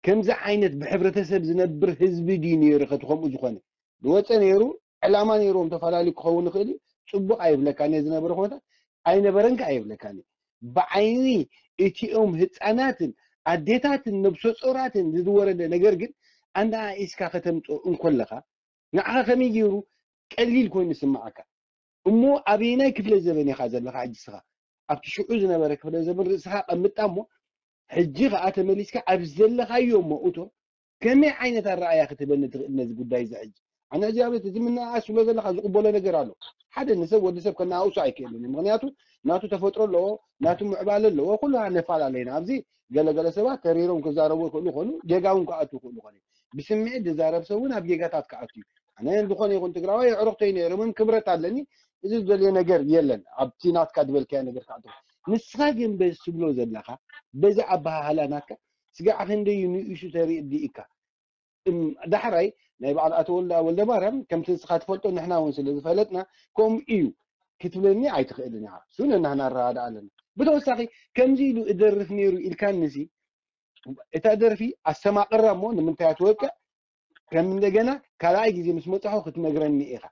ከምዚ ዓይነት ብሕብረተሰብ ዝነብር ህዝቢ ድዩ ነይሩ? ከቲ ከምኡ ዝኾነ ዝወፀ ነይሩ ዕላማ ነይርዎም ተፈላለዩ ክኸውን ይኽእል እዩ። ፅቡቕ ኣይብለካን እየ ዝነበረ ኩነታት ኣይነበረን ከ ኣይብለካን እየ። ብዓይኒ እቲኦም ህፃናትን ኣዴታትን ነብሰ ፆራትን ዝወረደ ነገር ግን ኣነኣኢስካ ከተምፅኦ እንኮለኻ ንዓኻ ከመይ ገይሩ ቀሊል ኮይኑ ይስምዓካ? እሞ ኣበየናይ ክፍለ ዘበን ኢኻ ዘለኻ ሕጂ እስኻ? ኣብቲ ሽዑ ዝነበረ ክፍለ ዘበን ርእስኻ ቀምጣ እሞ ሕጂ ኸዓ ተመሊስካ ኣብ ዘለኻዮ እሞ እቶ ከመይ ዓይነት ኣረኣእያ ክትህበኒ ትኽእል ነዚ ጉዳይ እዚ ሕጂ? ኣነ እግዚኣብሔር እቲ ምንእኣስ ትብሎ ዘለኻ ዝቕበሎ ነገር ኣሎ። ሓደ ንሰብ ወዲ ሰብ ከነኣእሱ ኣይክእልን እዩ። ምኽንያቱ ናቱ ተፈጥሮ ኣለዎ፣ ናቱ ምዕባለ ኣለዎ። ኩሉ ነፈላለየና ኣብዚ ገለገለ ሰባት ተሪሮም ክዛረቡ ይኽእሉ ይኾኑ፣ ጌጋ እውን ክኣትዉ ይኽእሉ ይኾኑ። ብስምዒት ዝዛረብ ሰብ እውን ኣብ ጌጋታት ክኣቱ እዩ። ኣነ ዝኾነ ይኹን ትግራዋይ ኣዕሩኽተይ ነይሮም ክብረት ኣለኒ። እዚ ዝደልዮ ነገር የለን። ኣብቲ ናትካ ዝበልካዮ ነገር ክኣቱ። ንስኻ ግን በዚ ትብሎ ዘለኻ በዚ ኣበሃህላ ናትካ ስጋዕ ክንደይ ንእሱ ተርኢ ዲኢካ? ዳሕራይ ናይ በዓል ኣቶ ወልደ ወልደ ማርያም ከምቲ ንስኻ ትፈልጦ ንሕና እውን ስለ ዝፈለጥና ከምኡ እዩ ክትብለኒ ኣይትኽእልን ኢኻ። እሱ ነናህና ንረዳዳእ ኣለና። ብተወሳኺ ከምዚ ኢሉ እደርፍ ነይሩ ኢልካኒ ሲ እታ ደርፊ ኣስተማቕራ እሞ ንምንታይ ትወቅዕ ከም እንደገና ካልኣይ ግዜ ምስ መጻኹ ክትነግረኒ ኢኻ።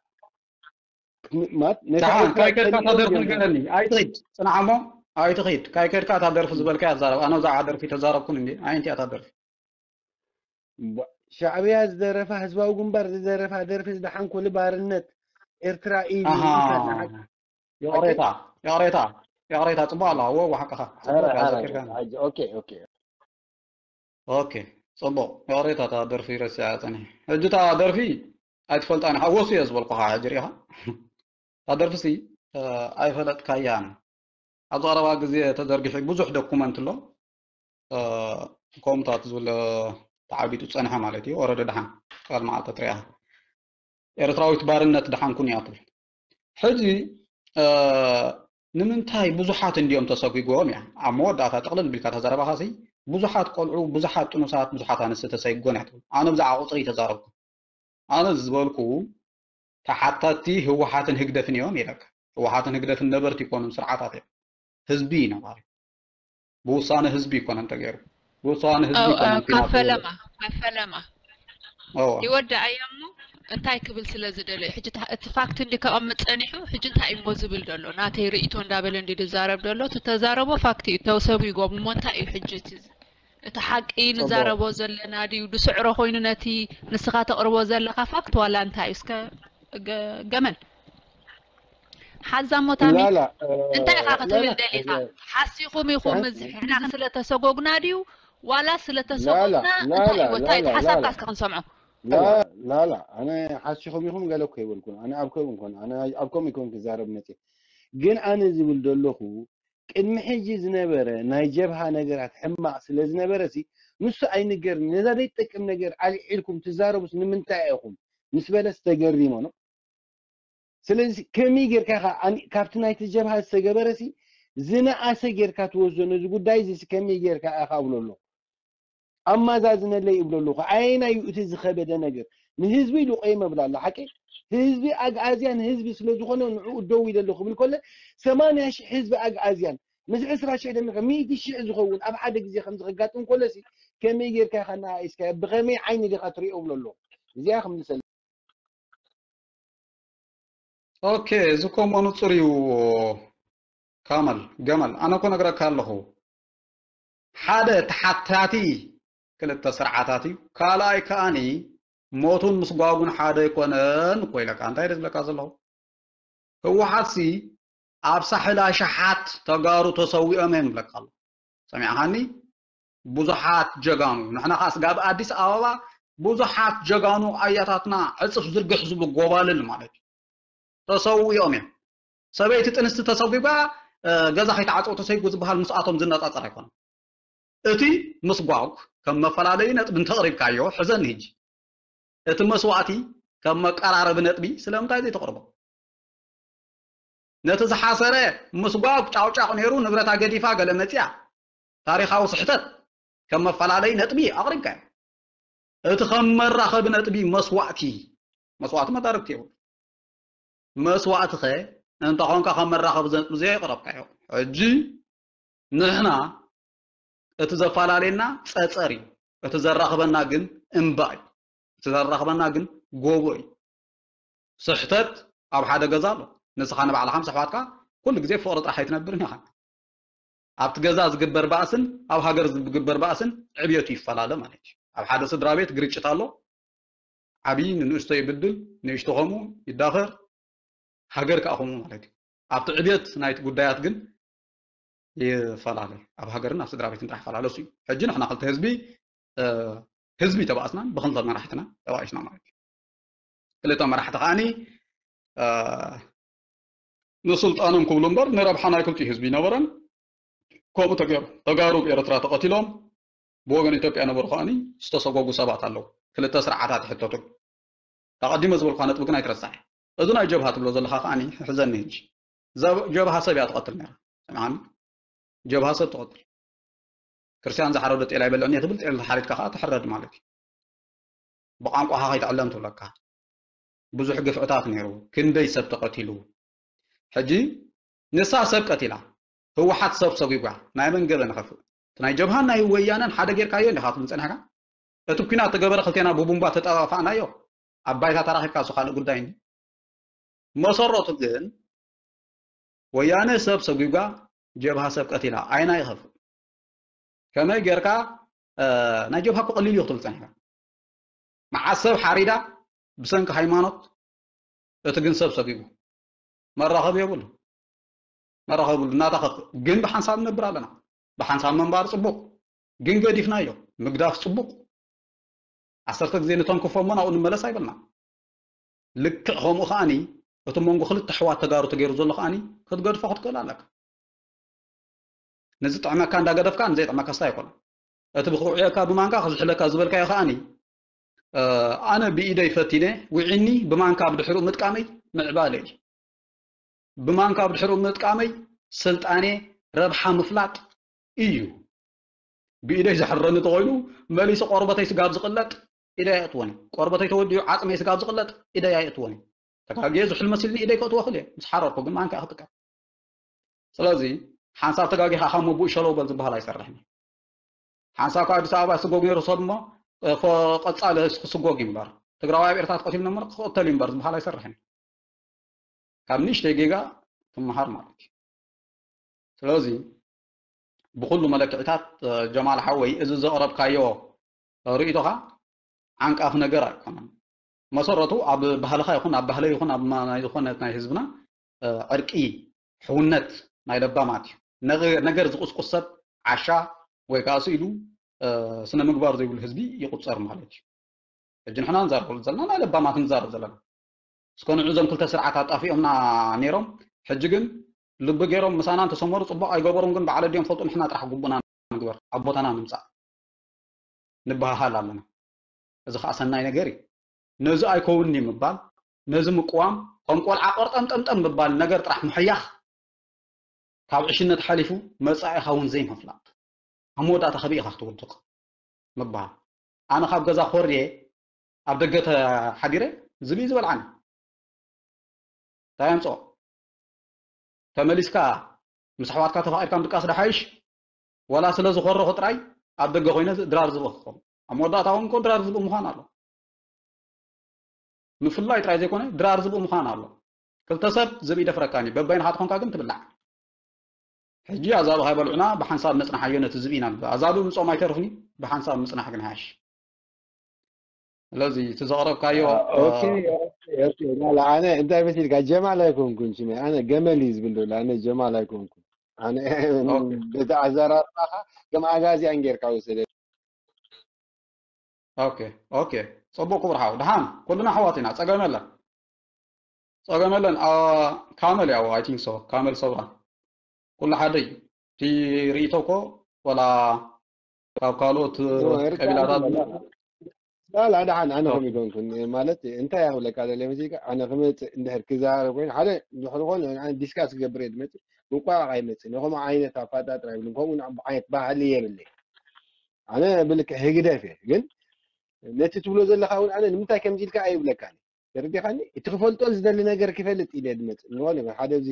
ደሓን ካይከድካ እታ ደርፊ ንገረኒ። ኣይትኺድ ጽናሕ እሞ ኣይትኺድ። ካይከድካ እታ ደርፊ ዝበልካያ ኣዛረብ። ኣነ ብዛዕባ ደርፊ ተዛረብኩን እንዴ? ኣየንቲ እያ እታ ደርፊ? ሻዕብያ ዝደረፋ ህዝባዊ ግንባር ዝደረፋ ደርፊ ዝደሓን ኮሉ ባርነት ኤርትራ ኢሉ ይቕሬታ ይቕሬታ ይቕሬታ ጽቡቕ ኣለዋ። ወ ሓቅኻ ጽቡቕ እያ ዘኪርካ። ኦኬ ጽቡቕ ይቕሬታ እታ ደርፊ ረሲዐ ጸኒሐ። ሕጂ እታ ደርፊ ኣይትፈልጣን ሓወሱ እየ ዝበልኩኻ ሕጂ ርኢኻ። እታ ደርፊሲ ኣይፈለጥካያን። ኣብዚ ቀረባ ግዜ ተዘርጊሑ ብዙሕ ዶኩመንት ኣሎ። ከምኡታት ዝብል ተዓቢጡ ዝጸንሐ ማለት እዩ። ወረደ ደሓን ቃል መዓልቲ ትሪኣ ኤርትራዊት ባርነት ደሓንኩን እያ ትብል። ሕጂ ንምንታይ ብዙሓት እንዲዮም ተሰጒጎም እያ ኣብ መወዳእታ ጥቕልል ቢልካ ተዘረባኻሲ ብዙሓት ቆልዑ ብዙሓት ጥኑሳት ብዙሓት ኣንስቲ ተሰይጎን እያ ትብል። ኣነ ብዛዕባ ቁፅሪ ተዛረብኩ። ኣነ ዝበልኩ ተሓታቲ ህወሓትን ህግደፍን እዮም ኢለካ። ህወሓትን ህግደፍን ነበርቲ ይኮኑን ስርዓታት እዮም። ህዝቢ እዩ ነባሪ። ብውሳነ ህዝቢ ይኮነን ተገይሩ። ብውሳነ ህዝቢ ይኮነን ካፈለማ ካፈለማ ይወዳእ እያ እሞ እንታይ ክብል ስለ ዝደለዩ ሕጂ እቲ ፋክት እንዲ ከቐምጥ ፀኒሑ ሕጂ እንታይ እሞ ዝብል ዘሎ ናተይ ርእቶ እንዳበለ እንዲ ዝዛረብ ዘሎ እቲ ተዛረቦ ፋክት እዩ ተውሰቡ ይጎም እሞ እንታይ እዩ ሕጂ እቲ እቲ ሓቂ ንዛረቦ ዘለና ድዩ ዝስዕሮ ኮይኑ ነቲ ንስኻ ተቕርቦ ዘለኻ ፋክት ዋላ እንታይ እዩ እስከ ገመል ሓዛ እሞ ታሚ እንታይ ኢኻ ክትብል ደሊኻ ሓሲኹም ኢኹም እዚ ሕና ስለተሰጎግና ድዩ ዋላ ስለተሰጎግና እንታይ እዩ ወታይ ሓሳብካ እስከ ክንሰምዖ ላላ ኣነ ሓሲኹም ኢኹም ገለ እኮ ይበልኩን ኣነ ኣብ ከም ኮን ኣነ ኣብ ከም ይኮን ክዛረብ መጽ ግን ኣነ ዝብል ዘለኹ ቅድሚ ሕጂ ዝነበረ ናይ ጀብሃ ነገራት ሕማቕ ስለ ዝነበረ ሲ ንሱ ኣይንገር ነዛ ዘይጠቅም ነገር ኣልዒልኩም ትዛረቡስ ንምንታይ ኢኹም ምስ በለስ ተገሪሞ ነው ስለዚ ከመይ ጌርካ ኢኻ ካብቲ ናይቲ ጀብሃ ዝተገበረ ሲ ዝነኣሰ ጌርካ ትወስዶ ነዚ ጉዳይ እዚ ከመይ ጌርካ ኢኻ እብሎ ኣለኹ ኣማዛዝነለይ እብሎ ኣለኹ ኣየናይ እዩ እቲ ዝኸበደ ነገር ንህዝቢ ኢሉ ቆይመ ብላ ኣሎ ሓቂ ህዝቢ ኣግኣዝያን ህዝቢ ስለ ዝኾነ ንዕኡ ደው ኢለ ኣለኹ ክብል ከሎ ሰማንያ ሺሕ ህዝቢ ኣግኣዝያን ምስ ዕስራ ሺሕ ደሚርካ ሚእቲ ሺሕ ዝኸውን ኣብ ሓደ ግዜ ከምዚ ከጋጥም ከሎ ሲ ከመይ ጌርካ ኢኻ እናኣኢስካዮ ብኸመይ ዓይኒ ዲኻ ትሪኦ እብሎ ኣለኹ እዚኣ ክምልሰለይ ኦኬ እዚ ኮሞ ንጹር እዩ ካመል ገመል ኣነ እኮ ነግረካ ኣለኹ ሓደ ተሓታቲ ክልተ ስርዓታት እዩ ካልኣይ ከኣኒ ሞቱን ምስጓጉን ሓደ ኣይኮነን እኮ ኢለካ እንታይ ኢለ ዝብለካ ዘለኹ ህወሓት ሲ ኣብ ሳሕል ኣሽሓት ተጋሩ ተሰዊኦም እዮም ይብለካ ኣሎ ሰሚዕኻኒ ብዙሓት ጀጋኑ ንሕና ከዓ ስጋብ ኣዲስ ኣበባ ብዙሓት ጀጋኑ ኣያታትና ዕፅፍ ዝርግሕ ዝብሉ ጎባልል ማለት እዩ ተሰዊኦም እዮም ሰበይቲ ጥንስቲ ተሰጒጓ ገዛ ከይተዓፀው ተሰይጉ ዝበሃል ምስኣቶም ዝነፃፀር ኣይኮነን እቲ ምስጓግ ከም መፈላለዩ ነጥቢ እንተቕሪብካዮ ሕዘኒ ህጂ እቲ መስዋእቲ ከም መቀራረቢ ነጥቢ ስለምንታይ ዘይተቕርቦ ነቲ ዝሓሰረ ምስጓግ ጫውጫቕ ነይሩ ንብረታ ገዲፋ ገለ መፅያ ታሪኻዊ ስሕተት ከም መፈላለይ ነጥቢ ኣቕሪብካዮ እቲ ከም መራኸቢ ነጥቢ መስዋእቲ መስዋእቲ መዳርግቲ የብሉ መስዋእቲ ኸ እንተኾንካ ከም መራኸቢ ነጥቢ ዘየቕረብካዮ ሕጂ ንሕና እቲ ዘፈላለየና ፀፀር እዩ እቲ ዘራኽበና ግን እምባ እዩ እቲ ዘራኽበና ግን ጎቦ እዩ ስሕተት ኣብ ሓደ ገዛ ኣሎ ንስኻ ንባዕልኻ ምስ ኣሕዋትካ ኩሉ ግዜ ፍቕሪ ጥራሕ ኣይትነብርን ኢኻ ኣብቲ ገዛ ዝግበር ባእስን ኣብ ሃገር ዝግበር ባእስን ዕብየቱ ይፈላለ ማለት እዩ ኣብ ሓደ ስድራ ቤት ግርጭት ኣሎ ዓብዪ ንንእሽቶ ይብድል ንእሽቶ ከምኡ ይዳኸር ሃገር ከዓ ከምኡ ማለት እዩ ኣብቲ ዕብየት ናይቲ ጉዳያት ግን ይፈላለ ኣብ ሃገርን ኣብ ስድራ ቤትን ጥራሕ ይፈላለ እሱ እዩ ሕጂ ንሕና ክልተ ህዝቢ ህዝቢ ተባእስናን ብክልተ መራሕትና ተባኢስና ማለት እዩ ክልተ መራሕቲ ከዓኒ ንስልጣኖም ክብሉ እምበር ንረብሓ ናይ ክልቲኡ ህዝቢ ይነበረን ከምኡ ተገይሩ ተጋሩ ብኤርትራ ተቐቲሎም ብወገን ኢትዮጵያ ነበሩ ከዓኒ ዝተሰጎጉ ሰባት ኣለዉ ክልተ ስርዓታት ይሕተቱ ተቐዲመ ዝበልኳ ነጥቢ ግን ኣይትረሳዕ እዚ ናይ ጀብሃ ትብሎ ዘለኻ ከዓኒ ሕዘኒ ህጂ ጀብሃ ሰብ እያ ትቐትል ነራ ሰምዓኒ ጀብሃ ሰብ ትቐትል ክርስቲያን ዝሓረዶ ጤል ኣይበልዕን እየ ትብል ጤል ተሓሪድካ ከዓ ትሕረድ ማለት እዩ ብቋንቋኻ ከይትዕለም ትብለካ ብዙሕ ግፍዕታት ነይሩ ክንደይ ሰብ ተቐቲሉ ሕጂ ንሳ ሰብ ቀቲላ ህወሓት ሰብ ሰጒጓ ናይ መን ገበን ይኸፍእ እቲ ናይ ጀብሃን ናይ ወያነን ሓደ ጌርካዮ እንዲኻ ትብል ፀኒሕካ እቲ ኩናት ተገበረ ክልቴና ብቡምባ ተጠፋፋእናዮ ኣብ ባይታ ተራኺብካ እሱ ካልእ ጉዳይ እንዲ መሰረቱ ግን ወያነ ሰብ ሰጒጓ ጀብሃ ሰብ ቀቲላ ኣይና ይኸፍእ ከመይ ጌርካ ናይ ጀብሃ እኮ ቀሊል እዩ ክትብል ፀኒሕካ መዓት ሰብ ሓሪዳ ብሰንኪ ሃይማኖት እቲ ግን ሰብ ሰጒጉ መራኸቢ የብሉ መራኸቢ የብሉ እናታኸፍ ግን ብሓንሳብ ንነብር ኣለና ብሓንሳብ መንባር ፅቡቕ ግን ገዲፍናዮ ምግዳፍ ፅቡቕ ዓሰርተ ግዜ ንተንክፎ እሞ ናብኡ ንመለስ ኣይበልና ልክዕ ከምኡ ከዓኒ እቲ መንጎ ክልተ ኣሕዋት ተጋሩ ተገይሩ ዘሎ ከዓኒ ክትገድፎ ክትክእል ኣለካ ንዝጥዕመካ እንዳገደፍካ ንዘይጥዕመካ ስታይ ኣይኮነን እቲ ብክውዕየካ ብማንካ ክዝሕለካ ዝበልካዮ ከዓኒ ኣነ ብኢደይ ፈቲነ ውዒኒ ብማንካ ብድሕሪኡ ምጥቃመይ ምዕባለ እዩ ብማንካ ብድሕሪኡ ምጥቃመይ ስልጣኔ ረብሓ ምፍላጥ እዩ ብኢደይ ዝሕረኒ ተኮይኑ መሊሱ ቆርበተይ ስጋብ ዝቕለጥ ኢደይ ኣየእትዎን እዩ ቆርበተይ ተወዲኡ ዓፅመይ ስጋብ ዝቕለጥ ኢደይ ኣየእትዎን እዩ ተጋግየ ዝሑል መሲልኒ ኢደይ ከእትዎ ክእል እየ ምስ ሓረርኩ ግን ማንካ ክጥቀም ስለዚ ሓንሳብ ተጋጊኻ ካብ መቡእ ሸለው በል ዝበሃል ኣይሰርሕን እዩ ሓንሳብ ካብ ኣዲስ ኣበባ ስጎግ ነይሩ ሰብ እሞ ቀፃሊ ክስጎግ እዩ እምበር ትግራዋይ ኣብ ኤርትራ ተቐቲሉ ነበር ክቕተል እዩ እምበር ዝበሃል ኣይሰርሕን እዩ ካብ ንእሽተይ ጌጋ ትመሃር ማለት እዩ ስለዚ ብኩሉ መለክዕታት ጀማል ሓወይ እዚ ዘቕረብካዮ ርእይቶኻ ዓንቃፊ ነገር ኣይኮነን መሰረቱ ኣብ ባህልኻ ይኹን ኣብ ባህለ ይኹን ኣብ ናይ ዝኾነት ናይ ህዝብና ዕርቂ ሕውነት ናይ ለባማት እዩ ነገር ዝቁስቁስ ሰብ ዓሻ ወይ ከዓ ስኢሉ ስነ ምግባር ዘይብሉ ህዝቢ ይቁፀር ማለት እዩ ሕጂ ንሕና ንዛረበሉ ዘለና ናይ ለባማት ንዛረብ ዘለና። እስከ ንዑ እዞም ክልተ ስርዓት ኣጣፊኦምና ነይሮም። ሕጂ ግን ልቢ ገይሮም ምሳና እንተሰመሩ ጽቡቕ ኣይገበሩን፣ ግን በዓል ኣዲኦም ፈልጡ፣ ንሕና ጥራሕ ግቡና ንግበር፣ ኣብ ቦታና ንምጻእ ንበሃሃል ኣለና። እዚ ኸኣ ሰናይ ነገር እዩ። ነዚ ኣይከውንኒ ምባል፣ ነዚ ምቅዋም፣ ከም ቆልዓ ቆርጠምጠምጠም ምባል፣ ነገር ጥራሕ ምሕያኽ፣ ካብ ዕሽነት ሓሊፉ መጻኢኻ እውን ዘይምፍላጥ። ኣብ መወዳእታ ከበይ ኢኻ ክትውድቕ ምባል። ኣነ ካብ ገዛ ኮርየ ኣብ ደገ ተሓዲረ ዝብኢ ዝበልዓኒ። እንታይ ኣምጽኦ? ተመሊስካ ምስ ኣሕዋትካ ተፋቒድካ ምድቃስ ድሓይሽ፣ ወላ ስለ ዝኾረኹ ጥራይ ኣብ ደገ ኮይነ ድራር ዝብኢ ክኸውን። ኣብ መወዳእታ እውን እኮ ድራር ዝብኢ ምዃን ኣሎ። ምፍላይ ጥራይ ዘይኮነ ድራር ዝብኢ ምዃን ኣሎ። ክልተ ሰብ ዝብኢ ደፍረካኒ፣ በበይንኻ ትኾንካ ግን ትብላዕ። ሕጂ ኣዛብእ ካይበልዑና ብሓንሳብ ነጽንሓዮ ነቲ ዝብኢ ኢና ንብል። ኣዛብእ ምጾም ኣይተርፍኒ፣ ብሓንሳብ ምጽናሕ ግን ሓሽ። ስለዚ እቲ ዘቕረብካዮ ኦኬ ኦኬ ኦኬ ላላ ኣነ እንታይ መሲልካ ጀማል ኣይኮንኩን ሽመይ ኣነ ገመል እዩ ዝብል ዘሎ ኣነ ጀማል ኣይኮንኩን ኣነ ኦኬ። በቲ ኣዘራርባኻ ከም ኣጋዚያን ጌርካ ውሰደ ኦኬ ኦኬ። ጽቡቅ ክቡር ሓው፣ ደሓን ኩልና ኣሕዋት ኢና፣ ጸገም የለን፣ ጸገም የለን። ኣ፣ ካመል ያው I think so ካመል ሰውራ ኩሉ ሓደ እዩ። እቲ ርእይቶ እኮ ወላ ካብ ካልኦት ቀቢላታት ላላ ደሓን ኣነ ከም ይኮንኩን ማለት እንታይ ያክብለካ ደለ መሲልካ ኣነ ክመፅእ እንድሕር ክዛረብ ኮይኑ ሓደ ድሕሪ ኮነ ኣነ ዲስካስ ክገብር እየ ዝመፅእ ምቋቕ ኣይመፅእ ነከምኡ ዓይነት ኣፋጣጥራ ይብልን ከምኡ ዓይነት ባህሊ የብለይ ኣነ ብልክዕ ህግደፍ እየ ግን ነቲ ትብሎ ዘለካ እውን ኣነ ንምንታይ ከምዚ ኢልካ ኣይብለካን ተረዲኻኒ እቲ ክፈልጦ ዝደሊ ነገር ክፈልጥ ኢለ ዝመፅእ ንኾነ ይኹን ሓደ እዚ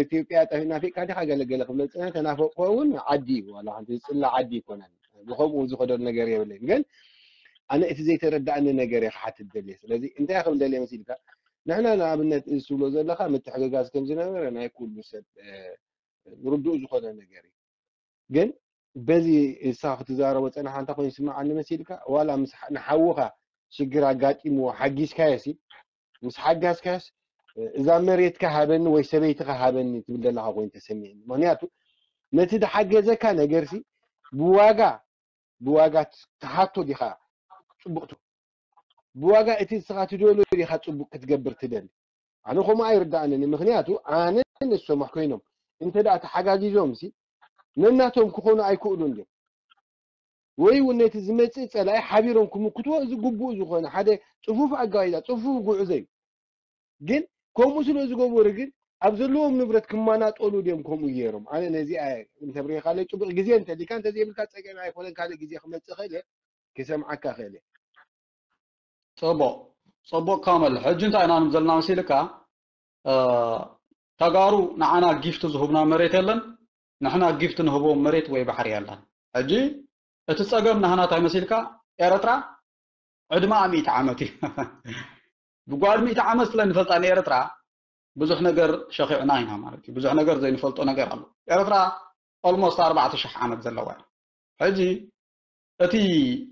ኢትዮጵያ ጠፊ ናፊቅካ ዲኻ ገለገለ ክብለ ዝፀነ ተናፈቅኮ እውን ዓዲ እዩ ዋላ ሓንቲ ዝፅላ ዓዲ ይኮነን ብከምኡ ዝኸደሉ ነገር የብለይን ግን ኣነ እቲ ዘይተረዳእኒ ነገር እየ ክሓትት ደልየ ስለዚ እንታይ ክብል ደልየ መሲልካ ንሕና ንኣብነት እዚ ትብሎ ዘለካ ምትሕግጋዝ ከም ዝነበረ ናይ ኩሉ ሰብ ርዱእ ዝኾነ ነገር እዩ ግን በዚ እሳ ክትዛረቦ ፀናሓ እንተ ኮይኑ ስምዓኒ መሲልካ ዋላ ምስ ንሓውኻ ሽግር ኣጋጢምዎ ሓጊዝካዮ ሲ ምስ ሓጋዝካዮስ እዛ መሬትካ ሃበኒ ወይ ሰበይትኻ ሃበኒ ትብል ዘለካ ኮይኑ ተሰሚዕኒ ምክንያቱ ነቲ ዝሓገዘካ ነገር ሲ ብዋጋ ብዋጋ ትሓቶ ዲኻ ፅቡቅ ትብል ብዋጋ እቲ ንስኻ ትደልዮ ዲኻ ፅቡቅ ክትገብር ትደሊ ኣነ ከምኡ ኣይርዳእንን ምክንያቱ ኣነ ንሶም ኮይኖም እንተ ደኣ ተሓጋጊዞም ሲ ነናቶም ክኾኑ ኣይክእሉን ድዮም ወይ እውን ነቲ ዝመፅእ ፀላኢ ሓቢሮም ክምክትዎ እዚ ግቡእ ዝኾነ ሓደ ፅፉፍ ኣጋይዛ ፅፉፍ ጉዕዞ እዩ ግን ከምኡ ስለ ዝገበሩ ግን ኣብ ዘለዎም ንብረት ክመናጠሉ ድዮም ከምኡ ገይሮም ኣነ ነዚኣ እንተብሪኻለይ ፅቡቅ ግዜ እንተሊካ እንተዘይብልካ ፀገም ኣይኮነን ካልእ ግዜ ክመፅእ ክእል እየ ክሰምዓካ ክእል እየ ፅቡቅ ፅቡቅ ካመል ሕጂ እንታይ ኢና ንብል ዘለና መሲልካ ተጋሩ ንዓና ጊፍት ዝህቡና መሬት የለን ንሕና ጊፍት ንህቦም መሬት ወይ ባሕሪ የለን ሕጂ እቲ ፀገም ናህና እንታይ መሲልካ ኤረትራ ዕድመኣ ሚእቲ ዓመት እዩ ብጓድ ሚእቲ ዓመት ስለ ንፈልጣ ንኤረትራ ብዙሕ ነገር ሸኺዕና ኢና ማለት እዩ ብዙሕ ነገር ዘይንፈልጦ ነገር ኣሎ ኤረትራ ኦልሞስት ኣርባዕተ ሽሕ ዓመት ዘለዋ እያ ሕጂ እቲ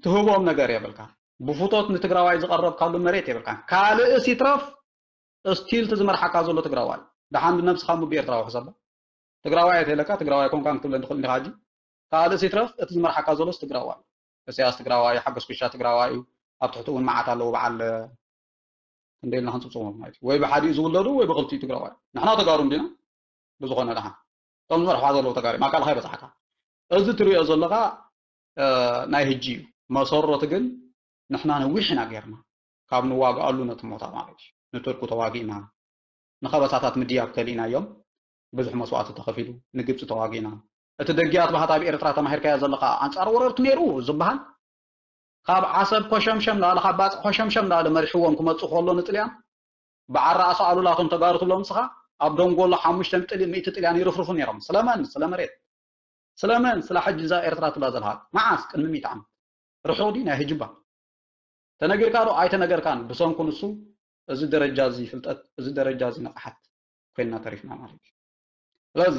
ትህቦም ነገር የብልካ ብፉቶት ንትግራዋይ ዝቐረብካሉ መሬት የብልካ ካልእ ሲትረፍ ስቲል እቲ ዝመርሓካ ዘሎ ትግራዋይ ደሓን ብነብስኻ ምቢ ኤርትራዊ ሕሰቦ ትግራዋይ ኣይተለካ ትግራዋይ ኮንካን ክትብለኒ ትኽእል እንዲኻ ሕጂ ካልእ ሲትረፍ እቲ ዝመርሓካ ዘሎስ ትግራዋይ እሰያስ ትግራዋይ ሓጎስ ኩሻ ትግራዋይ እዩ ኣብ ትሕቲ እውን መዓት ኣለዉ በዓል ክንደይ ኢልና ክንፅብፅቦም ማለት እዩ ወይ ብሓዲኡ ዝውለዱ ወይ ብክልቲኡ ትግራዋይ ንሕና ተጋሩ እንዲና ብዝኾነ ደሓን እቶም ዝመርሕዋ ዘለዉ ተጋሩ ማካልካ ይበፅሓካ እዚ ትሪኦ ዘለካ ናይ ህጂ እዩ መሰረቱ ግን ንሕና ነዊሕ ኢና ገይርና ካብ ንዋግኣሉ ነቲ ሞታ ማለት እዩ ንቱርኩ ተዋጊእና ንኸበሳታት ምድያብ ከሊእናዮም ብዙሕ መስዋእቲ ተኸፊሉ ንግብፂ ተዋጊእና እቲ ደጊያት ባህታ ኣብ ኤርትራ ተማሂርካዮ ዘለካ ኣንፃር ወረርቲ ነይሩ ዝበሃል ካብ ዓሰብ ኮሸምሸም ላለ ካብ ባፅዕ ኮሸምሸም ላለ መሪሕዎም ክመፁ ከሎ ንጥልያን ብዓራ ኣሰኣሉላቶም ተጋሩ ትብሎ ምስኻ ኣብ ደንጎሎ ሓሙሽተ ሚእቲ ጥልያን ይርፍርፉ ነይሮም ስለመን ስለ መሬት ስለመን ስለ ሕጂ እዛ ኤርትራ ትብላ ዘለካ መዓስ ቅድሚ ሚእቲ ዓመት ርሑቕ ድዩ ናይ ሕጂ እባ ተነጊርካ ዶ ኣይተነገርካን ብሰንኩ ንሱ እዚ ደረጃ እዚ ፍልጠት እዚ ደረጃ እዚ ንቕሓት ኮይንና ተሪፍና ማለት እዩ ስለዚ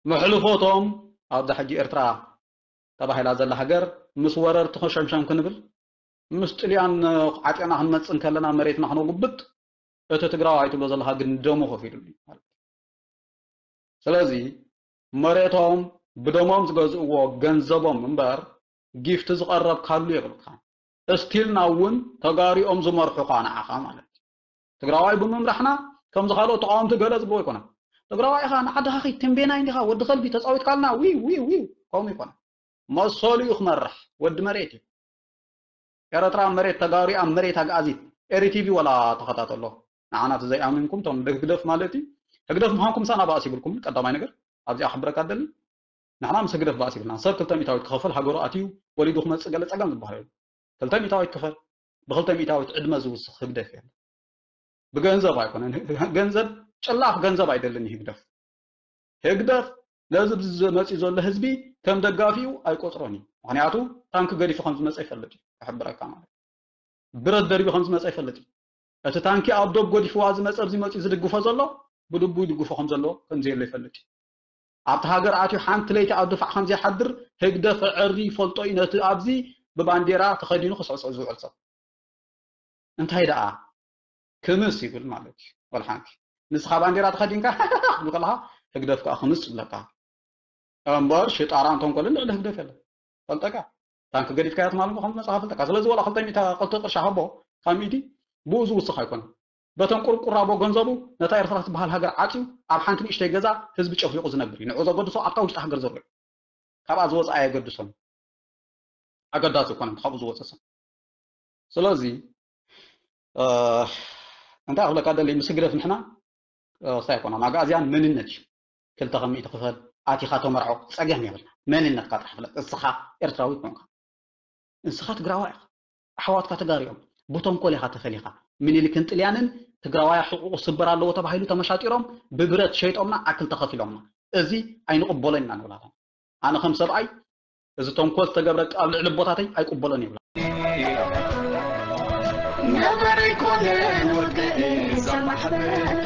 መሕልፎቶም ኣብዛ ሕጂ ኤርትራ ተባሂላ ዘላ ሃገር ምስ ወረርቲ ሸምሸም ክንብል ምስ ጥልያን ዓጢቕና ክንመፅእ እንከለና መሬትና ክነጉብጥ እቲ ትግራዋይ ትብሎ ዘለካ ግን ደሙ ከፊሉሉ እዩ ማለት እዩ ስለዚ መሬቶም ብደሞም ዝገዝእዎ ገንዘቦም እምበር ጊፍት ዝቐረብ ካሉ የብልካ እስቲልና እውን ተጋሪኦም ዝመርሑኻ ንዓኻ ማለት እዩ። ትግራዋይ ብምምራሕና ከምዚ ካልኦት ተቃወምቲ ገለ ዝብልዎ ኣይኮነን። ትግራዋይ ኢኻ፣ ንዓድኻ ኺድ፣ ተንቤናይ እንዲኻ፣ ወዲ ከልቢ ተጻዊትካልና፣ ዊው ዊው ዊው፣ ከምኡ ይኮነ። መሰሉ እዩ ክመርሕ፣ ወዲ መሬት እዩ። ኤረትራ ኣብ መሬት ተጋሩ፣ ኣብ መሬት ኣግኣዚት። ኤሪ ቲቪ ወላ ተኸታተሎ። ንዓና እቲ ዘይኣምንኩም ቶም ህግደፍ ማለት እዩ። ህግደፍ ምዃንኩም ሳና ባእሲ ይብልኩም። ቀዳማይ ነገር ኣብዚኣ ክሕብረካ ደሊ፣ ንሕና ምስ ህግደፍ ባእሲ ይብልና። ሰብ ክልተ ሚእታዊት ክኸፍል ሃገሩ ኣትዩ ወሊዱ ክመጽእ ገለ ጸገም ዝበሃል የለን። ክልተ ሚእታዊት ክፈል፣ ብክልተ ሚእታዊት ዕድመ ዝውስኽ ህግደፍ የለን። ብገንዘብ ኣይኮነን። ገንዘብ፣ ጭላፍ ገንዘብ ኣይደልን ህግደፍ። ህግደፍ ነዚ ዝመጽእ ዘሎ ህዝቢ ከም ደጋፊኡ ኣይቆጽሮን እዩ። ምኽንያቱ ታንኪ ገዲፉ ከም ዝመጸ ይፈልጥ እዩ። ክሕብረካ ማለት፣ ብረት ደርቢ ከም ዝመጸ ይፈልጥ እዩ። እቲ ታንኪ ኣብ ዶብ ገዲፍዋ ዝመጸ፣ ኣብዚ መጺኡ ዝድግፎ ዘሎ፣ ብልቡ ይድግፎ ከም ዘሎ፣ ከም ዘየሎ ይፈልጥ እዩ። ኣብቲ ሃገር ኣትዩ ሓንቲ ለይቲ ኣብ ድፋዕ ከም ዘይሓድር ህግደፍ ዕሪ ይፈልጦ እዩ። ነቲ ኣብዚ ብባንዴራ ተኸዲኑ ክስዕስዕ ዝውዕል ሰብ። እንታይ ደኣ ክምስ ይብል ማለት እዩ። ወላ ሓንቲ፣ ንስኻ ባንዴራ ተኸዲንካ ክብል ከለኻ፣ ህግደፍ ከኣ ክምስ ይብለካ። እምበር ሽጣራን ተንኮልን ልዕሊ ህግደፍ የለን። ፈልጠካ፣ ታንኪ ገዲፍካያ ትማል እሞ ከም ዝመጻኻ ፈልጠካ። ስለዚ ወላ ክልተ ሚእቲ፣ ክልተ ቅርሺ ሃቦ ካብ ሚእቲ፣ ብኡ ዝውስኽ ኣይኮነን። በተን ቁርቁራቦ ገንዘቡ ነታ ኤርትራ ትበሃል ሃገር ዓጽዩ፣ ኣብ ሓንቲ ንእሽተይ ገዛ ህዝቢ ጨፍሊቑ ዝነብር እዩ። ንዑ ዘገድሶ ኣብታ ውሽጢ ሃገር ዘሎ እዩ። ካብኣ ዝወጽኣ ኣየገድሶን። ኣገዳሲ ኣይኮነን ካብኡ ዝወጽእ ሰብ። ስለዚ፣ እ፣ እንታይ ክብለካ ደሊ፣ ምስ ህግደፍ ንሕና፣ እ፣ እንታይ ኣይኮናን። ኣግኣዝያን መንነት እዩ። ክልተ ካብ ሚእቲ ክፈል፣ ኣቲኻ ተመርዖ፣ ጸገም የብልና። መንነትካ ጥራሕ ፍለጥ። እስኻ ኤርትራዊ ኮንካ። ንስኻ ትግራዋይ ኢኻ። ኣሕዋትካ ተጋሪኦም። ብተንኮል ኢኻ ተፈሊኻ። ምኒልክን ጥልያንን ትግራዋያ ሕቁቁ ስበር ኣለዎ ተባሂሉ ተመሻጢሮም፣ ብብረት ሸይጦምና፣ ዓክል ተኸፊሎምና። እዚ ኣይንቕበሎን ኢና ንብላታ። ኣነ ከም ሰብኣይ፣ እዚ ተንኮል ዝተገብረ ኣብ ልዕሊ ኣቦታተይ ኣይቅበሎን ይብላ። ነበር ኣይኮነን ወግእ እዛ ማሕበር።